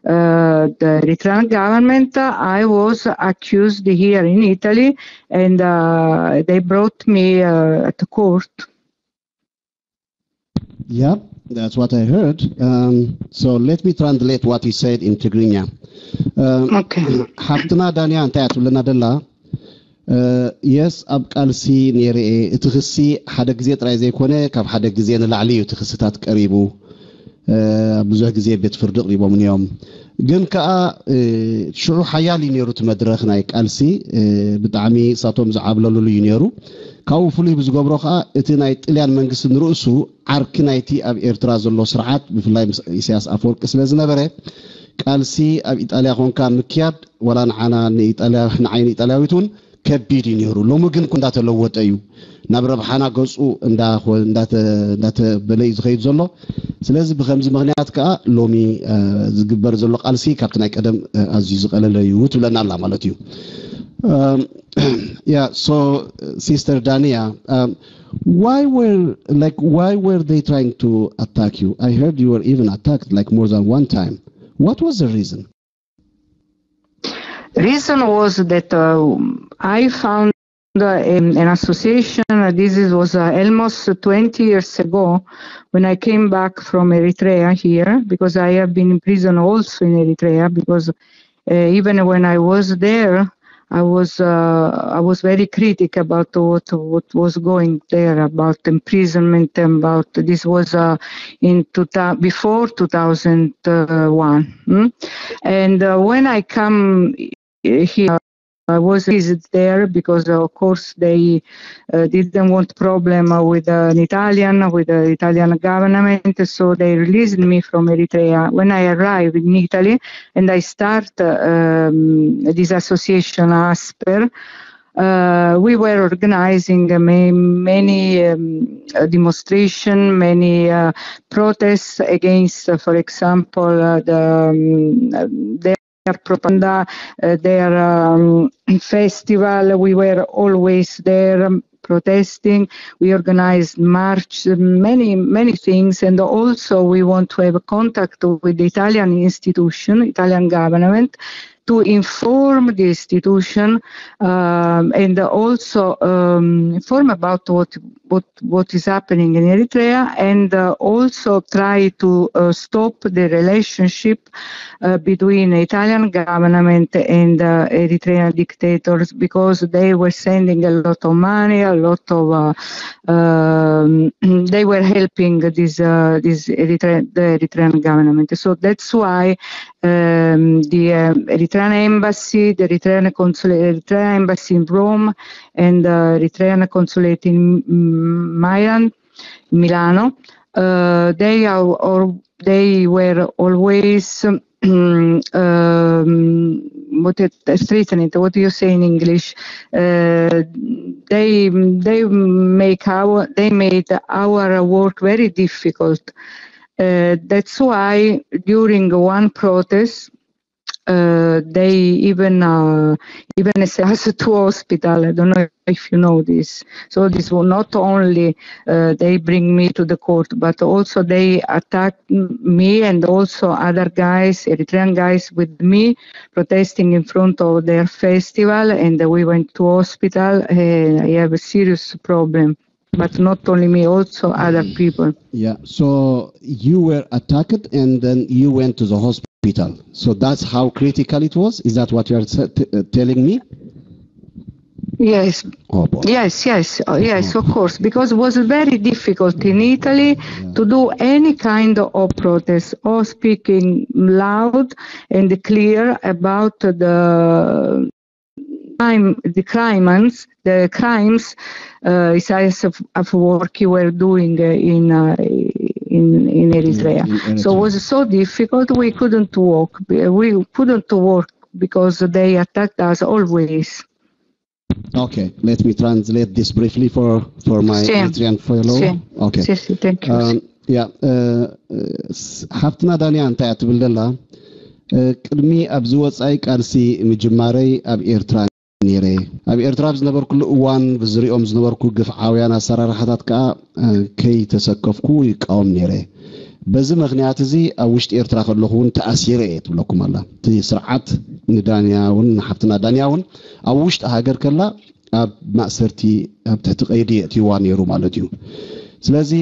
uh, the Eritrean government, I was accused here in Italy, and uh, they brought me uh, at court. Yeah, that's what I heard. Um, so let me translate what he said in Tigrinya. Um, Okay. ሓፍትና ዳንያ እንታይ እያ ትብለና ደላ? የስ፣ ኣብ ቃልሲ ነይረ እየ። እቲ ክሲ ሓደ ግዜ ጥራይ ዘይኮነ፣ ካብ ሓደ ግዜ ንላዕሊ እዩ እቲ ክስታት ቀሪቡ። ኣብ ብዙሕ ግዜ ቤት ፍርዲ ኣቕሪቦምኒ እዮም። ግን ከኣ ሽዑ ሓያል እዩ ነይሩ እቲ መድረኽ ናይ ቃልሲ። ብጣዕሚ እሳቶም ዝዓብለሉሉ እዩ ነይሩ። ካብኡ ፍሉይ ብዝገብሮ ከኣ እቲ ናይ ጥልያን መንግስቲ ንርእሱ ዓርኪ ናይቲ ኣብ ኤርትራ ዘሎ ስርዓት፣ ብፍላይ ምስ ኢሳያስ ኣፈወርቂ ስለ ዝነበረ፣ ቃልሲ ኣብ ኢጣልያ ኮንካ ምክያድ ዋላ ንዓና ንኢጣልያ፣ ንዓይ ንኢጣልያዊት እውን ከቢድ እዩ ነይሩ። ሎሚ ግን እንዳተለወጠ እዩ፣ ናብ ረብሓና ገጹ እንዳኾ- እንዳተ- እንዳተበለ እዩ ዝኸይድ ዘሎ። ስለዚ ብከምዚ ምኽንያት ከዓ ሎሚ ዝግበር ዘሎ ቃልሲ ካብቲ ናይ ቀደም ኣዝዩ ዝቐለለ እዩ ትብለና ኣላ ማለት እዩ። Um, yeah, so Sister Dania, um, why were like why were they trying to attack you? I heard you were even attacked like more than one time. What was the reason? Reason was that uh, I found uh, an, an association. Uh, this is, was uh, almost twenty years ago when I came back from Eritrea here, because I have been in prison also in Eritrea, because uh, even when I was there, I was uh, I was very critic about what what was going there, about imprisonment, and about this was uh, in two, before two thousand one. Hmm? And uh, when I come here, I was visit there because, of course, they uh, didn't want problem uh, with an Italian, with the Italian government. So they released me from Eritrea. When I arrived in Italy and I start uh, um, this association, ASPER, uh, we were organizing uh, ma- many um, uh, demonstration, many uh, protests against, uh, for example, uh, the, um, uh, their propaganda, uh, their um, festival. We were always there um, protesting. We organized march, many, many things, and also we want to have a contact with the Italian institution, Italian government, to inform the institution um, and also um, inform about what, what, what is happening in Eritrea, and uh, also try to uh, stop the relationship uh, between Italian government and uh, Eritrean dictators, because they were sending a lot of money, a lot of uh, um, they were helping this uh, this Eritrean, the Eritrean government. So that's why um, the um, Eritrean embassy, the Eritrean consulate, Eritrean embassy in Rome, and the Eritrean consulate in mm, Milan, Milano. Uh, they are or they were always um, what it, straighten it. What do you say in English? Uh, they they make our they made our work very difficult. Uh, that's why during one protest, uh, they even uh, even sent us to hospital. I don't know if you know this. So this will not only uh, they bring me to the court, but also they attack me and also other guys, Eritrean guys with me, protesting in front of their festival, and we went to hospital. Uh, I have a serious problem, but not only me, also other people. Yeah. So you were attacked, and then you went to the hospital. So that's how critical it was. Is that what you are t- uh, telling me? Yes. Oh boy. Yes, yes, uh, yes, of course, because it was very difficult in Italy to do any kind of protest or speaking loud and clear about the crime, the crimes, the crimes uh, Isaias of, of Worki were doing uh, in, uh, in in Eritrea. In Eritrea. So it was so difficult. We couldn't walk. We couldn't walk because they attacked us always. Okay, let me translate this briefly for, for my Sì. Eritrean fellow. Sì. Okay. Sì, sì, thank you. Um, yeah, uh, uh, s- ሓፍትና ዳንያ እንታይ እያ ትብል ዘላ? Uh, ቅድሚ ኣብዚ ወጻኢ ቃልሲ ምጅማረይ ኣብ ኤርትራ ነይረ። ኣብ ኤርትራ ኣብ ዝነበርኩሉ እዋን ብዝሪኦም ዝነበርኩ ግፍዓውያን ኣሰራርሓታት ከኣ፣ uh, ከይተሰከፍኩ ይቃወም ነይረ። በዚ ምኽንያት እዚ ኣብ ውሽጢ ኤርትራ ከለኹ እውን ተኣሲረ እየ ትብለኩም ኣላ። እቲ ስርዓት ንዳንያ እውን ንሓፍትና ዳንያ እውን ኣብ ውሽጢ ሃገር ከላ ኣብ ማእሰርቲ ኣብ ትሕቲ ቀይዲ የእትይዋ ነይሩ ማለት እዩ። ስለዚ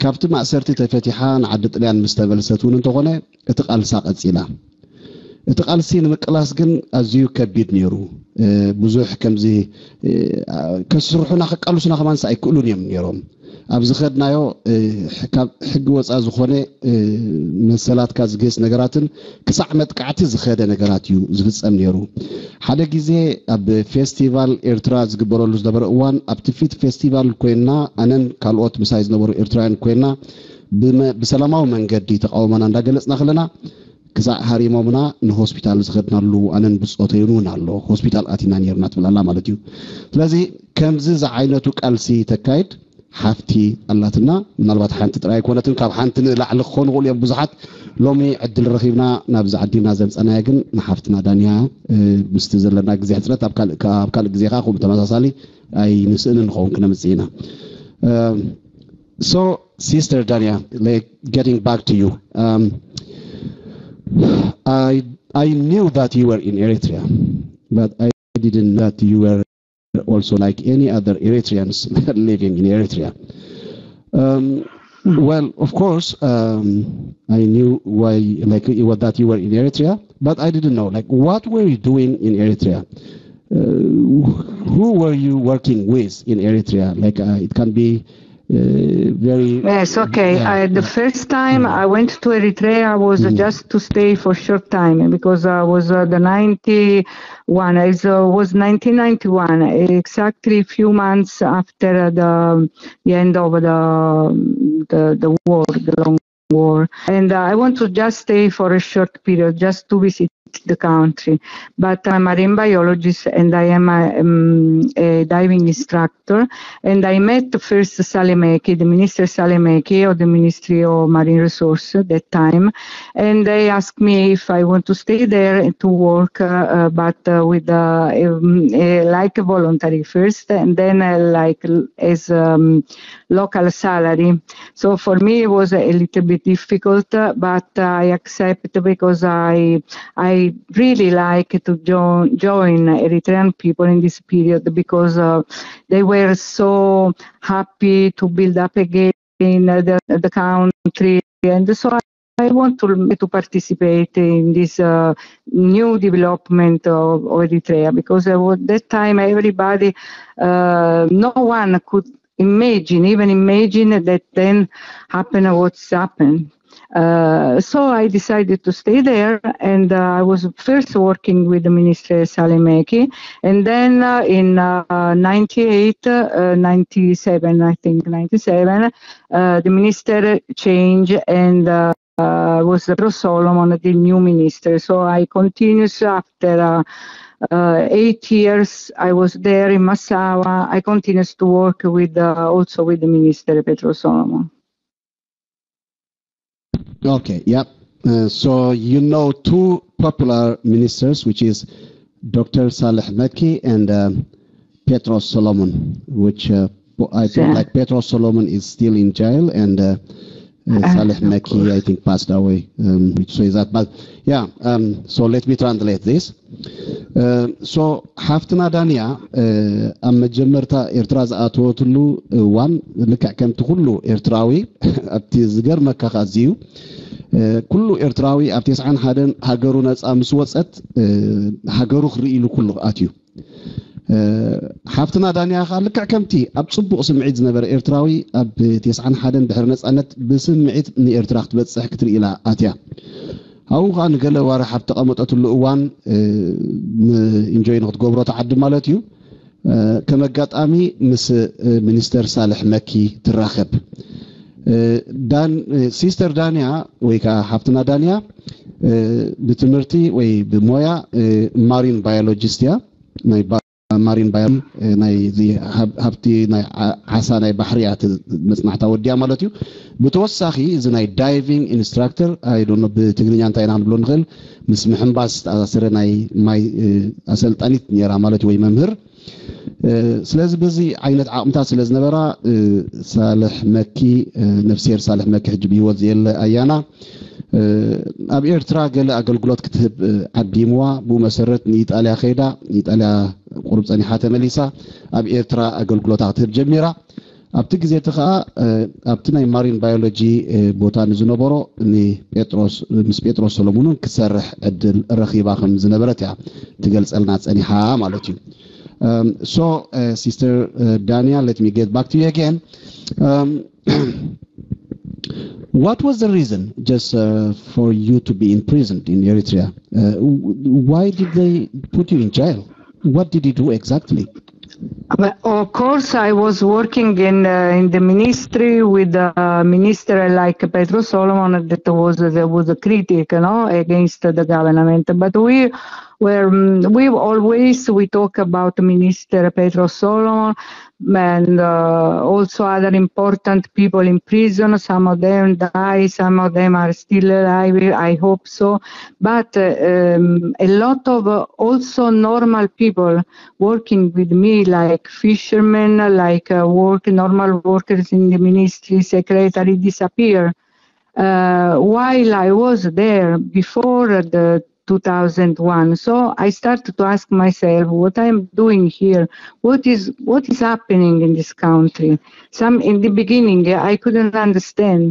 ካብቲ ማእሰርቲ ተፈቲሓ ንዓዲ ጥልያን ምስ ተመልሰት እውን እንተኾነ እቲ ቃልሳ ቀጺላ። እቲ ቃልሲ ንምቅላስ ግን ኣዝዩ ከቢድ ነይሩ። እ፣ ብዙሕ ከምዚ፣ እ፣ ከስርሑና ከቃልሱና ከማንስ ኣይክእሉን እዮም ነይሮም። ኣብ ዝኸድናዮ፣ እ፣ ካብ ሕጊ ወፃ ዝኾነ፣ እ፣ መሰላትካ ዝግህስ ነገራትን ክሳዕ መጥቃዕቲ ዝኸደ ነገራት እዩ ዝፍጸም ነይሩ። ሓደ ግዜ ኣብ ፌስቲቫል ኤርትራ ዝግበረሉ ዝነበረ እዋን ኣብቲ ፊት ፌስቲቫል ኮይና ኣነን ካልኦት ምሳይ ዝነበሩ ኤርትራውያን ኮይና ብመ- ብሰላማዊ መንገዲ ተቃውሞና እንዳገለጽና ከለና ክሳዕ ሃሪሞምና ንሆስፒታል ዝኸድናሉ ኣነን ብጾተይን እውን ኣሎ ሆስፒታል ኣቲና ነርና ትብል ኣላ ማለት እዩ። ስለዚ ከምዚ ዝዓይነቱ ቃልሲ ተካይድ ሓፍቲ ኣላትና። ምናልባት ሓንቲ ጥራይ ኣይኮነትን፣ ካብ ሓንቲ ንላዕሊ ክኾኑ ይኽእሉ እዮም ብዙሓት። ሎሚ ዕድል ረኺብና ናብዚ ዓዲና ዘምፀናያ ግን ንሓፍትና ዳንያ፣ እ፣ ምስቲ ዘለና ግዜ ሕፅረት ኣብ ካልእ፣ ኣብ ካልእ ግዜ ከዓ ከምኡ ተመሳሳሊ ኣይንስእንን ንኸውን ክነምፅእ ኢና። Um, so, Sister Dania, like, getting back to you, um, I I knew that you were in Eritrea, but I didn't know that you were also like any other Eritreans living in Eritrea. Um, well, of course, um, I knew why, like, it was that you were in Eritrea, but I didn't know, like, what were you doing in Eritrea? Uh, who were you working with in Eritrea? Like, uh, it can be uh, very. Yes, okay. Yeah, I, the yeah. First time I went to Eritrea was Mm. just to stay for a short time because I was uh, the ninety-one. It uh, was nineteen ninety-one, exactly a few months after the, the end of the the, the war, the long war. And uh, I want to just stay for a short period, just to visit the country. But I'm a marine biologist and I am a, um, a diving instructor. And I met first Salemeki, the minister Salemeki of the Ministry of Marine Resource at that time. And they asked me if I want to stay there and to work, uh, uh, but uh, with uh, um, uh, like a voluntary first, and then uh, like l- as um, local salary. So for me, it was a little bit difficult, uh, but I accept because I I really like to join join Eritrean people in this period because uh, they were so happy to build up again uh, the, the country, and so I, I want to to participate in this uh, new development of, of Eritrea because uh, at that time everybody, uh, no one could imagine, even imagine that then happen what's happened. Uh, so I decided to stay there, and uh, I was first working with the Minister Salemeki, and then uh, in uh, ninety-eight, uh, ninety-seven, I think ninety-seven, uh, the minister changed, and uh, uh, was Petro Solomon, the new minister. So I continues after uh, uh, eight years. I was there in Massawa. I continues to work with uh, also with the minister Petro Solomon. Okay, yep. Uh, so you know two popular ministers, which is Doctor Saleh Mekki and um, Petros Solomon, which uh, po- I think Yeah. like Petros Solomon is still in jail, and uh, uh, Ah, Saleh of Mekki, I course. think, passed away. Um, which says that, but yeah. Um, so let me translate this. Uh, so ሓፍትና ዳንያ፣ uh, ኣብ መጀመርታ ኤርትራ ዝኣተወትሉ እዋን ልክዕ ከምቲ ኩሉ ኤርትራዊ ኣብቲ ዝገርመካ ከኣ እዚ እዩ። Uh, ኩሉ ኤርትራዊ ኣብ ተስዓን ሓደን ሃገሩ ነጻ ምስ ወጸት፣ uh፣ ሃገሩ ክርኢ ኢሉ ኩሉ ኣትዩ። ሓፍትና ዳንያ ከኣ ልክዕ ከምቲ ኣብ ጽቡቕ ስምዒት ዝነበረ ኤርትራዊ ኣብ ተስዓን ሓደን ድሕሪ ነጻነት ብስምዒት ንኤርትራ ክትበጽሕ ክትርኢ ኢላ ኣትያ። ኣብኡ ከኣ ንገለ ዋርሕ ኣብ ተቐመጠትሉ እዋን፣ ኢንጆይ ንክትገብሮ ትዓዲ ማለት እዩ። ከም ኣጋጣሚ ምስ ሚኒስተር ሳልሕ መኪ ትራኸብ። ሲስተር ዳንያ ወይ ከዓ ሓፍትና ዳንያ ብትምህርቲ ወይ ብሞያ ማሪን ባዮሎጂስት እያ። ናይ ማሪን ባዮ ናይ እዚ ሃብ- ሃብቲ ናይ ዓ- ዓሳ ናይ ባሕሪ እያ እቲ መፅናዕታ ወዲያ ማለት እዩ። ብተወሳኺ እዚ ናይ ዳይቪንግ ኢንስትራክተር ኣይዶኖ ብትግርኛ እንታይ ኢና ክንብሎ ንኽእል፣ ምስ ምሕንባስ ዝተኣሳሰረ ናይ ማይ እ፣ ኣሰልጣኒት ነይራ ማለት እዩ፣ ወይ መምህር። እ፣ ስለዚ በዚ ዓይነት ዓቕምታት ስለ ዝነበራ እ፣ ሳልሕ መኪ እ፣ ነፍስሄር ሳልሕ መኪ ሕጂ ብህይወት ዘየለ ኣያና እ፣ ኣብ ኤርትራ ገለ ኣገልግሎት ክትህብ እ፣ ዓዲምዋ። ብኡ መሰረት ንኢጣልያ ከይዳ፣ ኢጣልያ ቁሩብ ጸኒሓ ተመሊሳ ኣብ ኤርትራ ኣገልግሎታ ክትህብ ጀሚራ። ኣብቲ ግዜ እቲ ከኣ እ፣ ኣብቲ ናይ ማሪን ባዮሎጂ እ፣ ቦታ ንዝነበሮ ንጴጥሮስ ምስ ጴጥሮስ ሰሎሙንን ክትሰርሕ ዕድል ረኺባ ከም ዝነበረት እያ ትገልጸልና ጸኒሓ ማለት እዩ። Um, so, uh, Sister uh, Dania, let me get back to you again. Um, what was the reason just uh, for you to be imprisoned in Eritrea? Uh, w- why did they put you in jail? What did you do exactly? But of course, I was working in uh, in the ministry with a minister like Petro Solomon, that was there was a critic, you know, against the government. But we were mm, we always we talk about Minister Petro Solomon and uh, also other important people in prison. Some of them die, some of them are still alive. I hope so. But uh, um, a lot of uh, also normal people working with me, like fishermen, like uh, work normal workers in the ministry, secretary disappear. Uh, while I was there before the two thousand one, so I started to ask myself what I'm doing here, what is what is happening in this country. Some in the beginning I couldn't understand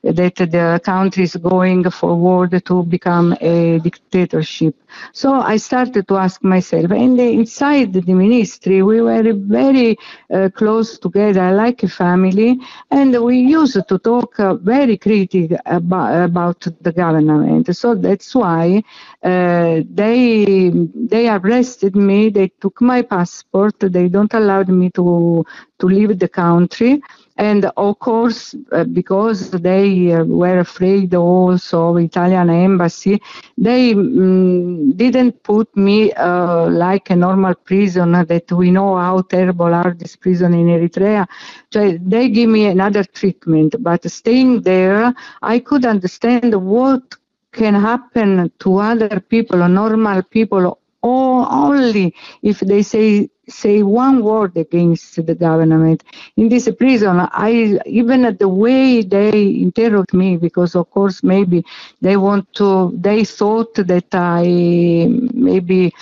that the country is going forward to become a dictatorship. So I started to ask myself, and inside the ministry, we were very uh, close together, like a family, and we used to talk uh, very critic about, about the government. So that's why uh, they they arrested me. They took my passport. They don't allowed me to to leave the country. And of course, uh, because they uh, were afraid also of Italian embassy, they mm, didn't put me uh, like a normal prisoner that we know how terrible are these prisons in Eritrea. So they give me another treatment, but staying there, I could understand what can happen to other people, normal people, or only if they say say one word against the government. In this prison, I even the way they interrogate me, because of course maybe they want to, they thought that I maybe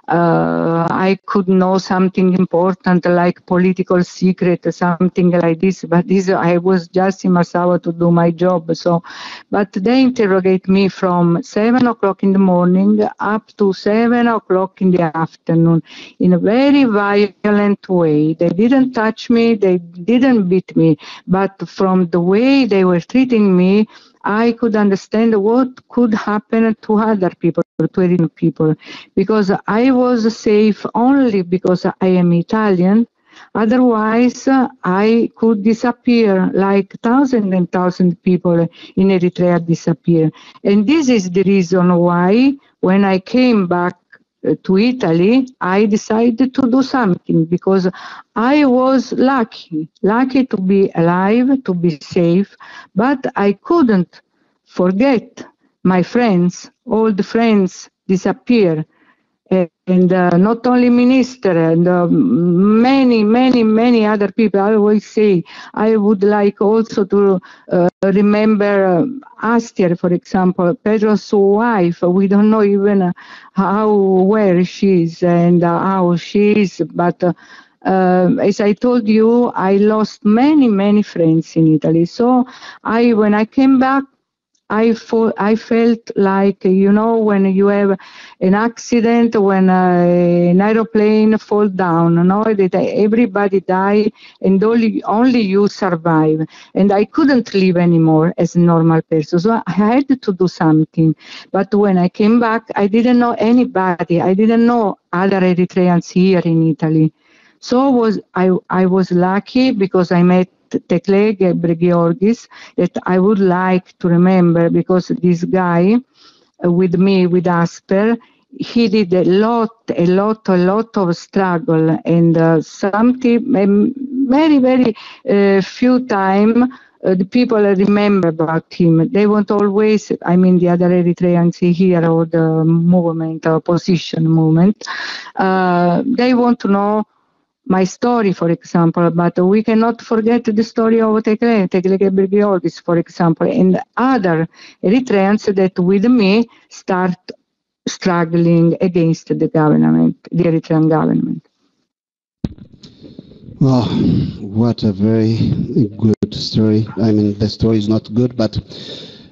uh, I could know something important like political secret or something like this. But this I was just in Massawa to do my job. So, but they interrogate me from seven o'clock in the morning up to seven o'clock in the afternoon in a very violent way. They didn't touch me, they didn't beat me, but from the way they were treating me, I could understand what could happen to other people, to Eritrean people, because I was safe only because I am Italian. Otherwise, uh, I could disappear like thousand and thousand people in Eritrea disappear. And this is the reason why when I came back uh, to Italy, I decided to do something because I was lucky, lucky to be alive, to be safe, but I couldn't forget my friends, old friends disappear. And uh, not only minister and uh, many, many, many other people. I always say I would like also to uh, remember uh, Astier, for example, Pedro's wife. We don't know even uh, how, where she is and uh, how she is, but uh, uh, as I told you, I lost many, many friends in Italy. So I, when I came back, I, fo- I felt like, you know, when you have an accident, when uh, an aeroplane fall down, no, that everybody die and only, only you survive. And I couldn't live anymore as a normal person. So I had to do something. But when I came back, I didn't know anybody. I didn't know other Eritreans here in Italy. So was I, I was lucky because I met Tekle Gebre Georgis that I would like to remember, because this guy uh, with me, with Asper, he did a lot, a lot, a lot of struggle, and uh, something um, very, very uh, few time uh, the people remember about him. They want always, I mean, the other Eritreans here or the movement, opposition movement, uh, they want to know my story, for example, but we cannot forget the story of Tekle, Tekle Gebrgiorgis, for example, and other Eritreans that with me start struggling against the government, the Eritrean government. Oh, what a very good story. I mean, the story is not good, but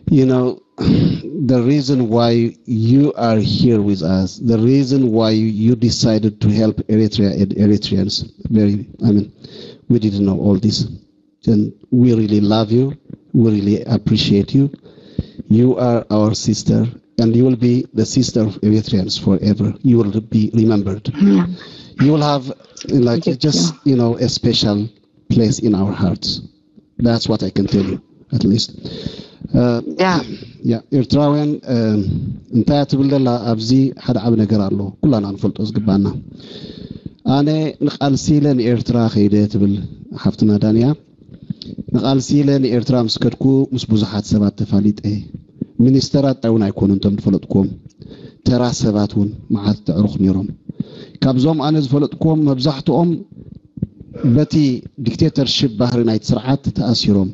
you know, the reason why you are here with us, the reason why you decided to help Eritrea and Eritreans, very, I mean, we didn't know all this. And we really love you. We really appreciate you. You are our sister, and you will be the sister of Eritreans forever. You will be remembered. You will have, like, just, you know, a special place in our hearts. That's what I can tell you, at least. Uh, Yeah. Yeah, ኤርትራውያን እንታይ ትብል ዘላ ኣብዚ ሓደ ዓቢ ነገር ኣሎ፣ ኩላና ንፈልጦ ዝግባና። ኣነ ንቓልሲ ኢለ ንኤርትራ ከይደ ትብል ሓፍትና ዳንያ። ንቓልሲ ኢለ ንኤርትራ ምስ ከድኩ ምስ ብዙሓት ሰባት ተፋሊጠ። ሚኒስተራት እውን ኣይኮኑን እቶም ዝፈለጥኩዎም፣ ተራ ሰባት እውን መዓት ተዕሩኽ ነይሮም። ካብዞም ኣነ ዝፈለጥኩዎም መብዛሕትኦም በቲ ዲክቴተርሽፕ ባህሪ ናይቲ ስርዓት ተኣሲሮም፣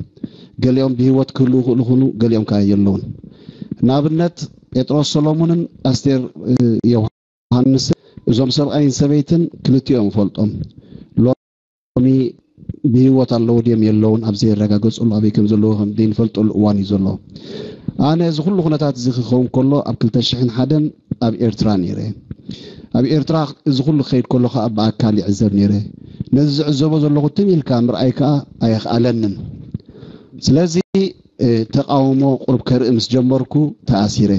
ገሊኦም ብህይወት ክህልዉ ክእሉ ይኽእሉ፣ ገሊኦም ከኣ የለውን። ንኣብነት ጴጥሮስ ሰሎሙንን ኣስቴር ዮሃንስን፣ እዞም ሰብኣይን ሰበይትን ክልቲኦም እፈልጦም። ሎሚ ብህይወት ኣለዉ ድዮም የለውን ኣብ ዘየረጋገጽሉ፣ ኣበይ ከም ዘለዉ ከም ዘይንፈልጠሉ እዋን እዩ ዘሎ። ኣነ እዚ ኩሉ ኩነታት እዚ ክኸውን ከሎ ኣብ ክልተ ሽሕን ሓደን ኣብ ኤርትራ ነይረ። ኣብ ኤርትራ እዚ ኩሉ ክኸይድ ከሎ ከኣ ብኣካል ይዕዘብ ነይረ። ነዚ ዝዕዘቦ ዘለኹ ትም ኢልካ ምርኣይ ከኣ ኣየኽኣለንን። ስለዚ ተቃውሞ ቁሩብ ከርኢ ምስ ጀመርኩ ተኣሲረ።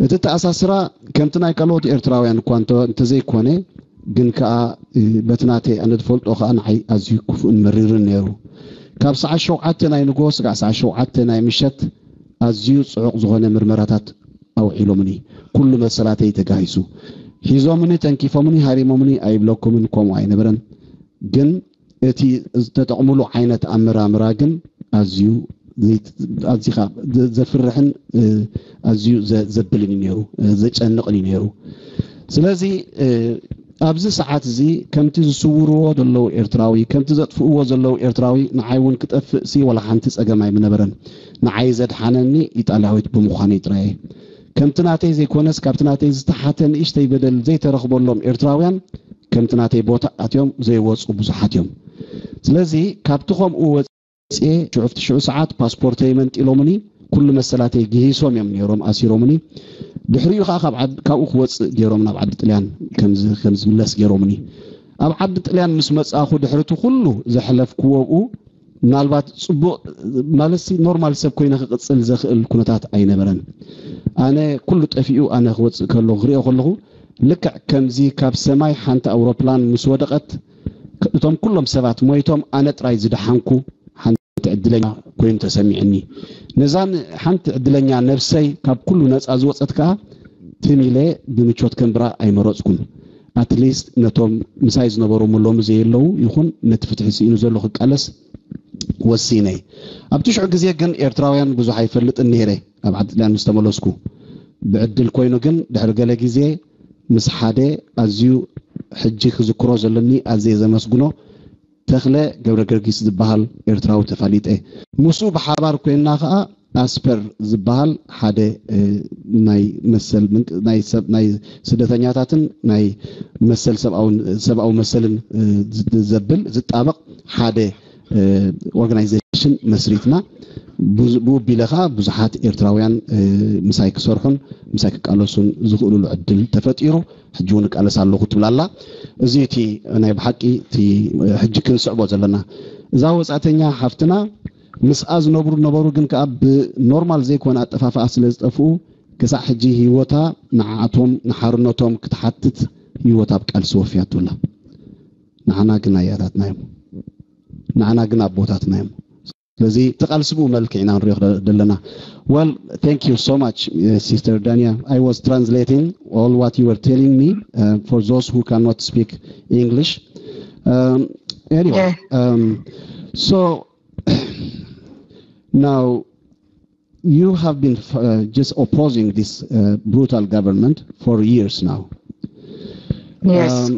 እቲ ተኣሳስራ ከምቲ ናይ ካልኦት ኤርትራውያን እኳ እንተዘይኮነ፣ ግን ከኣ በቲ ናተይ ኣነ ዝፈልጦ ከኣ ንዓይ ኣዝዩ ክፉእን መሪርን ነይሩ። ካብ ሰዓት ሸውዓተ ናይ ንግሆ ስጋዕ ሰዓት ሸውዓተ ናይ ምሸት ኣዝዩ ጽዑቕ ዝኾነ ምርመራታት ኣውዒሎምኒ። ኩሉ መሰላተይ ተጋሂሱ። ሒዞምኒ፣ ተንኪፎምኒ፣ ሃሪሞምኒ ኣይብለኩምን፣ ከምኡ ኣይነበረን። ግን እቲ ዝተጠቕምሉ ዓይነት ኣመራምራ ግን ኣዝዩ ኣዚኻ ዘፍርሕን ኣዝዩ ዘብልን እዩ ነይሩ፣ ዘጨንቕን እዩ ነይሩ። ስለዚ ኣብዚ ሰዓት እዚ ከምቲ ዝስውርዎ ዘለዉ ኤርትራዊ፣ ከምቲ ዘጥፍእዎ ዘለዉ ኤርትራዊ ንዓይ እውን ክጠፍእ ሲ ዋላ ሓንቲ ጸገም ኣይምነበረን። ንዓይ ዘድሓነኒ ኢጣልያዊት ብምዃነይ ጥራይ እየ። ከምቲ ናተይ ዘይኮነስ ካብቲ ናተይ ዝተሓተ ንእሽተይ በደል ዘይተረኽበሎም ኤርትራውያን ከምቲ ናተይ ቦታ ኣትዮም ዘይወጹ ብዙሓት እዮም። ስለዚ ካብቲ ከምኡ ወጽየ ሽዑ ኣብቲ ሽዑ ሰዓት ፓስፖርተይ መንጢሎምኒ፣ ኩሉ መሰላተይ ግሂሶም እዮም ነይሮም ኣሲሮምኒ። ድሕሪኡ ከዓ ካብ ዓድ- ካብኡ ክወፅእ ገይሮም ናብ ዓዲ ጥልያን ከምዚ ከም ዝምለስ ገይሮምኒ። ኣብ ዓዲ ጥልያን ምስ መጻእኹ ድሕሪ እቲ ኩሉ ዘሕለፍክዎ ኣብኡ ምናልባት ጽቡቕ ማለት ሲ ኖርማል ሰብ ኮይነ ክቕጽል ዘኽእል ኩነታት ኣይነበረን። ኣነ ኩሉ ጠፊኡ ኣነ ክወጽእ ከሎ ክሪኦ ከለኹ ልክዕ ከምዚ ካብ ሰማይ ሓንቲ ኣውሮፕላን ምስ ወደቐት እቶም ኩሎም ሰባት ሞይቶም ኣነ ጥራይ ዝደሓንኩ ሓንቲ ዕድለኛ ኮይኑ ተሰሚዕኒ። ነዛን ሓንቲ ዕድለኛ ነብሰይ ካብ ኩሉ ነጻ ዝወጸት ከኣ ትም ኢለ ብምቾት ከንብራ ኣይመረጽኩን። ኣትሊስት ነቶም ምሳይ ዝነበሩ ሎሚ ዘየለዉ ይኹን ነቲ ፍትሒ ስኢኑ ዘሎ ክቃለስ ወሲነ። ኣብቲ ሽዑ ግዜ ግን ኤርትራውያን ብዙሕ ኣይፈልጥን ነይረ። ኣብ ዓዲ ጥልያን ምስ ተመለስኩ ብዕድል ኮይኑ ግን ድሕሪ ገለ ግዜ ምስ ሓደ ኣዝዩ ሕጂ ክዝክሮ ዘለኒ ኣዝየ ዘመስግኖ ተኽለ ገብረ ገርጊስ ዝበሃል ኤርትራዊ ተፋሊጠ። ምስኡ ብሓባር ኮይንና ከኣ ኣስፐር ዝበሃል ሓደ ናይ መሰል ናይ ሰብ ናይ ስደተኛታትን ናይ መሰል ሰብኣዊ መሰልን ዘብል ዝጣበቕ ሓደ ኦርጋናይዜሽን መስሪትና። ብኡ ቢለ ከዓ ብዙሓት ኤርትራውያን ምሳይ ክሰርሑን ምሳይ ክቃለሱን ዝኽእሉሉ ዕድል ተፈጢሩ። ሕጂ እውን እቃለስ ኣለኹ ትብል ኣላ። እዚ እቲ ናይ ብሓቂ እቲ ሕጂ ክንስዕቦ ዘለና እዛ ወፃእተኛ ሓፍትና ምስኣ ዝነብሩ ነበሩ፣ ግን ከዓ ብኖርማል ዘይኮነ ኣጠፋፍኣ ስለ ዝጠፍኡ ክሳዕ ሕጂ ህይወታ ንዓኣቶም ንሓርነቶም ክትሓትት ህይወታ ኣብ ቃልሲ ወፍያቱ ኣላ። ንዓና ግን ኣያታትና እዮም። ንዓና ግን ኣቦታትና እዮም። ስለዚ ተቓልስቡ መልክዕ ኢና ንሪኦ ዘለና። Well, thank you so much, uh, Sister Dania. I was translating all what you were telling me, uh, for those who cannot speak English. Um, anyway, Yeah. Um, so now you have been, uh, just opposing this, uh, brutal government for years now. Yes. Um,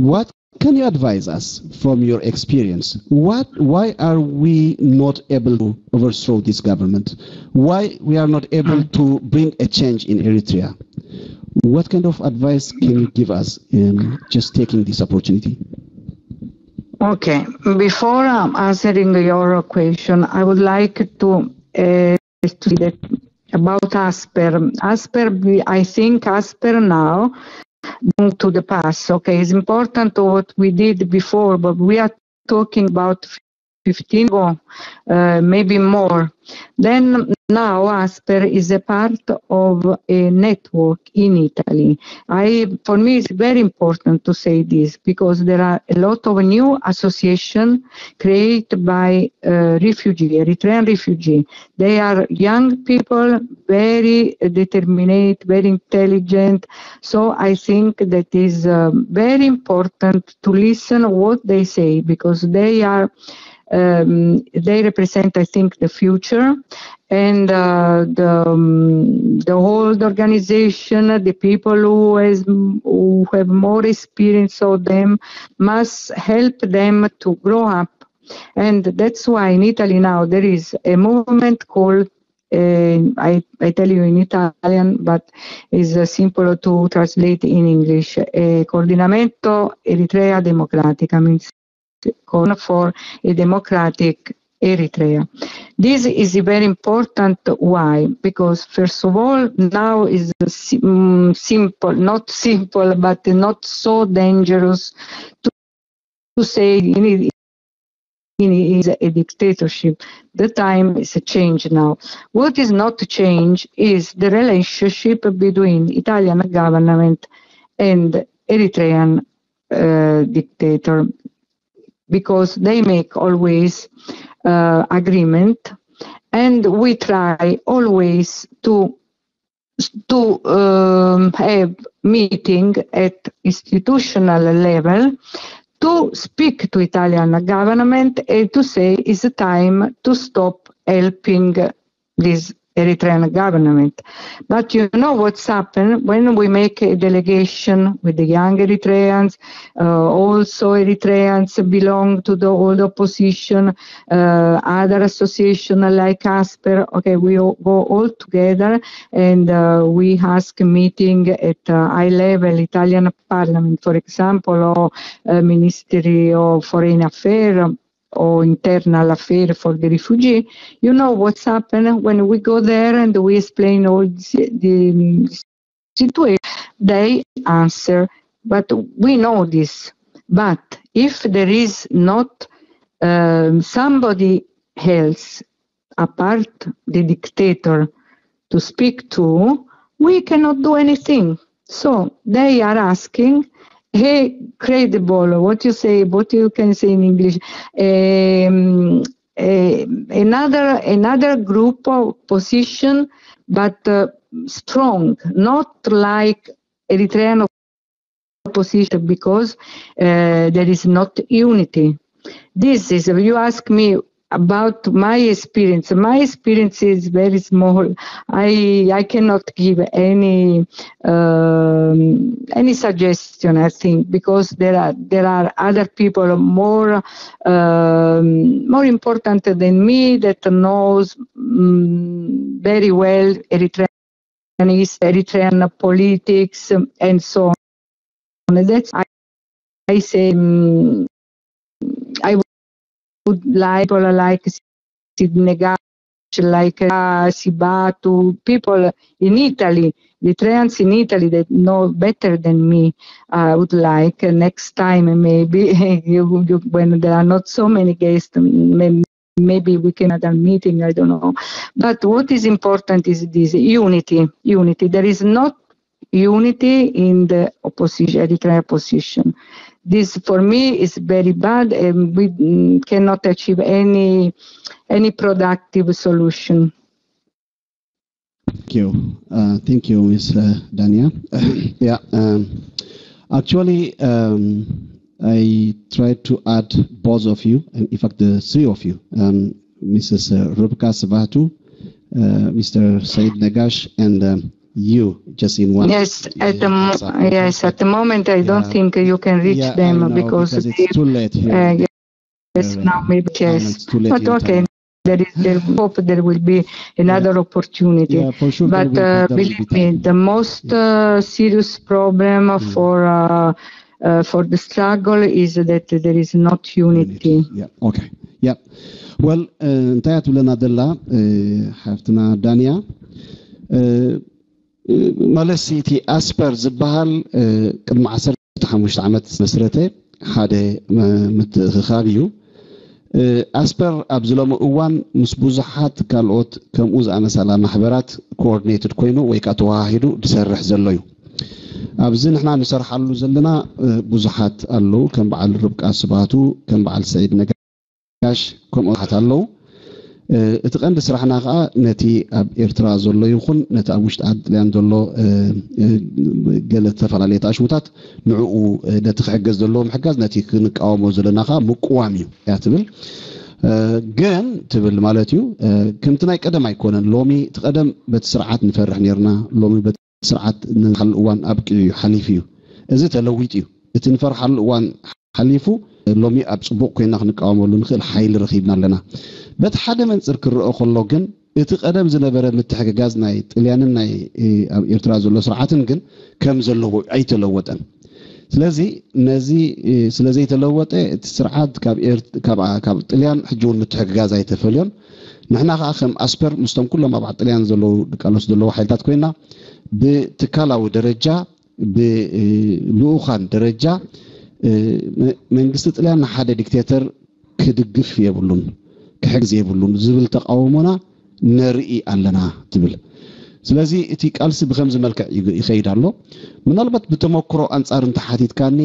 what can you advise us from your experience? What, why are we not able to overthrow this government? Why we are not able to bring a change in Eritrea? What kind of advice can you give us in just taking this opportunity? Okay, before um, answering your question, I would like to uh, to say that about Asper. Asper, we- I think Asper now going to the past. Okay, it's important to what we did before, but we are talking about fifteen ago, uh, maybe more. Then now Asper is a part of a network in Italy. I, for me, it's very important to say this because there are a lot of new association created by uh, refugee, Eritrean refugee. They are young people, very determined, very intelligent. So I think that is uh, very important to listen what they say because they are um, they represent, I think, the future, and uh, the um, the old organization, the people who has who have more experience of them, must help them to grow up. And that's why in Italy now there is a movement called uh, I, I tell you in Italian, but is uh, simple to translate in English. Uh, Coordinamento Eritrea Democratica means call for a democratic Eritrea. This is very important. Why? Because first of all, now is si- mm, simple, not simple, but not so dangerous to, to say in it, in it is a dictatorship. The time is a change now. What is not change is the relationship between Italian government and Eritrean uh, dictator, because they make always uh, agreement, and we try always to to um, have meeting at institutional level to speak to Italian government and to say it's time to stop helping this Eritrean government. But you know what's happened when we make a delegation with the young Eritreans, uh, also Eritreans belong to the old opposition, uh, other association like Asper. Okay, we all go all together and uh, we ask meeting at uh, high level Italian parliament, for example, or uh, Ministry of Foreign Affairs or internal affair for the refugee. You know what's happened when we go there and we explain all the, the situation. They answer, but we know this. But if there is not um, somebody else apart the dictator to speak to, we cannot do anything. So they are asking a credible, what you say, what you can say in English, um, a, another another group of position, but uh, strong, not like Eritrean opposition, because uh, there is not unity. This is, you ask me about my experience. My experience is very small. I I cannot give any um, any suggestion, I think, because there are there are other people more um, more important than me that knows um, very well Eritrean is Eritrean politics and so on. That's I, I say um, I would like people like Sidney Gash, like uh, Sibatu, people in Italy, Eritreans in Italy that know better than me. I would like uh, next time maybe you, you, when there are not so many guests, maybe maybe we can have a meeting, I don't know. But what is important is this unity. Unity. There is not unity in the opposition, Eritrean opposition. This for me is very bad, and we mm, cannot achieve any any productive solution. Thank you. Uh, thank you, Miss uh, Dania. yeah, um, actually, um, I tried to add both of you, and in fact, the three of you, um, Missus Uh, Rubka Sabatu, uh, Mister Said Nagash, and um, you, just in one. Yes, at the mo- yes, at the moment I don't Yeah. think you can reach Yeah, I them know, because because they, it's too late here. uh, yes, Uh, now maybe I know yes, it's too late but in okay. Time. There is the hope there will be another opportunity. Yeah, for sure. But there will uh, be, there will believe be me, time. The most uh, serious problem for uh, uh, for the struggle is that there is not unity. Yeah. Okay. Yeah. Well, uh, እንታይ እያ ትብለና ዘላ uh, ሓፍትና ዳንያ uh, ማለት እቲ ኣስፐር ዝበሃል uh, ቅድሚ ዓሰርተ ሓሙሽተ ዓመት መስረተ ሓደ uh, ምትእኽኻብ እዩ። Uh, ኣስፐር ኣብዚ ሎሚ እዋን ምስ ብዙሓት ካልኦት ከምኡ ዝኣመሰላ ማሕበራት ኮኦርዲኔትድ ኮይኑ ወይ ከዓ ተዋሃሂዱ ዝሰርሕ ዘሎ እዩ። ኣብዚ ንሕና ንሰርሓሉ ዘለና uh, ብዙሓት ኣለዉ፣ ከም በዓል ርብቃ ስባቱ፣ ከም በዓል ሰዒድ ነጋሽ፣ ከምኡ ብዙሓት ኣለዉ። Uh, እቲ ቀንዲ ስራሕና ከዓ ነቲ ኣብ ኤርትራ ዘሎ ይኹን ነቲ ኣብ ውሽጢ ዓዲ ጥልያን ዘሎ uh, uh, ገለ ዝተፈላለየ ተኣሽሙታት ንዕኡ uh, ነቲ ክሕገዝ ዘለዎ ምሕጋዝ፣ ነቲ ክንቃወሞ ዘለና ከዓ ምቅዋም እዩ እያ ትብል። Uh, ግን ትብል ማለት እዩ uh, ከምቲ ናይ ቀደም ኣይኮነን። ሎሚ እቲ ቀደም በቲ ስርዓት ንፈርሕ ነርና፣ ሎሚ በቲ ስርዓት ንሓሉ እዋን ኣብቂዑ እዩ፣ ሓሊፉ እዩ። እዚ ተለዊጡ እዩ። እቲ ንፈርሓሉ እዋን ሓሊፉ ሎሚ ኣብ ፅቡቕ ኮይና ክንቃወመሉ ንኽእል ሓይሊ ረኺብና ኣለና። በቲ ሓደ መንፅር ክረአ ከሎ ግን እቲ ቀደም ዝነበረ ምትሕግጋዝ ናይ ጥልያንን ናይ ኣብ ኤርትራ ዘሎ ስርዓትን ግን ከም ዘለዎ ኣይተለወጠን። ስለዚ ነዚ ስለዘይተለወጠ እቲ ስርዓት ካብ ጥልያን ሕጂ እውን ምትሕግጋዝ ኣይተፈልዮን። ንሕና ከዓ ከም ኣስፐር ምስቶም ኩሎም ኣብ ጥልያን ዘለዉ ድቃሎስ ዘለዉ ሓይልታት ኮይና ብትካላዊ ደረጃ ብልኡኻን ደረጃ መንግስቲ ጥልያን ንሓደ ዲክቴተር ክድግፍ የብሉን፣ ክሕግዝ የብሉን ዝብል ተቃውሞና ነርኢ ኣለና ትብል። ስለዚ እቲ ቃልሲ ብከምዚ መልክዕ ይኸይድ ኣሎ። ምናልባት ብተመክሮ ኣንጻር እንተሓቲትካኒ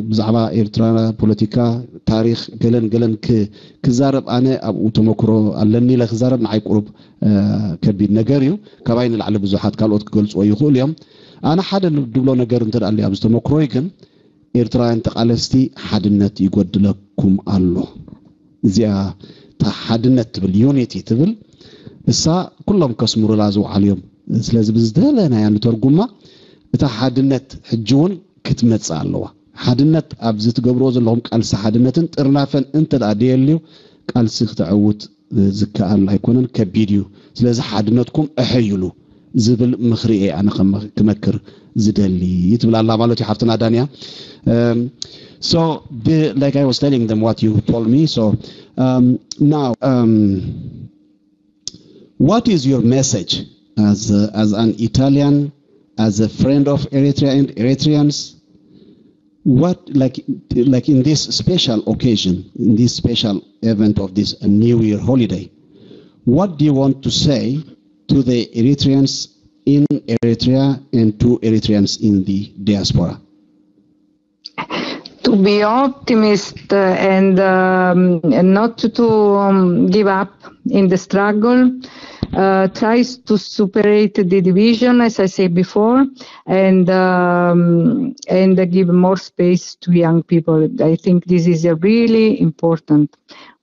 ብዛዕባ ኤርትራ ፖለቲካ፣ ታሪክ ገለን ገለን ክዛረብ ኣነ ኣብኡ ተመክሮ ኣለኒ ኢለ ክዛረብ ንዓይ ቁሩብ ከቢድ ነገር እዩ። ካባይ ንላዕሊ ብዙሓት ካልኦት ክገልፅዎ ይኽእሉ እዮም። ኣነ ሓደ ድብሎ ነገር እንተ ኣሎ ኣብዚ ተመክሮይ ግን ኤርትራውያን ተቃለስቲ ሓድነት ይጎድለኩም ኣሎ። እዚኣ እታ ሓድነት ትብል ዩኒቲ ትብል እሳ ኩሎም ከስምሩላ ዝውዓሉ እዮም። ስለዚ ብዝደለናያ ንተርጉማ እታ ሓድነት ሕጂ እውን ክትመጽእ ኣለዋ። ሓድነት ኣብዚ ትገብርዎ ዘለኹም ቃልሲ ሓድነትን ጥርናፈን እንተ ደኣ ደየልዩ ቃልሲ ክተዕውት ዝከኣል ኣይኮነን፣ ከቢድ እዩ። ስለዚ ሓድነትኩም እሐይሉ ዝብል ምኽሪ እየ ኣነ ክመክር ዝደሊ ትብል ኣላ ማለት እዩ ሓፍትና ዳንያ። So the, like I was telling them what you told me. So um, now um, what is your message as a, as an Italian, as a friend of Eritrea and Eritreans? What like like in this special occasion, in this special event of this New Year holiday, what do you want to say to the Eritreans in Eritrea and to Eritreans in the diaspora? To be optimist and um, not to um, give up in the struggle. Uh, tries to superate the division, as I said before, and um, and give more space to young people. I think this is really important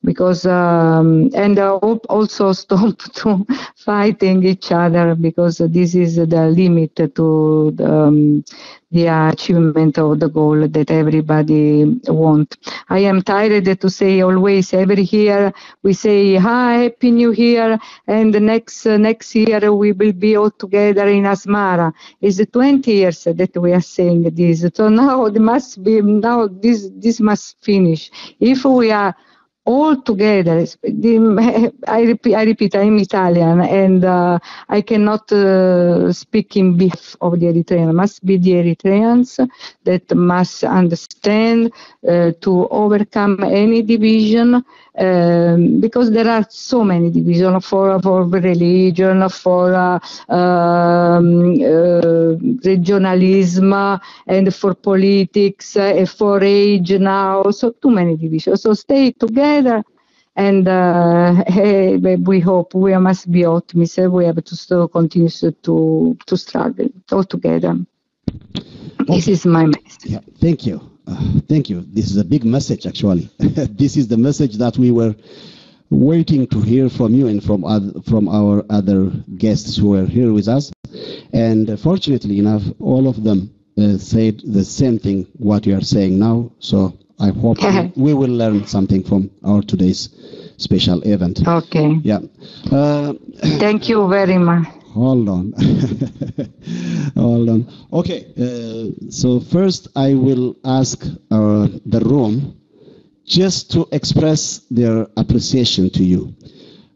because um, and I hope also stop to fighting each other because this is the limit to the, um, the achievement of the goal that everybody want. I am tired to say always every year we say hi, Happy New Year, and the next uh, next year we will be all together in Asmara. It's twenty years that we are saying this. So now it must be now this this must finish. If we are all together. The- I repeat, I repeat, I'm Italian, and uh, I cannot uh, speak in behalf of the Eritrean. It must be the Eritreans that must understand uh, to overcome any division, um, because there are so many divisions for, for religion, for uh, um, uh, regionalism, uh, and for politics, uh, and for age now. So too many divisions. So stay together, and uh, hey, we hope, we must be optimists. We have to still continue to to struggle all together. This is my message. Yeah, thank you. Uh, thank you. This is a big message, actually. This is the message that we were waiting to hear from you and from other, from our other guests who were here with us. And uh, fortunately enough, all of them uh, said the same thing what you are saying now. So I hope we, we will learn something from our today's special event. Okay. Yeah. Uh, Thank you very much. Hold on. Hold on. Okay. Uh, so first, I will ask uh, the room just to express their appreciation to you.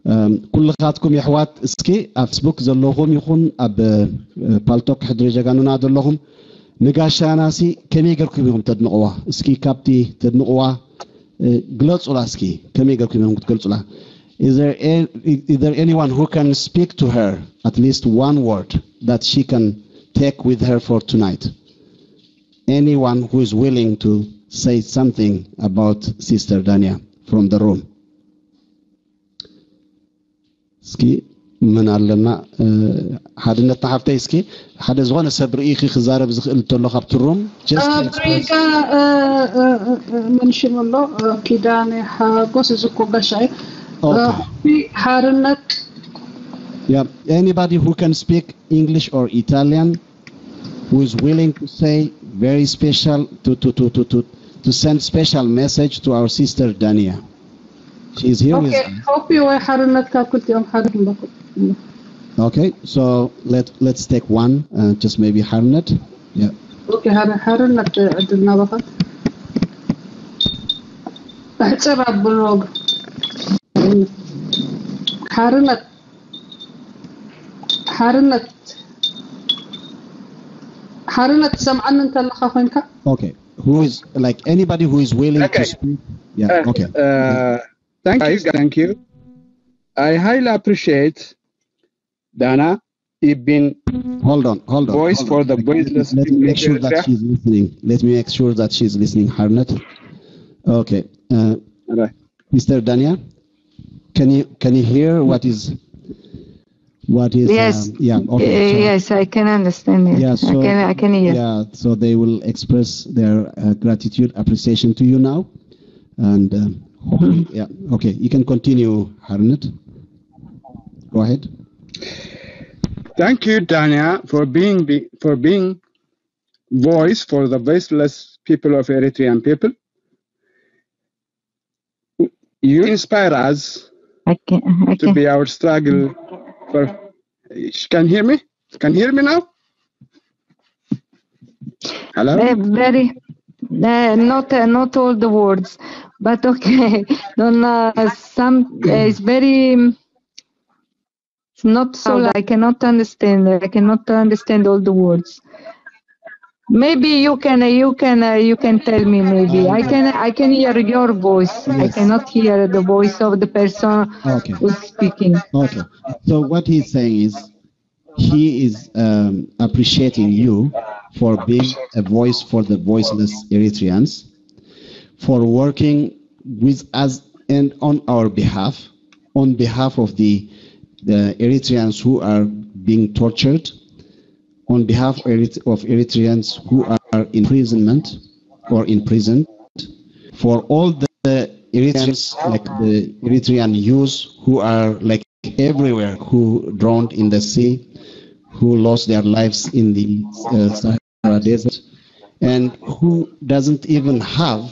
Um, ኩልኻትኩም የሕዋት እስኪ ኣብ ፌስቡክ ዘለኹም ይኹን ኣብ ፓልቶክ ሕድሪ ጀጋኑና ዘለኹም ንጋሻና ሲ ከመይ ገርኩም ኢኹም ተድንቕዋ? እስኪ ካብቲ ተድንቕዋ ግለጹላ እስኪ ከመይ ገርኩም ኢኹም ክትገልጹላ? Is there, a, is there anyone who can speak to her at least one word that she can take with her for tonight? Anyone who is willing to say something about Sister Dania from the room? እስኪ ምን ኣለና ሓድነት ሓፍተይ እስኪ ሓደ ዝኾነ ሰብ ርእይኺ ክዛረብ ዝኽእል እንተሎ ካብቲ ሩም ብሪጋ ምን ሽም ኣሎ ኪዳነ ሓጎስ እዚ እኮ ጋሻ እዩ ሓርነት Yeah, anybody who can speak English or Italian who is willing to say very special to to to to to, to send special message to our sister Dania. She is here with okay, hope you are ሓርነት ካብ ክልቲኦም ሓደ ክንረክብ Okay, so let let's take one, uh, just maybe ሓርነት. Yeah. Okay, ሓደ ሓርነት ዕድል ናባኻ። ኣሕጽር ኣብሎ ሓርነት ሓርነት ሓርነት ትሰምዓኒ እንተለኻ ኮይንካ Okay, who is like anybody who is willing okay. to speak? Yeah, uh, okay. Uh, thank you, thank you. I highly appreciate Dana. You've been hold on, hold on. Voice hold for on. the voiceless. Let me make sure that she's listening. Let me make sure that she's listening, Harnett. Okay. Uh, right. Mister Dania, can you can you hear what is what is yes um, yeah okay uh, so, yes I can understand it. Yeah, so I can, I can hear. Yeah, so they will express their uh, gratitude, appreciation to you now, and um, yeah, okay, you can continue, Harnett. Go ahead. Thank you, Dania, for being for being voice for the voiceless people of Eritrean people. You inspire us I can, I to can. be our struggle for. Can hear me? Can hear me now? Hello. Uh, very, uh, not uh, not all the words, but okay. Don't uh, some uh, it's very. It's not so. I cannot understand. I cannot understand all the words. Maybe you can uh, you can uh, you can tell me. Maybe I can I can hear your voice. I Yes. cannot hear the voice of the person Okay. who's speaking. Okay. So what he's saying is he is um, appreciating you for being a voice for the voiceless Eritreans, for working with us and on our behalf, on behalf of the, the Eritreans who are being tortured, on behalf of Erit- of Eritreans who are in imprisonment or imprisoned, for all the Eritreans, like the Eritrean youth who are like everywhere, who drowned in the sea, who lost their lives in the uh, Sahara Desert, and who doesn't even have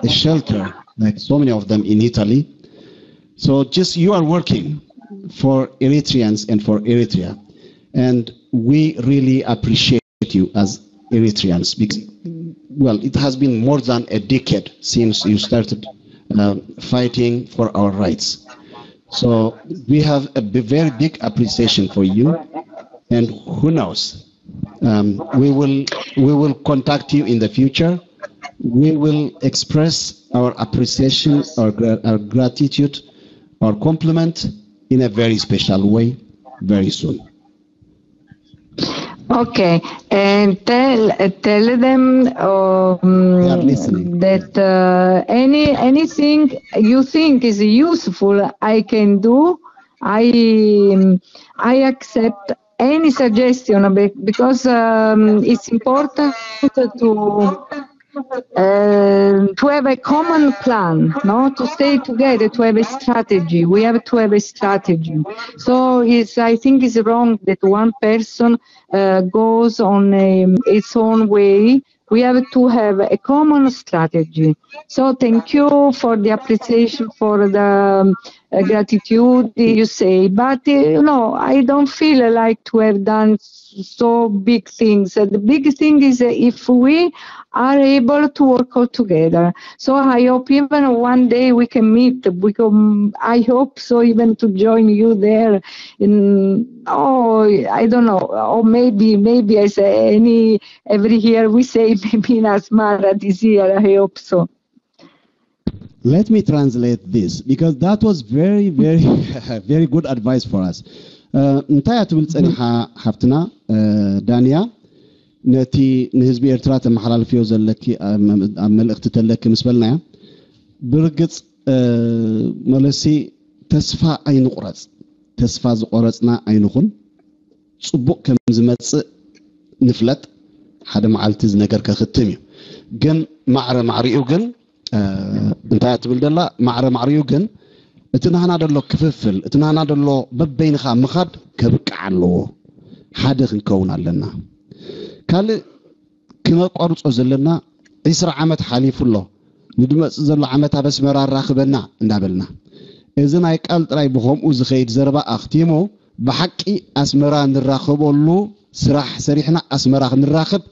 a shelter, like so many of them in Italy. So just you are working for Eritreans and for Eritrea, and we really appreciate you as Eritreans because, well, it has been more than a decade since you started uh, fighting for our rights. So we have a b- very big appreciation for you, and who knows, um, we will we will contact you in the future. We will express our appreciation, our, gra- our gratitude, our compliment in a very special way very soon. Okay, and tell tell them um, They are listening. That uh, any anything you think is useful, I can do. I I accept any suggestion be- because um, it's important to uh, to have a common plan, no, to stay together, to have a strategy. We have to have a strategy. So it's, I think it's wrong that one person uh, goes on a, its own way. We have to have a common strategy. So thank you for the appreciation, for the um, uh, gratitude you say. But uh, you know, I don't feel like to have done so big things. Uh, the big thing is uh, if we are able to work all together. So I hope even one day we can meet. We can, I hope so, even to join you there. In oh, I don't know, or maybe maybe as any every year we say maybe in Asmara this year. I hope so. Let me translate this because that was very, very, very good advice for us. Uh, እንታይ እያ ትብል ጸኒሓ ሓፍትና uh, ዳንያ፣ ነቲ ንህዝቢ ኤርትራ ተመሓላልፍዮ ዘለኪ ኣብ መ- ኣብ መልእኽቲ ተለኪ ምስ በልናያ፣ ብርግጽ uh, መለሲ፣ ተስፋ ኣይንቑረጽ። ተስፋ ዝቆረጽና ኣይንኹን። ጽቡቕ ከም ዝመጽእ ንፍለጥ። ሓደ መዓልቲ እዚ ነገር ከኽትም እዩ። ግን ማዕረ ማዕሪኡ ግን uh, እንታይ እያ ትብል ደላ? ማዕረ ማዕሪኡ ግን እቲ ናህና ደሎ ክፍፍል፣ እቲ ናህና ደሎ በበይንኻ ምኻድ ከብቅዕ ኣለዎ። ሓደ ክንከውን ኣለና። ካልእ ክነቋርጾ ዘለና፣ ዒስራ ዓመት ሓሊፉ ኣሎ፣ ንድመጽእ ዘሎ ዓመት ኣብ ኣስመራ ኣራኽበና እንዳበልና፣ እዚ ናይ ቃል ጥራይ ብኸምኡ ዝኸይድ ዘረባ ኣኽቲሙ፣ ብሓቂ ኣስመራ ንራኸበሉ ስራሕ ሰሪሕና ኣስመራ ክንራኸብ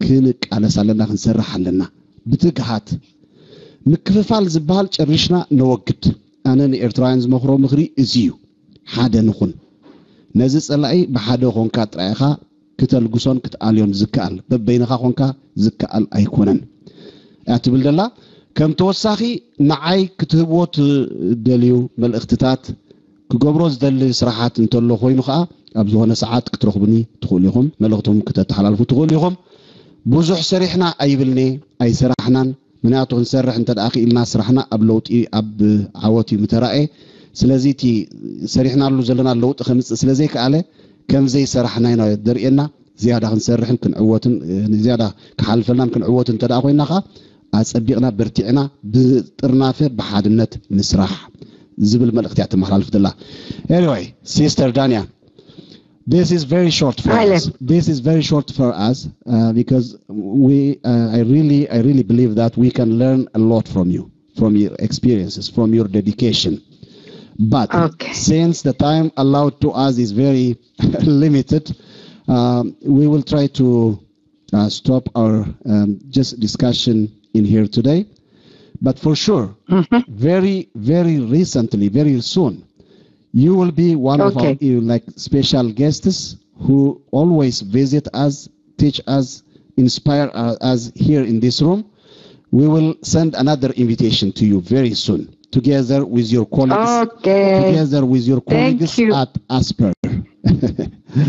ክንቃለስ ኣለና፣ ክንሰርሕ ኣለና ብትግሃት። ምክፍፋል ዝበሃል ጨሪሽና ነወግድ። ኣነ ንኤርትራውያን ዝመኽሮ ምኽሪ እዚ እዩ። ሓደ ንኹን። ነዚ ጸላኢ ብሓደ ኾንካ ጥራይ ኢኻ ክተልግሶን ክትኣልዮን ዝከኣል። በበይንኻ ኾንካ ዝከኣል ኣይኮነን እያ ትብል ደላ። ከም ተወሳኺ ንዓይ ክትህብዎ ትደልዩ መልእኽትታት፣ ክገብሮ ዝደሊ ስራሓት እንተሎ ኮይኑ ኸዓ ኣብ ዝኾነ ሰዓት ክትረኽቡኒ ትኽእሉ ኢኹም። መልእኽትኩም ክተተሓላልፉ ትኽእሉ ኢኹም። ብዙሕ ሰሪሕና ኣይብልኒ፣ ኣይሰራሕናን። ምክንያቱ ክንሰርሕ እንተ ደኣ ክኢልና ስራሕና ኣብ ለውጢ ኣብ ዓወት እዩ ምተራእየ። ስለዚ እቲ ሰሪሕናሉ ዘለና ለውጢ ከምፅእ ስለ ዘይከኣለ ከም ዘይሰራሕና ኢና ደርእየና። ዝያዳ ክንሰርሕን ክንዕወትን ዝያዳ ክሓልፈናን ክንዕወትን እንተ ደኣ ኮይና ከዓ ኣፀቢቕና በርቲዕና ብጥርናፈ ብሓድነት ንስራሕ ዝብል መልእኽቲ እያ ተመሓላልፍ ዘላ። Anyway, Sister Dania, this is very short for Hi, us. This is very short for us uh, because we, uh, I really, I really believe that we can learn a lot from you, from your experiences, from your dedication. But Okay. since the time allowed to us is very limited, um, we will try to uh, stop our um, just discussion in here today. But for sure, very, very recently, very soon, you will be one of our Okay. uh, like special guests who always visit us, teach us, inspire uh, us here in this room. We will send another invitation to you very soon, together with your colleagues, Okay. together with your Thank colleagues you. at Asper.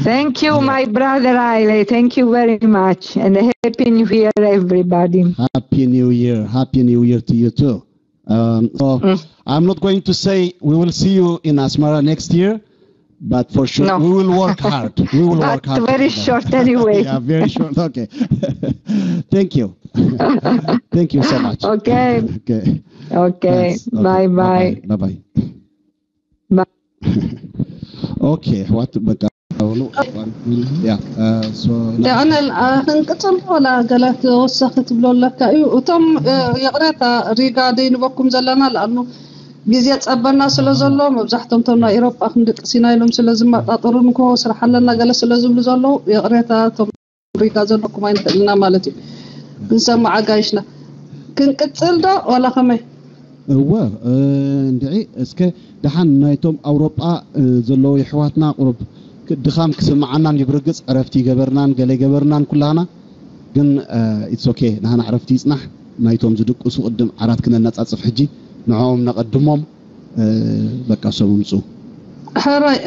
Thank you, my brother Haile. Thank you very much. And Happy New Year, everybody. Happy New Year. Happy New Year to you too. Um, so I'm not going to say we will see you in Asmara next year, but for sure No. we will work hard. We will But work hard. very together. Short anyway. Yeah, very short. Okay. Thank you. Thank you so much. Okay. Okay. Okay. Thanks. Okay. Bye bye. Bye bye. Bye. Okay. What? በቃ yeah. Uh, so ደኣነል ክንቅፅል ወላ ገለ ተወሳኺ ትብሎ ኣለካ እዩ። እቶም እ፣ ይቕሬታ ሪጋ ደይንበኩም ዘለና ለኣኑ ግዜ ጸበና ስለ ዘሎ መብዛሕቶም ቶም ናይ ኤሮጳ ክንድቅስ ኢና ኢሎም ስለ ዝመጣጠሩ ንኮ ስራሕ ኣለና ገለ ስለ ዝብሉ ዘለዉ ይቕሬታ ቶም ሪጋ ዘለኩም ኣይንኽእል ኢና ማለት እዩ። ክንሰማዕ ኣጋይሽና ክንቅፅል ዶ ዋላ ከመይ? እወ፣ እንድዒ እስከ ደሓን ናይቶም ኣውሮጳ ዘለዉ የሕዋትና ቁሩብ ድኻም ክስምዓናን እዩ። ብርግጽ ዕረፍቲ ይገበርናን ገለ ይገበርናን ኩላህና፣ ግን it's okay፣ ናህና ዕረፍቲ ይጽናሕ። ናይቶም ዝድቅሱ ቅድም ዓራት ክነነጻጽፍ ሕጂ ንዕኦም ነቐድሞም። በቃ ሰቡ ምጹ። ሕራይ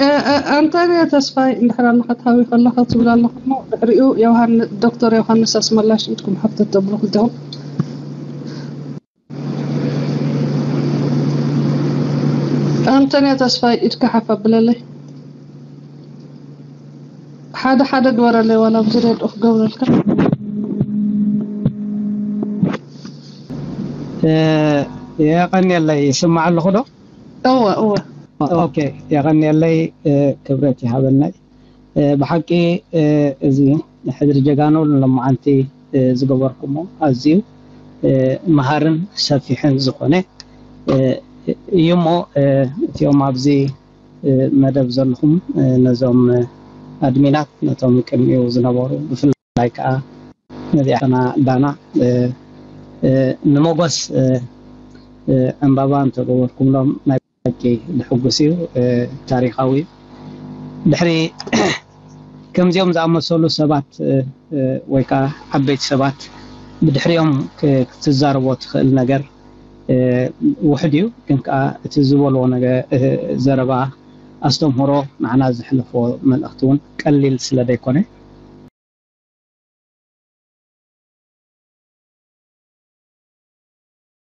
ኣንቶንዮ ተስፋይ እንድሕር ኣለኻ ትሃዊ ከለኻ ትብል ኣለኻ እሞ ድሕሪኡ ዶክተር ዮሃንስ ኣስመላሽ ኢድኩም ሓፍተት ተብሉ ክልተኹም። ኣንቶንዮ ተስፋይ ኢድካ ሓፍ ኣብለለይ። ሓደ ሓደ ግበረለይ ዋላ ኣብዚ ሬድኦ ክገብረልካ። የቐንየለይ። ይስማዕ ኣለኹ ዶ? እወ እወ። ኦኬ፣ የቐንየለይ። ክብረት ይሃበለይ። ብሓቂ እዚ ሕድሪ ጀጋኑ ንሎማዓንቲ ዝገበርኩሞ ኣዝዩ መሃርን ሰፊሕን ዝኾነ እዩ እሞ እቲኦም ኣብዚ መደብ ዘለኹም ነዞም ኣድሚናት ነቶም ቅድሚኡ ዝነበሩ ብፍላይ ከዓ ነዚኣና ዳና ንመጎስ ዕምባባ እንተገበርኩምሎም ናይ ሓቂ ዝሕጉስ እዩ። ታሪኻዊ እዩ። ድሕሪ ከምዚኦም ዝኣመሰሉ ሰባት ወይ ከዓ ዓበይቲ ሰባት ብድሕሪኦም ክትዛረቦ ትኽእል ነገር ውሕድ እዩ። ግን ከዓ እቲ ዝበልዎ ነገር ዘረባ ኣስተምህሮ ንዓና ዘሕልፎ መልእኽቲ እውን ቀሊል ስለ ዘይኮነ